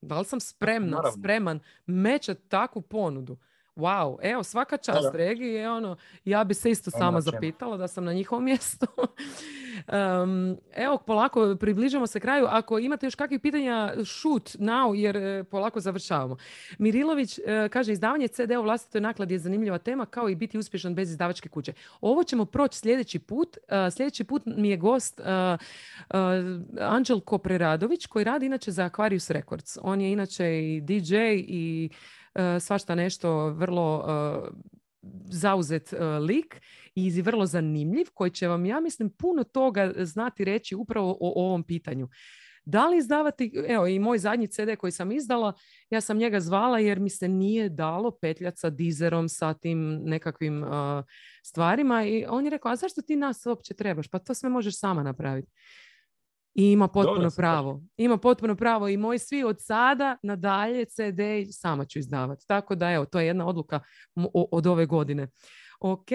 Da li sam spremna, Naravno. spreman mečat takvu ponudu? Wow, evo, svaka čast Regiji, ono, ja bi se isto sama zapitala da sam na njihovom mjestu. um, evo, polako približamo se kraju. Ako imate još kakvih pitanja, shoot now, jer polako završavamo. Mirilović uh, kaže, izdavanje ce de u vlastitoj nakladi je zanimljiva tema, kao i biti uspješan bez izdavačke kuće. Ovo ćemo proći sljedeći put. Uh, sljedeći put mi je gost uh, uh, Anđelko Preradović, koji radi inače za Aquarius Records. On je inače i di džej i Uh, svašta nešto, vrlo uh, zauzet uh, lik i vrlo zanimljiv, koji će vam, ja mislim, puno toga znati reći upravo o, o ovom pitanju. Da li izdavati, evo i moj zadnji ce de koji sam izdala, ja sam njega zvala jer mi se nije dalo petljati sa Deezerom, sa tim nekakvim uh, stvarima i on je rekao, a zašto ti nas uopće trebaš? Pa to sve možeš sama napraviti. I ima potpuno Dobre, pravo. Ima potpuno pravo i moji svi od sada nadalje ce de sama ću izdavati. Tako da evo, to je jedna odluka od ove godine. Ok.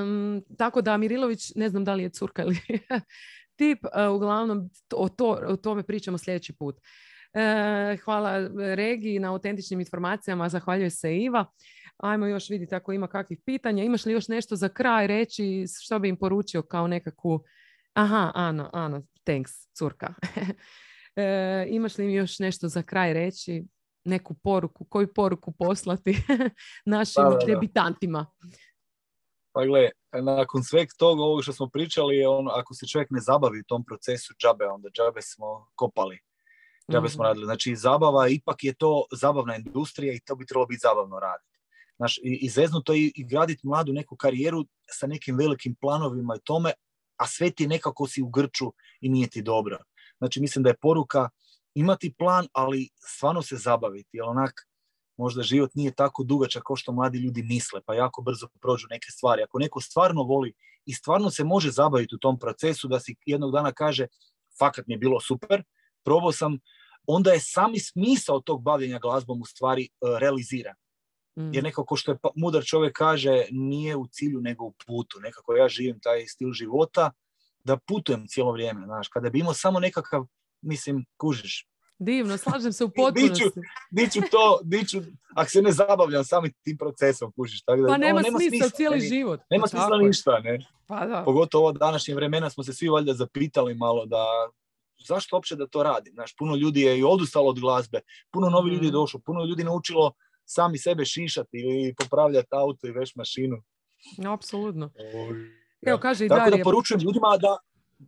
Um, tako da Mirilović, ne znam da li je curka ili tip, uh, uglavnom o, to, o tome pričamo sljedeći put. Uh, hvala Regiji na autentičnim informacijama, zahvaljuje se Iva. Ajmo još vidjeti ako ima kakvih pitanja. Imaš li još nešto za kraj reći, što bi im poručio kao nekakvu... Aha, Ana, Ana, thanks, curka. e, imaš li mi još nešto za kraj reći? Neku poruku, koju poruku poslati našim da, da, da. debitantima? Pa gle, nakon sveg toga ovog što smo pričali, ono, ako se čovjek ne zabavi u tom procesu džabe, onda džabe smo kopali. Džabe mm-hmm. smo radili. Znači, zabava, ipak je to zabavna industrija i to bi trebalo biti zabavno raditi. Znaš, i, i zeznuto i, i graditi mladu neku karijeru sa nekim velikim planovima i tome, a sve ti nekako si u grču i nije ti dobro. Znači, mislim da je poruka imati plan, ali stvarno se zabaviti. Jer onak, možda život nije tako dugačak kao što mladi ljudi misle, pa jako brzo prođu neke stvari. Ako neko stvarno voli i stvarno se može zabaviti u tom procesu, da si jednog dana kaže, fakat mi je bilo super, probao sam, onda je sami smisao tog bavljenja glazbom u stvari uh, realiziran. Jer nekako što je mudar čovjek kaže, nije u cilju nego u putu. Nekako ja živim taj stil života da putujem cijelo vrijeme. Znaš, kada bi imao samo nekakav, mislim, kužiš. Divno, slažem se u potpunosti. Diću, diću to, diću, ako se ne zabavljam samim tim procesom, kužiš. Tako da, pa nema, no, nema smisla, smisla cijeli ne, život. Nema pa smisla ništa, ne. Pa da. Pogotovo ovo današnje vremena smo se svi valjda zapitali malo da zašto uopće da to radim. Znaš, puno ljudi je i odustalo od glazbe, puno novi mm. ljudi je došlo, puno ljudi naučilo sami sebe šišati ili popravljati auto i veš mašinu. Apsolutno. Ja. Evo, kaže i Tako Darija. da poručujem ljudima da,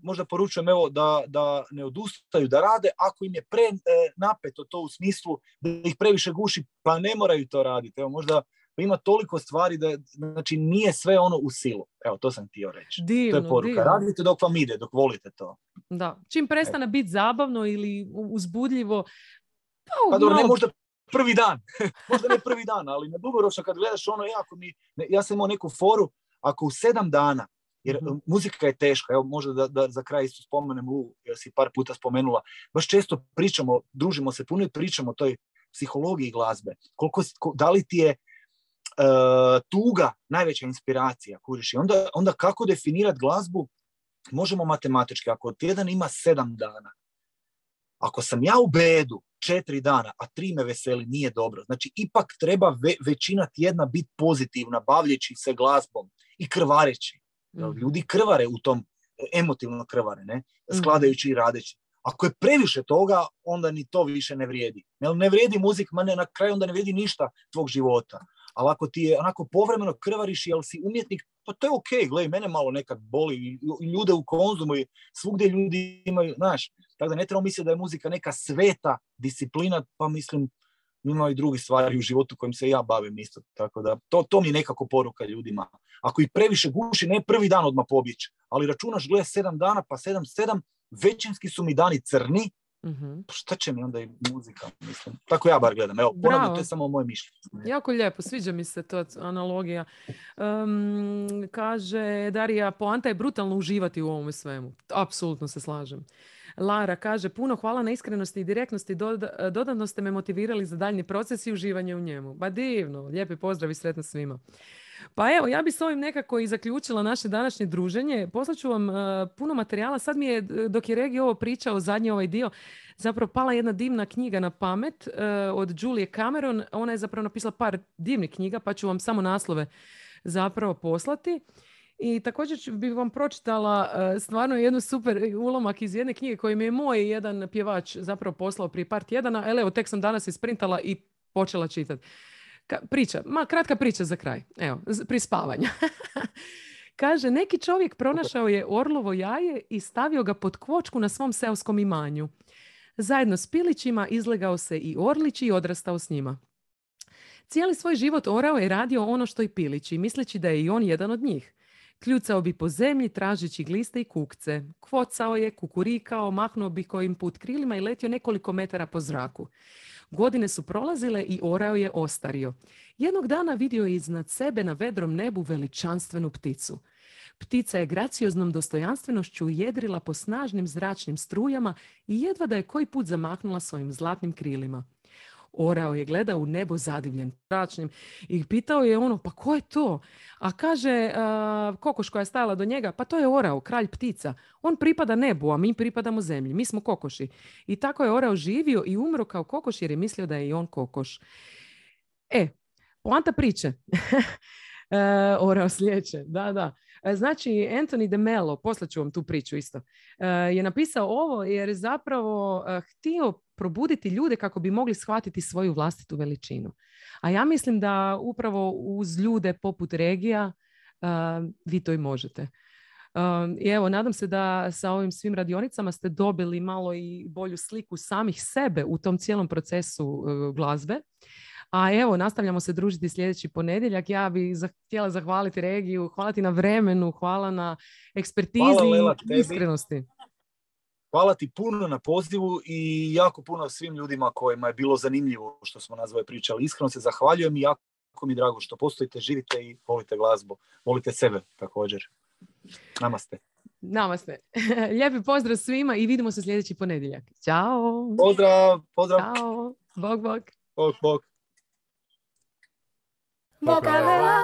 možda poručujem evo, da, da ne odustaju da rade, ako im je pre e, napeto to u smislu da ih previše guši, pa ne moraju to raditi. Evo, možda ima toliko stvari da znači, nije sve ono u silu. Evo, to sam htio reći. Divno, to je poruka. Divno. Radite dok vam ide, dok volite to. Da. Čim prestane biti zabavno ili uzbudljivo, pa, pa dobro, malo... ne možda prvi dan, možda ne prvi dan, ali na dugoročno kad gledaš ono, jako mi, ne, ja sam imao neku foru, ako u sedam dana, jer mm-hmm. muzika je teška, evo možda da, da za kraj isto spomenem Lu, jer si par puta spomenula, baš često pričamo, družimo se puno i pričamo o toj psihologiji glazbe, koliko, da li ti je uh, tuga najveća inspiracija, kuriš, i onda, onda kako definirati glazbu, možemo matematički, ako tjedan ima sedam dana, ako sam ja u bedu četiri dana, a tri me veseli, nije dobro. Znači, ipak treba ve, većina tjedna biti pozitivna, bavljeći se glazbom i krvareći. Mm. Ljudi krvare u tom, emotivno krvare, ne? Skladajući mm. i radeći. Ako je previše toga, onda ni to više ne vrijedi. Jel ne vrijedi muzika, ma ne, na kraju onda ne vrijedi ništa tvog života. Ali ako ti je onako povremeno krvariš, jel si umjetnik, pa to je okej, okay. Gledaj, mene malo nekad boli, i ljude u Konzumu i svugdje ljudi imaju, znaš, tako da ne trebamo misliti da je muzika neka sveta disciplina, pa mislim, ima i drugi stvari u životu kojim se ja bavim isto, tako da to, to mi je nekako poruka ljudima. Ako ih previše guši, ne prvi dan odmah pobjeći, ali računaš, gledaj, sedam dana, pa sedam, sedam, većinski su mi dani crni, mm-hmm. Pa šta će mi onda i muzika, mislim. Tako ja bar gledam, evo, ponavljam, to je samo moje mišljenje. Jako lijepo, sviđa mi se to analogija. Um, kaže Darija, poanta je brutalno uživati u ovome svemu. Apsolutno se slažem. Lara kaže, puno hvala na iskrenosti i direktnosti, doda, dodatno ste me motivirali za daljnji proces i uživanje u njemu. Ba divno, lijepi pozdrav i sretno svima. Pa evo, ja bi s ovim nekako i zaključila naše današnje druženje. Poslaću vam uh, puno materijala. Sad mi je, dok je Regi ovo pričao, zadnji ovaj dio, zapravo pala jedna divna knjiga na pamet uh, od Julie Cameron. Ona je zapravo napisala par divnih knjiga, pa ću vam samo naslove zapravo poslati. I također bih vam pročitala uh, stvarno jednu super ulomak iz jedne knjige koju mi je moj jedan pjevač zapravo poslao prije par tjedana. Ali evo, tek sam danas isprintala i počela čitati. Ka- priča, ma kratka priča za kraj. Evo, prije spavanja. Kaže, neki čovjek pronašao je orlovo jaje i stavio ga pod kvočku na svom seoskom imanju. Zajedno s pilićima izlegao se i orlić i odrastao s njima. Cijeli svoj život orao je radio ono što i pilići, misleći da je i on jedan od njih. Kljucao bi po zemlji tražeći gliste i kukce. Kvocao je, kukurikao, mahnuo bi kojim put krilima i letio nekoliko metara po zraku. Godine su prolazile i orao je ostario. Jednog dana vidio je iznad sebe na vedrom nebu veličanstvenu pticu. Ptica je gracioznom dostojanstvenošću jedrila po snažnim zračnim strujama i jedva da je koji put zamahnula svojim zlatnim krilima. Orao je gledao u nebo zadivljen zračnim i pitao je ono, pa ko je to? A kaže a, kokoš koja je stajala do njega, pa to je orao, kralj ptica. On pripada nebu, a mi pripadamo zemlji. Mi smo kokoši. I tako je orao živio i umro kao kokoš jer je mislio da je i on kokoš. E, poanta priče. e, orao slijeće, da, da. Znači, Anthony de Mello, poslaću vam tu priču isto, je napisao ovo jer je zapravo htio probuditi ljude kako bi mogli shvatiti svoju vlastitu veličinu. A ja mislim da upravo uz ljude poput Regija vi to i možete. I evo, nadam se da sa ovim svim radionicama ste dobili malo i bolju sliku samih sebe u tom cijelom procesu glazbe. A evo, nastavljamo se družiti sljedeći ponedjeljak. Ja bih htjela zahvaliti Regiju, hvala ti na vremenu, hvala na ekspertizi i iskrenosti. Hvala ti puno na pozivu i jako puno svim ljudima kojima je bilo zanimljivo što smo nazvali pričali. Iskreno se zahvaljujem i jako mi je drago što postojite, živite i volite glazbu. Volite sebe također. Namaste. Namaste. Lijepi pozdrav svima i vidimo se sljedeći ponedjeljak. Ćao. Pozdrav. Pozdrav. Ćao. Bog, bog. Bog, bog. Vocabela.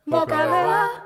Vokalela.